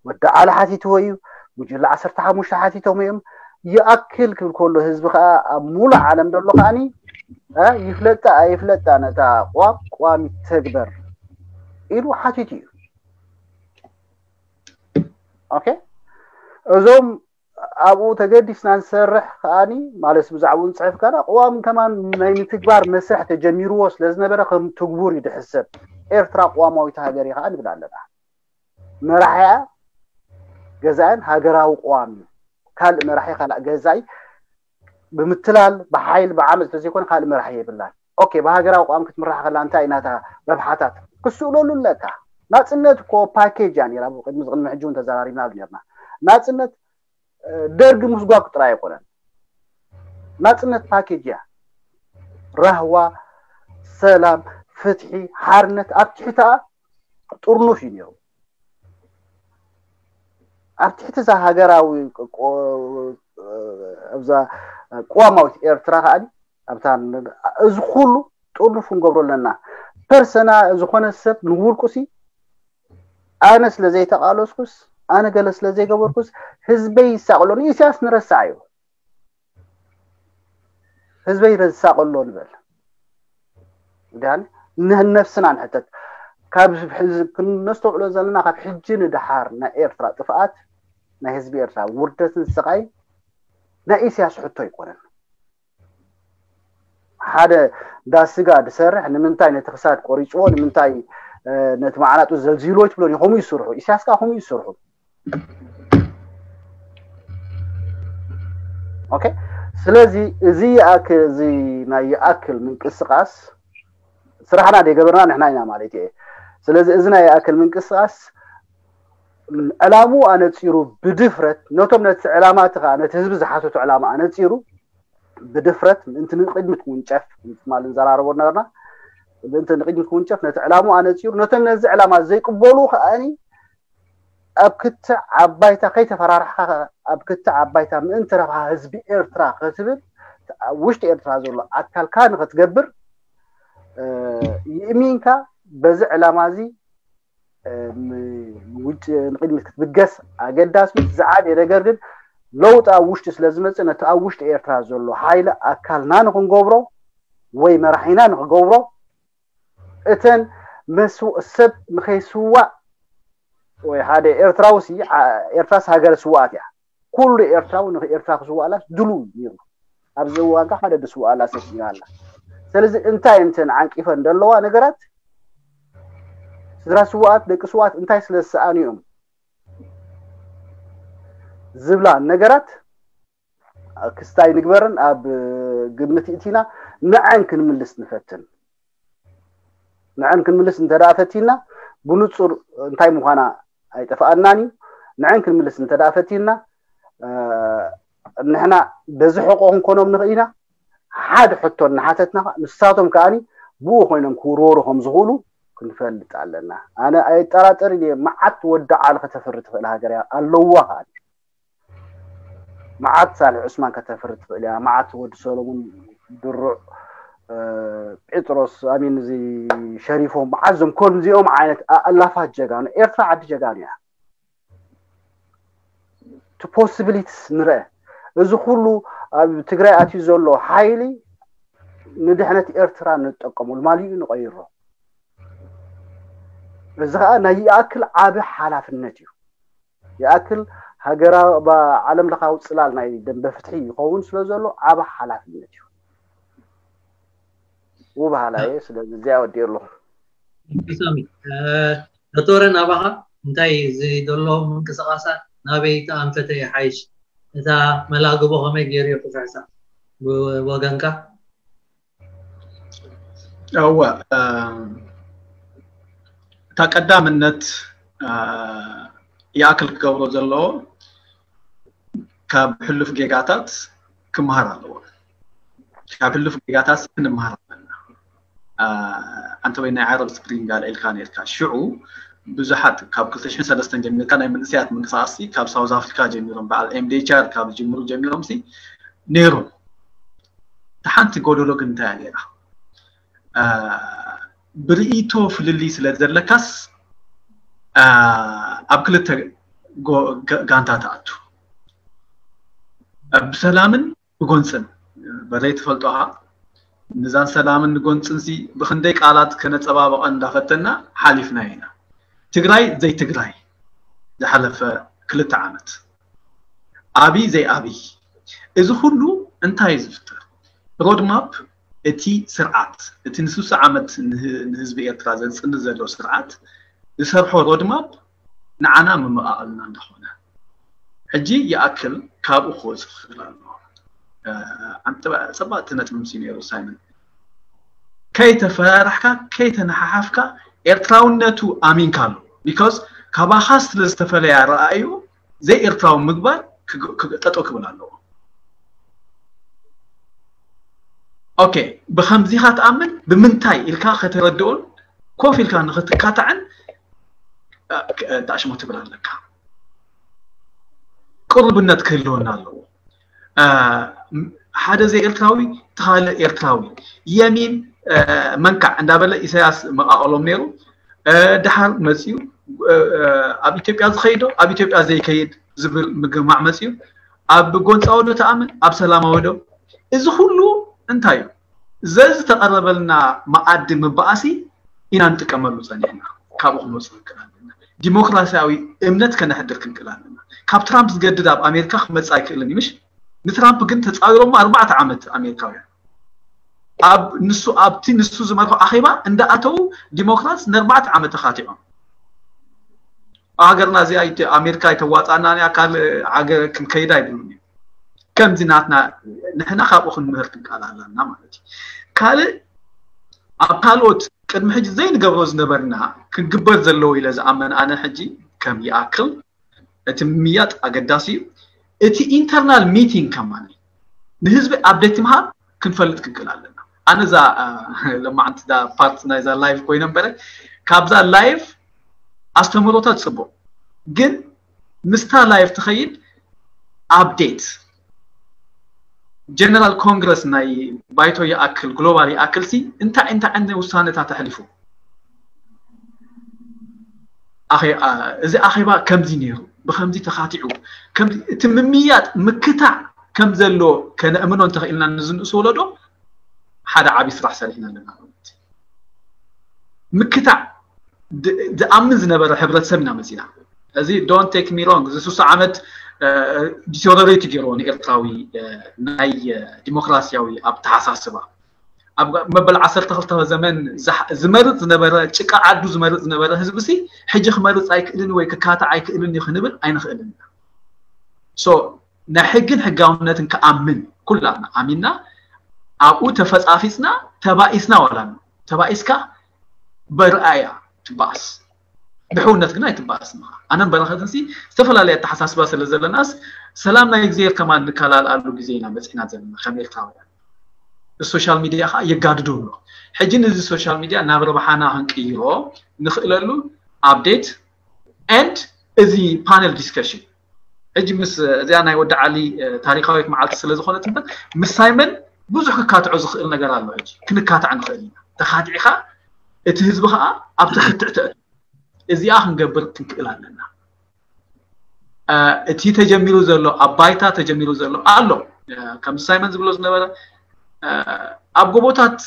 ወዲ ዓሊ ሓቲትዎ እዩ፣ ጉጅለ ዓሰርተ ሓሙሽተ ሓቲቶም እዮም። ይኣክል ክብል ከሎ ህዝቢ ከዓ ኣብ ሙሉእ ዓለም ዘሎ ከኣኒ ይፍለጣ ኣይፍለጣ ነታ ቅዋም ቅዋም ይተግበር ኢሉ ሓቲቱ እዩ። ኦኬ፣ እዞም ኣብኡ ተገዲስና ንሰርሕ ከኣኒ ማለት ብዛዕባኡ ንፅሕፍ ከና ቅዋም ከማን ናይ ምትግባር መስርሕ ተጀሚርዎ ስለዝነበረ ከም ትግቡር እዩ ድሕሰብ። ኤርትራ ቅዋማዊት ሃገር እዩ ከዓ ንብል ኣለና። መራሒኣ ገዛእን ሃገራዊ ቅዋም እዩ። ካልእ መራሒ ካልእ ገዛኢ ብምትላል ብሓይል ብዓመፅ ተዘይኮነ ካልእ መራሒ የብላን። ኦኬ፣ ብሃገራዊ ኣቋም ክትምራሕ ከላ እንታይ ናታ ረብሓታት ክስእለሉ ኣለካ። ናፅነት እኮ ፓኬጅ እያ ነይራ። ቅድሚ ቅድሚ ሕጂ እውን ተዘራሪብናሉ ነርና። ናፅነት ደርጊ ምስጓግ ጥራይ ኣይኮነን። ናፅነት ፓኬጅ እያ። ራህዋ፣ ሰላም፣ ፍትሒ፣ ሓርነት ኣብ ትሕቲኣ ጥርኑፍ እዩ ነይሩ። ኣብ ትሕቲ እዛ ሃገራዊ ኣብዛ ቅዋማዊት ኤርትራ ከዓ ኣብታ እዚ ኩሉ ጥርኑፍ ክንገብሮ ኣለና። ፐርሰና ዝኾነ ሰብ ንውልቁሲ ኣነ ስለ ዘይተቃለስኩስ ኣነ ገለ ስለ ዘይገበርኩስ ህዝበይ ይሳቅሎ። ንኢሳያስ ንረሳዕ እዩ። ህዝበይ ይሳቅሎ ንበል። ዳን ንነፍስና ንሕተት። ካብ ነስተውዕሎ ዘለና ካብ ሕጂ ንድሓር ናይ ኤርትራ ጥፍኣት ናይ ህዝቢ ኤርትራ ውርደትን ስቃይ ናይ ኢሳያስ ሕቶ ኣይኮነን። ሓደ ዳስጋ ድሰርሕ ንምንታይ ነቲ ክሳድ ቆሪፅዎ ንምንታይ ነቲ መዓናጡ ዘልዚልዎ ትብሎ ከምኡ ይስርሑ። ኢሳያስ ከዓ ከምኡ ይስርሑ። ኦኬ። ስለዚ እዚ ይኣክል እዚ ናይ ይኣክል ምንቅስቃስ ስራሕና ደይገበርና ንሕና ኢና ማለት እየ። ስለዚ እዚ ናይ ይኣክል ምንቅስቃስ ዕላሙ ኣነፂሩ ብድፍረት ነቶም ነቲ ዕላማ እቲ ከዓ ነቲ ህዝቢ ዝሓተቱ ዕላማ ኣነፂሩ ብድፍረት ምእንቲ ንቅድሚት ክውንጨፍ ትማል ንዘራረቦ ነበርና። ምእንቲ ንቅድሚት ክውንጨፍ ነቲ ዕላሙ ኣነፂሩ ነቶም ነዚ ዕላማ ዘይቅበሉ ከዓኒ ኣብ ክትዕ ኣባይታ ከይተፈራርሕካ ኣብ ክትዕ ኣባይታ ምእንቲ ረብሓ ህዝቢ ኤርትራ ክትብል ውሽጢ ኤርትራ ዘሎ ኣካልካ ንክትገብር ይእሚንካ በዚ ዕላማ እዚ ውጭ ንቅድሚት ክትብገስ ኣገዳሲ። ዝዓበየ ነገር ግን ለውጢ ኣብ ውሽጢ ስለ ዝመፅእ ነቲ ኣብ ውሽጢ ኤርትራ ዘሎ ሓይሊ ኣካልና ንክንገብሮ ወይ መራሒና ንክገብሮ እተን ሰብ ንከይስዋእ ወይ ሓደ ኤርትራዊ ሲ ኤርትራስ ሃገረ ስዋኣት እያ። ኩሉ ኤርትራዊ ንኤርትራ ክስዋእላስ ድሉ ነይሩ። ኣብዚ እዋን ከዓ ሓደ ድስዋእላ ሰብ ኣላ። ስለዚ እንታይ እንተን ዓንቂፈን ዘለዋ ነገራት ስድራ ስዋኣት ደቂ ስዋኣት እንታይ ስለ ዝሰኣኑ እዮም ዝብላ ነገራት ክስታይ ንግበርን ኣብ ግምት እቲና ንዐን ክንምልስ ንፈትን። ንዐን ክንምልስ እንተ ደኣ ፈቲና ብንጹር እንታይ ምዃና ኣይጠፍኣናን እዩ። ንዐን ክንምልስ እንተ ደኣ ፈቲና ንሕና በዚ ሕቆ ክንኮኖም ንኽእል ኢና። ሓደ ሕቶ እናሓተትና ንሳቶም ከኣኒ ብኡ ኮይኖም ክውርወሩ ከም ዝኽእሉ ክንፈልጥ ኣለና። ኣነ ኣይጠራጠርን እየ። መዓት ወዲ ዓሊ ከተፍሪ ትኽእል ሃገር እያ ኣለዋ ከኣ መዓት ሳልሕ ዑስማን ከተፍሪ ትኽእል እያ። መዓት ወዲ ሰሎሙን ድሩዕ ጴጥሮስ ኣሚን እዚ ሸሪፎም መዓት ዞም ኮን እዚኦም ዓይነት ኣላፋት ጀጋኑ ኤርትራ ዓዲ ጀጋኑ እያ። እቲ ፖስቢሊቲስ ንርአ። እዚ ኩሉ ኣብ ትግራይ ኣትዩ ዘሎ ሓይሊ ንድሕነት ኤርትራ ንጠቀመሉ ማሊኡ ንቀይሮ። እዚ ከዓ ናይ ይኣክል ዓቢ ሓላፍነት እዩ። ይኣክል ሃገራ ዓለም ለኻዊ ፅላል ናይ ደንበ ፍትሒ ይኸውን ስለ ዘሎ ዓቢ ሓላፍነት እዩ። ውብ ሃላየ ስለዚ እዚኣ ወዲእ ኣለኹ። ሳሚ ዶክተረ ናባኻ እንታይ እዚ ዘሎ ምንቅስቃሳት ናበይ ተኣንፈተ ይሓይሽ? እታ መላግቦ ከመይ ገይሩ እዩ ክፍሕሳ ብወገንካ? እወ እታ ቀዳምነት ይኣክል ክገብሮ ዘለዎ ካብ ሕሉፍ ጌጋታት ክመሃር ኣለዎ። ካብ ሕሉፍ ጌጋታት ክንመሃር ኣለና። ኣንተ ወይ ናይ ዓረብ ስፕሪንግ ኣልዒልካ ነርካ። ሽዑ ብዙሓት ካብ ክልተ ሽሕን ሰለስተን ጀሚርካ ናይ መንእሰያት ምንቅስቃስ ካብ ሳውዝ ኣፍሪካ ጀሚሮም በዓል ኤምዴቻር ካብ ዝጅምሩ ጀሚሮም ሲ ነይሩ። እታ ሓንቲ ጎደሎ ግን እንታይ እያ ነይራ? ብርእይቶ ፍልልይ ስለ ዘለካስ ኣብ ክልተ ጋንታ ትኣቱ። ብሰላምን ብጎንፅን በተይ ትፈልጦኻ ንዛን ሰላምን ንጎንፅንሲ ብክንደይ ቃላት ከነፀባበቐ እንዳፈተና ሓሊፍና ኢና። ትግራይ ዘይትግራይ ዝሓለፈ ክልተ ዓመት ኣብይ ዘይኣብይ እዚ ኩሉ እንታይ እዩ ዝፍጠር? ሮድማፕ እቲ ስርዓት እቲ ንስሳ ዓመት ንህዝቢ ኤርትራ ዘፅንት ዘሎ ስርዓት ዝሰርሖ ሮድማፕ ንዓና መመቓቐልና እንዳኾነ ሕጂ ይኣክል ካብኡ ክወፅእ ክኽእል ኣለዎ። ኣንተ ፀባእቲ ነጥቢ ምስ ነይሩ ሳይመን ከይተፈራራሕካ ከይተነሓሓፍካ ኤርትራውነቱ ኣሚንካ ኣሎ። ቢካዝ ካባኻ ስለ ዝተፈለየ ኣረኣእዩ ዘይ ኤርትራዊ ምግባር ጠጠው ክብል ኣለዎ። ኦኬ፣ ብከምዚኻ ትኣምን ብምንታይ ኢልካ ከተረድኦን ኮፍ ኢልካ ንክትካታዕን ዳሽሞ ትብል ኣለካ። ቅሩብነት ክህልወና ኣለዎ። ሓደ ዘይ ኤርትራዊ ተኻልእ ኤርትራዊ የሚን መንካዕ እንዳበለ ኢሳያስ መቃቀሎም ነይሩ። ድሓር መፅዩ ኣብ ኢትዮጵያ ዝኸይዶ ኣብ ኢትዮጵያ ዘይከይድ ዝብል ምግማዕ መፅዩ። ኣብ ጎንፃዊ ዶ ተኣምን ኣብ ሰላማዊ ዶ? እዚ ኩሉ እንታይ እዩ? ዘዝተቐረበልና መኣዲ ምባኣሲ ኢና ንጥቀመሉ ፀኒሕና። ካብኡ ክንወፅእ ክንክእል ኣለና። ዲሞክራሲያዊ እምነት ከነሕድር ክንክእል ኣለና። ካብ ትራምፕ ዝገድድ ኣብ ኣሜሪካ ክመፅእ ኣይክእልን እዩ። ምሽ ንትራምፕ ግን ተፃዊሮሞ ኣርባዕተ ዓመት ኣሜሪካውያን ኣብ ንሱ ኣብቲ ንሱ ዝመርሖ ኣኼባ እንዳኣተው ዲሞክራት ንኣርባዕተ ዓመት ተኻቲዖም። ሃገርና እዚኣ ኣሜሪካ ኣይተዋፃና ካልእ ሃገር ክንከይድ ኣይብሉን እዩ። ከምዚ ናትና ንሕና ካብኡ ክንምህር ክንቃል ኣለና ማለት እዩ። ካልእ ኣብ ካልኦት ቅድሚ ሕጂ ዘይንገብሮ ዝነበርና ክንግበር ዘለዎ ኢለ ዝኣመን ኣነ ሕጂ ከም ይኣክል እቲ ምምያጥ ኣገዳሲ እዩ። እቲ ኢንተርናል ሚቲንግ ከማን ንህዝቢ ኣብደት ምሃብ ክንፈልጥ ክንክእል ኣለና። ኣነ እዛ ለማዓንቲ ፓርት ናይዛ ላይቭ ኮይነ እምበረ ካብዛ ላይቭ ኣስተምህሮታት ፅቡቅ ግን ምስታ ላይቭ ትኸይድ ኣፕዴት ጀነራል ኮንግረስ ናይ ባይቶ ይኣክል ግሎባል ይኣክል ሲ እንታይ እንታይ ዓይነት ውሳነታት ኣሕሊፉ? እዚ ኣኼባ ከምዚ ነይሩ፣ ብከምዚ ተኻቲዑ፣ እቲ ምምያጥ ምክታዕ ከም ዘሎ ከነእምኖ እንተኽኢልና ንዝንእሱ ወለዶ ሓደ ዓብዪ ስራሕ ሰሪሕና ኣለና ማለት እዩ። ምክታዕ ዝኣምን ዝነበረ ሕብረተሰብ ኢና መፂና። እዚ don't take me wrong እዚ ሱሳ ዓመት ዲቴሪዮሬት ገይርዎ ንኤርትራዊ ናይ ዲሞክራሲያዊ ኣተሓሳስባ ኣብ መበል ዓሰርተ ክልተ ዘመን ዝመርፅ ዝነበረ ጭቃ ዓዱ ዝመርፅ ዝነበረ ህዝቢ ሲ ሕጂ ክመርፅ ኣይክእልን ወይ ክካታዕ ኣይክእልን እዩ ክንብል ኣይንኽእልን ኢና። ሶ ናይ ሕግን ሕጋውነትን ክኣምን ኩላና ኣሚንና ኣብኡ ተፈፃፊፅና ተባኢስና ዋላ ተባኢስካ በርኣያ ትባኣስ ብሕውነት ግን ኣይትባኣስ ምኻ ኣነም በረኸትን ሲ ዝተፈላለየ ኣተሓሳስባ ስለ ዘለናስ ሰላም ናይ እግዚኣብሔር ከማን ንከላልኣሉ ግዜ ኢና መፂና ዘለና ከም ኤርትራውያን። ሶሻል ሚድያ ከዓ የጋድዶ ኣሎ። ሕጂ ነዚ ሶሻል ሚድያ ናብ ረብሓና ክንቅይሮ ንኽእለሉ ኣፕዴት ኤንድ እዚ ፓነል ዲስከሽን ሕጂ ምስ እዚኣ ናይ ወዲ ዓሊ ታሪካዊት መዓልቲ ስለ ዝኾነት እምበር ምስ ሳይመን ብዙሕ ክካትዖ ዝኽእል ነገር ኣሎ። ሕጂ ክንካታዕ ንኽእል ኢና። ተኻቲዕኻ እቲ ህዝቢ ከዓ ኣብቲ ክትዕ ትእቱ እዚኣ ክንገብር ክንክእል ኣለና። እቲ ተጀሚሩ ዘሎ ኣብ ባይታ ተጀሚሩ ዘሎ ኣሎ ከም ሳይመን ዝብሎ ዝነበረ ኣብ ጎቦታት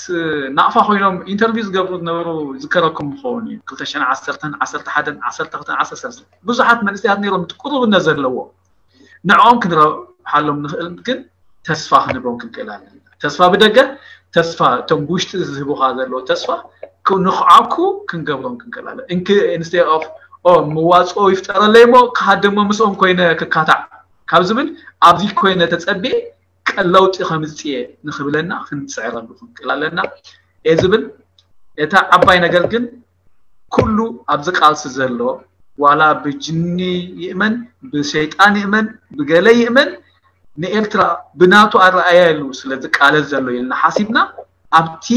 ናቕፋ ኮይኖም ኢንተርቪው ዝገብሩ ዝነበሩ ዝከረኩም ምኸውን እዩ። ክልተ ሽሕን ዓሰርተን ዓሰርተ ሓደን ዓሰርተ ክልተን ዓሰርተ ሰለስተን ብዙሓት መንእሰያት ነይሮም ቅሩብነት ዘለዎ ንዕኦም ክንረብሓሎም ንኽእል ግን ተስፋ ክንህቦም ክንክእል ኣለና። ተስፋ ብደገ ተስፋ እቶም ብውሽጢ ዝህቡኻ ዘለዎ ተስፋ ንኽዓኩ ክንገብሮም ክንክእል ኣለና። እንክ ኢንስቴድ ኦፍ ኦ ምዋፅኦ ይፍጠረለይ እሞ ክሃደሞ ምስኦም ኮይነ ክካታዕ ካብ ዝብል ኣብዚ ኮይነ ተፀቢየ ቀለውጢ ከምፅየ ንኽብለና ክንፅዕረሉ ክንክእል ኣለና እየ ዝብል። እታ ዓባይ ነገር ግን ኩሉ ኣብዚ ቃልሲ ዘሎ ዋላ ብጅኒ ይእመን ብሸይጣን ይእመን ብገለ ይእመን ንኤርትራ ብናቱ ኣረኣያ ኢሉ ስለ ዝቃለስ ዘሎ ኢልና ሓሲብና ኣብቲ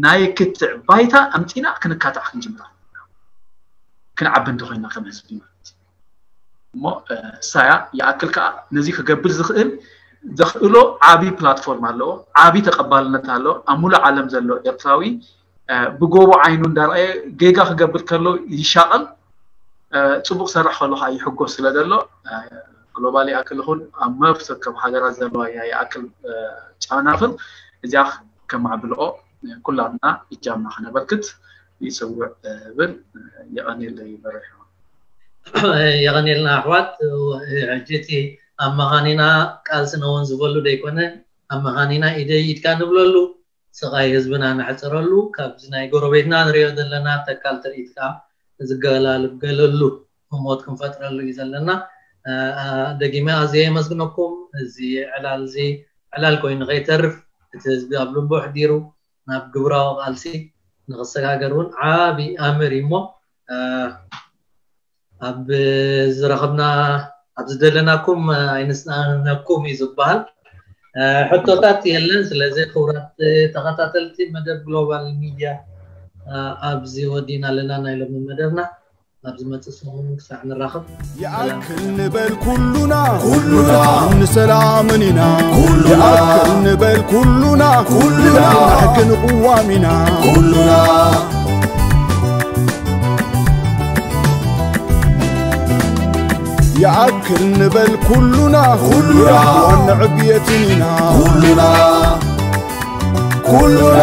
ናይ ክትዕ ባይታ ኣምፂና ክንካታዕ ክንጅምር ኣለና። ክንዓቢ እንተኮይና ከም ህዝቢ ማለት እዩ። እሞ ሳያ ይኣክል ከዓ ነዚ ክገብር ዝኽእል ዘኽእሎ ዓብዪ ፕላትፎርም ኣለዎ፣ ዓብዪ ተቐባልነት ኣለዎ። ኣብ ሙሉእ ዓለም ዘሎ ኤርትራዊ ብጎቦ ዓይኑ እንዳረኣየ ጌጋ ክገብር ከሎ ይሻቐል፣ ፅቡቕ ሰርሕ ከሎ ከዓ ይሕጎስ ስለ ዘሎ ግሎባል ይኣክል ይኹን ኣብ መብሰከብ ሃገራት ዘለዋ ይኣክል ጨናፍር እዚኣ ከማዕብልኦ ኩላትና እጃምና ከነበርክት ይፅውዕ ብል። የቐኔለይ በረሑ። የቐኔልና ኣሕዋት። ሕጂ እቲ ኣብ መኻኒና ቃልሲ ነወን ዝበሉ ደይኮነ ኣብ መኻኒና ኢደይ ኢድካ ንብለሉ ስቓይ ህዝብና ነሕፅረሉ ካብዚ ናይ ጎረቤትና ንሪኦ ዘለና ተካል ትርኢት ከዓ ዝገላልገለሉ ህሞት ክንፈጥረሉ እዩ ዘለና። ደጊመ ኣዝየ የመስግነኩም። እዚ ዕላል እዚ ዕላል ኮይኑ ከይተርፍ፣ እቲ ህዝቢ ኣብ ልቡ ኣሕዲሩ ናብ ግብራዊ ቃልሲ ንኽሰጋገር እውን ዓቢ ኣምር እዩ እሞ ኣብ ዝረኸብና ኣብ ዝደለናኩም ኣይንስኣነኩም እዩ ዝበሃል። ሕቶታት የለን። ስለዚ ክቡራት ተኸታተልቲ መደብ ግሎባል ሚድያ ኣብዚ ወዲና ኣለና ናይ ሎሚ መደብና። ኣብ ዝመጽእ ሰሙን ክሳዕ ንራኸብ። ይኣክል ንበል ኩሉና ኩሉና ንሰላምን ኢና ኩሉና ይኣክል ንበል ኩሉና ኩሉና ንሕግን ቅዋም ኢና ኩሉና ይኣክል ንበል ኩሉና ኩሉና ዋንዕብየትን ኢና ኩሉና ኩሉና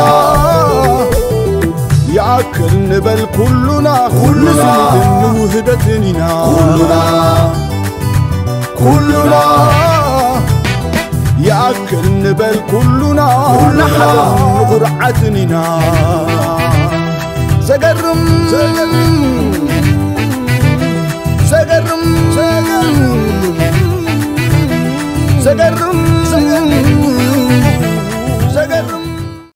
ይኣክል ንበል ኩሉና ኩሉና ንስኒትን ንውህደትን ኢና ኩሉና ኩሉና ይኣክል ንበል ኩሉና ንሓደን ንኹርዓትን ኢና ዘገርም